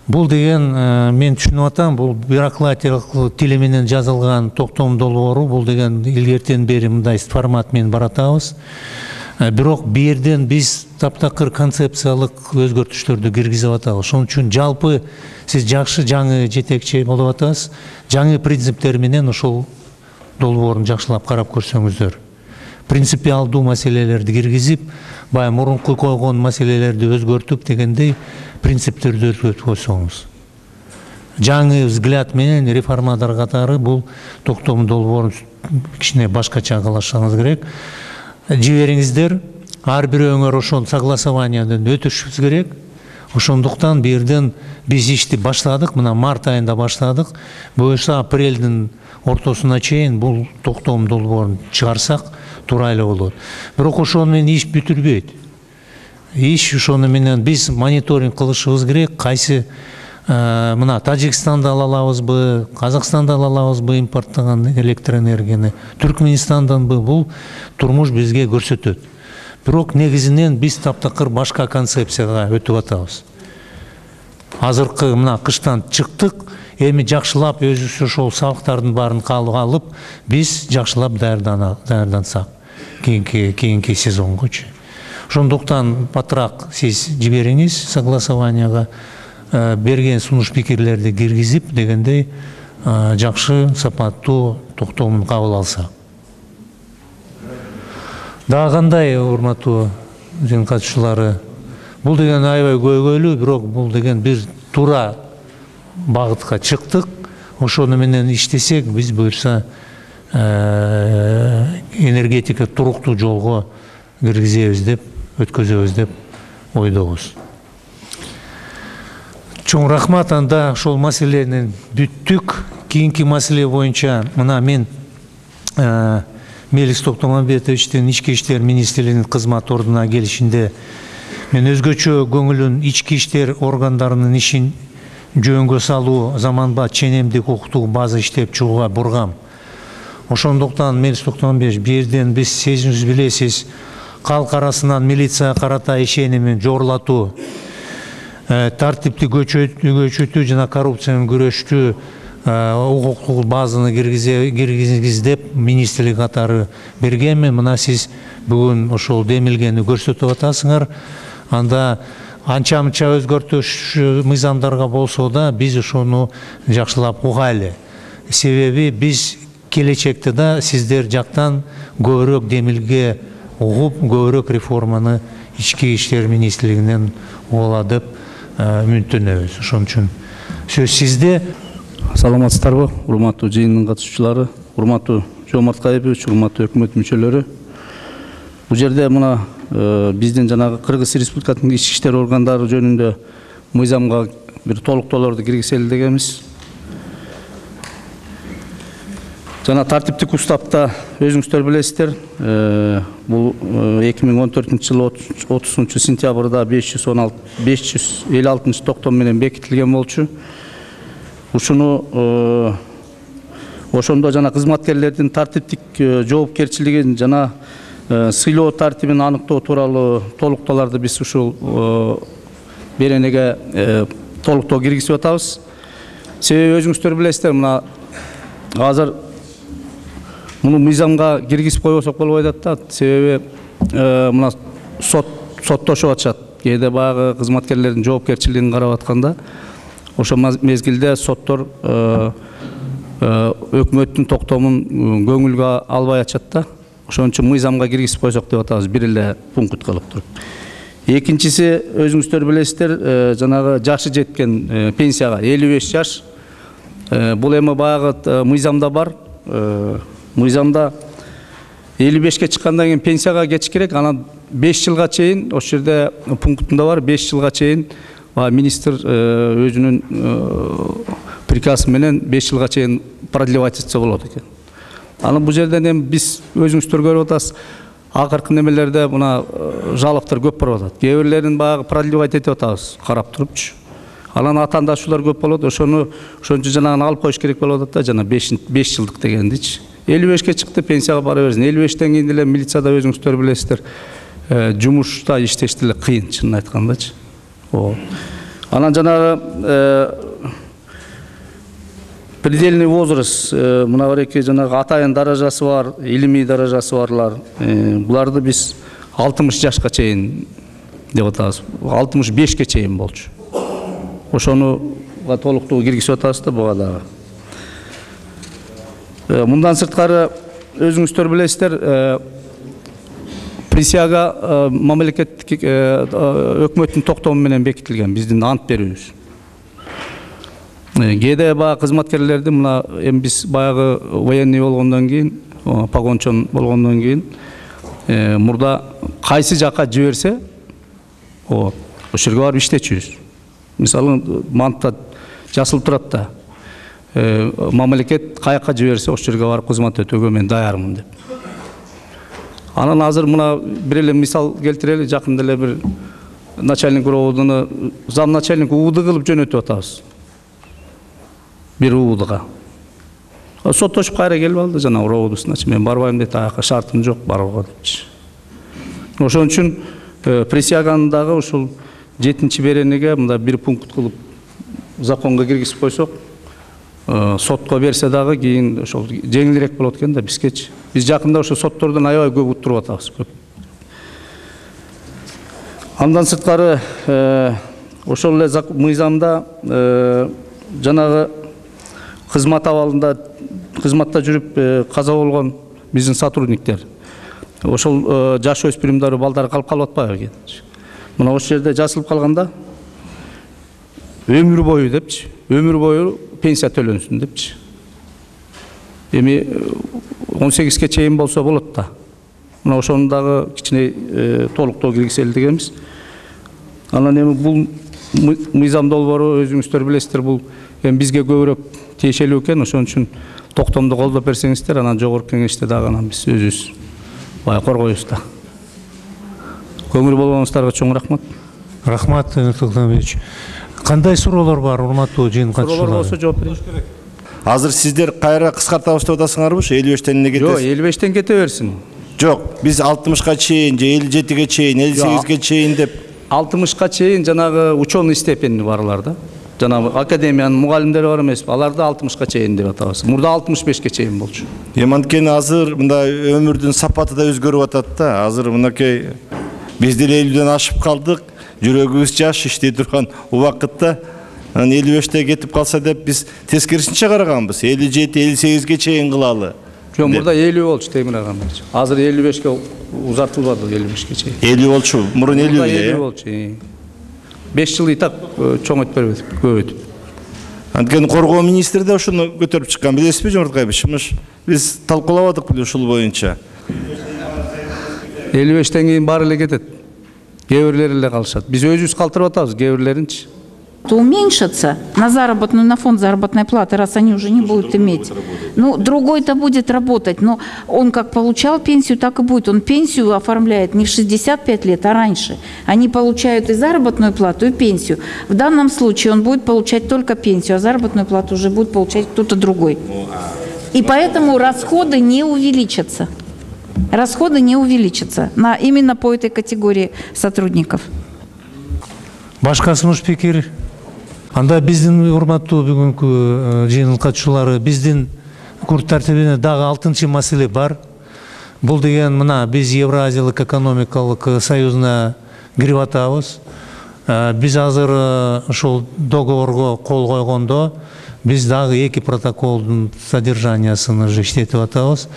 Бул деген мен түшүнүп атам, бул бюрократиялык тили менен жазылган токтом долбоору, бул деген илгертен бери мындай формат менен баратабыз. Бирок бу жерден биз таптакыр концепциялык өзгөртүштөрдү киргизип атабыз. Ошон үчүн жалпы сиз жакшы жаңы жетекчи болуп атасыз. Жаңы принциптер менен ошол долбоорун жакшылап карап көрсөңүздөр. Принципиалдуу маселелерди киргизип, баягы мурунку койгон маселелерди өзгөртүп дегендей принциптерди өзгөртүп койсоңуз. Жаңы взгляд менен реформатор катары бул токтом долбоорун кичине башкача кылышыңыз керек. Жибериңиздер, ар бирөөңөр ошон согласованиядан өтүшүбүз керек. Ошондуктан бу жерден биз ишти баштадык, мына март айында баштадык. Буюрса апрелдин ортосуна чейин бул токтом долбоорун чыгарсак туура эле болот. Бирок ошону менен иш бүтүрбөйт. Иш ошону менен биз мониторинг кылышыбыз керек. Кайсы мына Тажикстанда ала алабызбы, Казакстанда ала алабызбы импорттогон электроэнергияны, Түркменистанданбы, бул турмуш бизге көрсөтөт. Бирок негизинен биз таптакыр башка концепцияга өтүп атабыз. Азыркы мына кыштан чыктык, эми жакшылап өзүбүз ошол салыктардын баарын алып, биз жакшылап даярдансак кийинки сезонгочу. Ошондуктан батыраак сиз жибериңиз согласованияга, берген сунуш пикирлерди киргизип дегендей жакшы сапаттуу токтомун кабыл алсак. Дагы кандай урматтуу жыйын катышуучулары, бул деген аябай көйгөйлүү, бирок бул деген бир туура багытка чыктык. Ошону менен иштесек, биз буюрса энергетика туруктуу жолго киргизебиз деп, өткөзөбүз деп ойдобуз. Чоң рахмат. Анда ошол маселени бүттүк. Кийинки маселе боюнча мына мен Мелис Токтомамбетовичтин Ички иштер министрлигинин кызмат ордуна келишинде мен өзгөчө көңүлүн ички иштер органдарынын ишин жөнгө салуу, заманбап ченемдик укуктук база иштеп чыгууга бургам. Ошондуктан Мелис Токтомамбетович, бул жерден биз сезимиз билесиз, калк арасынан милицияга карата ишенимин жоорлатуу, тартипти көчөтүү жана коррупция менен күрөштүү укуктук базаны киргизиз деп министрлик катары бергенмин. Мына сиз бүгүн ошол демилгени көрсөтүп атасыңар. Анда анча-мынча өзгөртүш мыйзамдарга болсо да биз ошону жакшылап угайлы. Себеби биз келечекте да сиздер жактан көбүрөөк демилге угуп, көбүрөөк реформаны ички иштер министрлигинен угала деп үмүттөнөбүз. Ошон үчүн сөз сизде. Саламатсыздарбы, урматтуу жыйындын катышуучулары, урматтуу Жомарт Кайыпович, урматтуу өкмөт мүчөлөрү. Бул жерде мына биздин жанагы Кыргыз Республикасынын ички иштер органдары жөнүндө мыйзамга бир толуктоолорду киргизели дегенбиз. Жана тартиптик уставда өзүңүздөр билесиздер, бул 2014-жылы 30-сентябрда 556 токтом менен бекитилген болчу. Ушуну ошондо жана кызматкерлердин тартиптик жоопкерчилигин жана сыйлоо тартибин аныктоо тууралуу толуктоолорду биз ушул беренеге толуктоо киргизип атабыз. Себеби өзүңүздөр билесиздер, мына азыр муну мыйзамга киргизип койбосок болбой атат да. Себеби мына соттошуп атышат. Кээде баягы кызматкерлердин жоопкерчилигин карап атканда ошо мезгилде соттор өкмөттүн токтомун көңүлгө албай атышат да. Ошон үчүн мыйзамга киргизип койсок деп атабыз, бир эле пункт кылып туруп. Экинчиси, өзүңүздөр билесиздер, жанагы жашы жеткен пенсияга 55 жаш. Бул эми баягы мыйзамда бар. Мыйзамда 55-ке чыккандан кийин пенсияга кетиш керек. Анан 5 жылга чейин, ошол жерде пунктунда бар, 5 жылга чейин министр өзүнүн приказы менен 5 жылга чейин продлевать этсе болот экен. Анан бул жерден эми биз өзүңүздөр көрүп атасыз, акыркы немелерде мына жалоптор көп болуп атат. Кээ бирлерин баягы продлевать этип атабыз, карап турупчу. Анан атаандашуулар көп болот, ошону ошончо жанагын алып коюш керек болуп атат да, жана 5 жылдык дегендичи. 55-ке чыкты, пенсияга бара берсин. 55-тен кийин деле милицияда өзүңүздөр билесиздер, жумушта иштеш деле кыйын, чынын айткандачы. Анан жанагы предельный возраст, мына бареки жанагы атайын даражасы бар, илимий даражасы барлар, буларды биз 60 жашка чейин деп атабыз. 65-ке чейин болчу. Ошону толуктуу киргизип атабыз да буга дагы. Мындан сырткары өзүңүздөр билесиздер, присяга мамлекеттик өкмөттүн токтому менен бекитилген, биздин ант берүүбүз. Кээде баягы кызматкерлерди мына эми биз баягы военный болгондон кийин, погончон болгондон кийин мурда кайсы жакка жиберсе, ошол жерге барып иштечүбүз. Мисалы мантта жазылып турат да, мамлекет каяка жиберсе ошол жерге барып кызмат өтөөгө мен даярмын деп. Анан азыр мына бир эле мисал келтирели, жакында эле бир начальник УВДны зам начальник УВД кылып жөнөтүп атабыз. Бир УВДга. Соттошуп кайра келип алды, жана УВДсына, мен барбайм дейт, аяка шартым жок барууга депчи. Ошон үчүн присяганын дагы ушул 7-чи беренеге мында бир пункт кылып законго киргизип койсок, сотко берсе дагы кийин ошол жеңилирээк болот экен да бизгечи. Биз жакында ошо соттордон аябай көп уттуруп атабыз. Андан сырткары ошол эле мыйзамда жанагы кызмат абалында кызматта жүрүп каза болгон биздин сотрудниктер ошол жаш өспүрүмдөр балдар калып атпайбы экен. Мына ошол жерде жазылып калганда өмүр бою депчи, өмүр бою пенсия төлөнсүн депчи. Эми 18ге чейин болсо болот да. Мына ошону дагы кичине толуктоо киргизели дегенбиз. Анан эми бул мыйзам долбоору өзүңүздөр билесиздер, бул эми бизге көбүрөөк тиешелүү экен. Ошон үчүн токтомду колдоп берсеңиздер, анан жогорку кеңеште дагы анан биз өзүбүз коргойбуз да. Көңүл болгонуңуздарга чоң рахмат. Рахмат, Токтомович. Кандай суроолор бар, урматтуу жыйын катышуулары? Суроолор болсо жооп берейин. Азыр сиздер кайра кыскартабыз деп атасыңарбы? 55-тен эмне кетесиз? Жок, 55-тен кете берсин. Жок, биз 60га чейин же 57ге чейин, 58ге чейин деп 60га чейин жанагы ученый степени барлар да. Жанагы академиянын мугалимдери бар эмеспи? Аларды 60га чейин деп атабыз. Мурда 65ге чейин болчу. Эми анткени азыр мында өмүрдүн сапаты да өзгөрүп атат да. Азыр мынакей биз деле 50ден ашып калдык. Жүрөгүбүз жаш иштей турган убакытта 55те кетип калса деп биз тескерисинче караганбыз. 57-58ге чейин кылалы. Жок, мурда 50 болчу Темир агамбыз. Азыр 55ке узартылбады, 55ке чейин. 50 болчу, мурун 50 эле. 50 болчу. 5 жыл и так чоң өтүп бербедик, көп өтүп. Анткени коргоо министри да ошону көтөрүп чыккан, билесизби, Жомарткаевич? Биз талкуулабадык беле ушул боюнча. 55тен кийин баары эле кетет. Кээ бирлери эле калышат. Биз өзүбүз калтырып атабыз, кээ бирлеринчи. Уменьшатся на заработную, на фонд заработной платы, раз они уже не будут иметь. Ну, другой-то будет работать, но он как получал пенсию, так и будет. Он пенсию оформляет не в 65 лет, а раньше. Они получают и заработную плату, и пенсию. В данном случае он будет получать только пенсию, а заработную плату уже будет получать кто-то другой. И поэтому расходы не увеличатся. Расходы не увеличатся именно по этой категории сотрудников. Башка сунуш пикир? Анда биздин урматтуу бүгүнкү жыйын катышуулары, биздин күн тартибине дагы 6-чы маселе бар. Бул деген мына биз Евразиялык экономикалык союзуна кирип атабыз. Биз азыр ушул договорго кол койгондо биз дагы 2 протоколдун содержаниясын иштетип атабыз.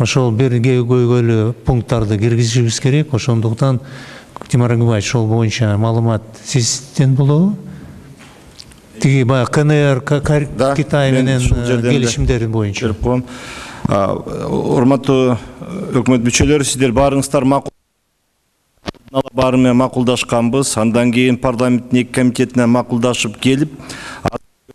Ошол бир көйгөйлүү пункттарды киргизишибиз керек. Ошондуктан Тимур Агыбаевич, ошол боюнча маалымат сизден болобу? Тиги баягы КНР, Китай менен келишимдери боюнча. Берип коем. Урматтуу өкмөт мүчөлөрү, сиздер баарыңыздар баары менен макулдашканбыз. Андан кийин парламенттин 2 комитетине макулдашып келип,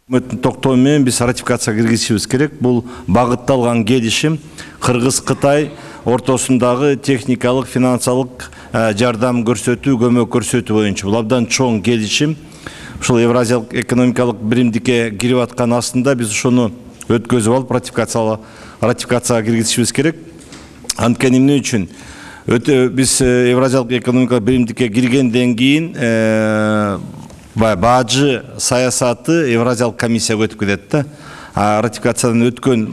өкмөттүн токтому менен биз ратификацияга киргизишибиз керек. Бул багытталган келишим Кыргыз-Кытай ортосундагы техникалык, финансылык жардам көрсөтүү, көмөк көрсөтүү боюнча. Бул абдан чоң келишим. Ушул Евразиялык экономикалык биримдикке кирип аткан астында биз ошону өткөзүп алып ратификацияга киргизишибиз керек. Анткени эмне үчүн? Биз Евразиялык экономикалык биримдикке киргенден кийин бажы саясаты Евразиялык комиссияга өтүп кетет да. Ратификациядан өткөн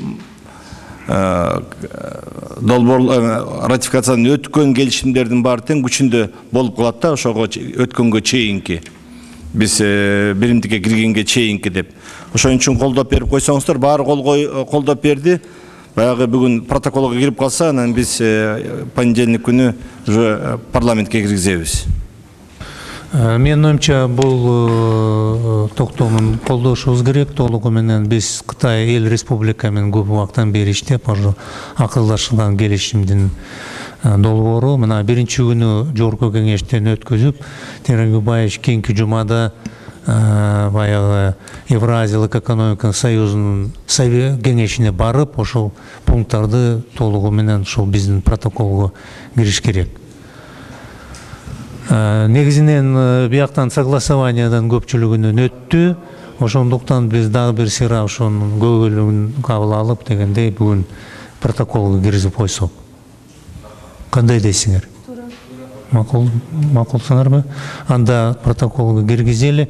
ратификациядан өткөн келишимдердин баары тең күчүндө болуп калат да, ошого өткөнгө чейинки. Биз биримдикке киргенге чейинки деп. Ошон үчүн колдоп берип койсоңуздар, баары колдоп берди. Баягы бүгүн протоколго кирип калса, анан биз понедельник күнү уже парламентке киргизебиз. Менин оюмча бул токтомун колдошубуз керек. Толугу менен биз Кытай эл республика менен көп убакыттан бери иштеп, акылдашылган келишимдин долбоору мына биринчи күнү жогорку кеңештен өткөзүп, Темир Агыбаевич кийинки жумада баягы Евразиялык экономикалык союзунун кеңешине барып, ошол пункттарды толугу менен ошол биздин протоколго кириш керек. Негизинен бияктан согласованиядан көпчүлүгүнөн өттү. Ошондуктан биз дагы бир сыйра ошонун көйгөйлүгүн кабыл алып дегендей бүгүн протоколго киргизип койсок. Кандай дейсиңер? Макулсыңарбы? Анда протоколго киргизели.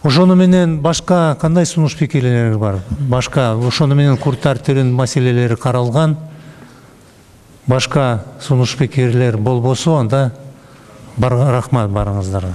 Ошону менен башка кандай сунуш пикирлер бар? Башка ошону менен күн тартибинин маселелери каралган. Башка сунуш пикирлер болбосо анда рахмат барыңыздарга.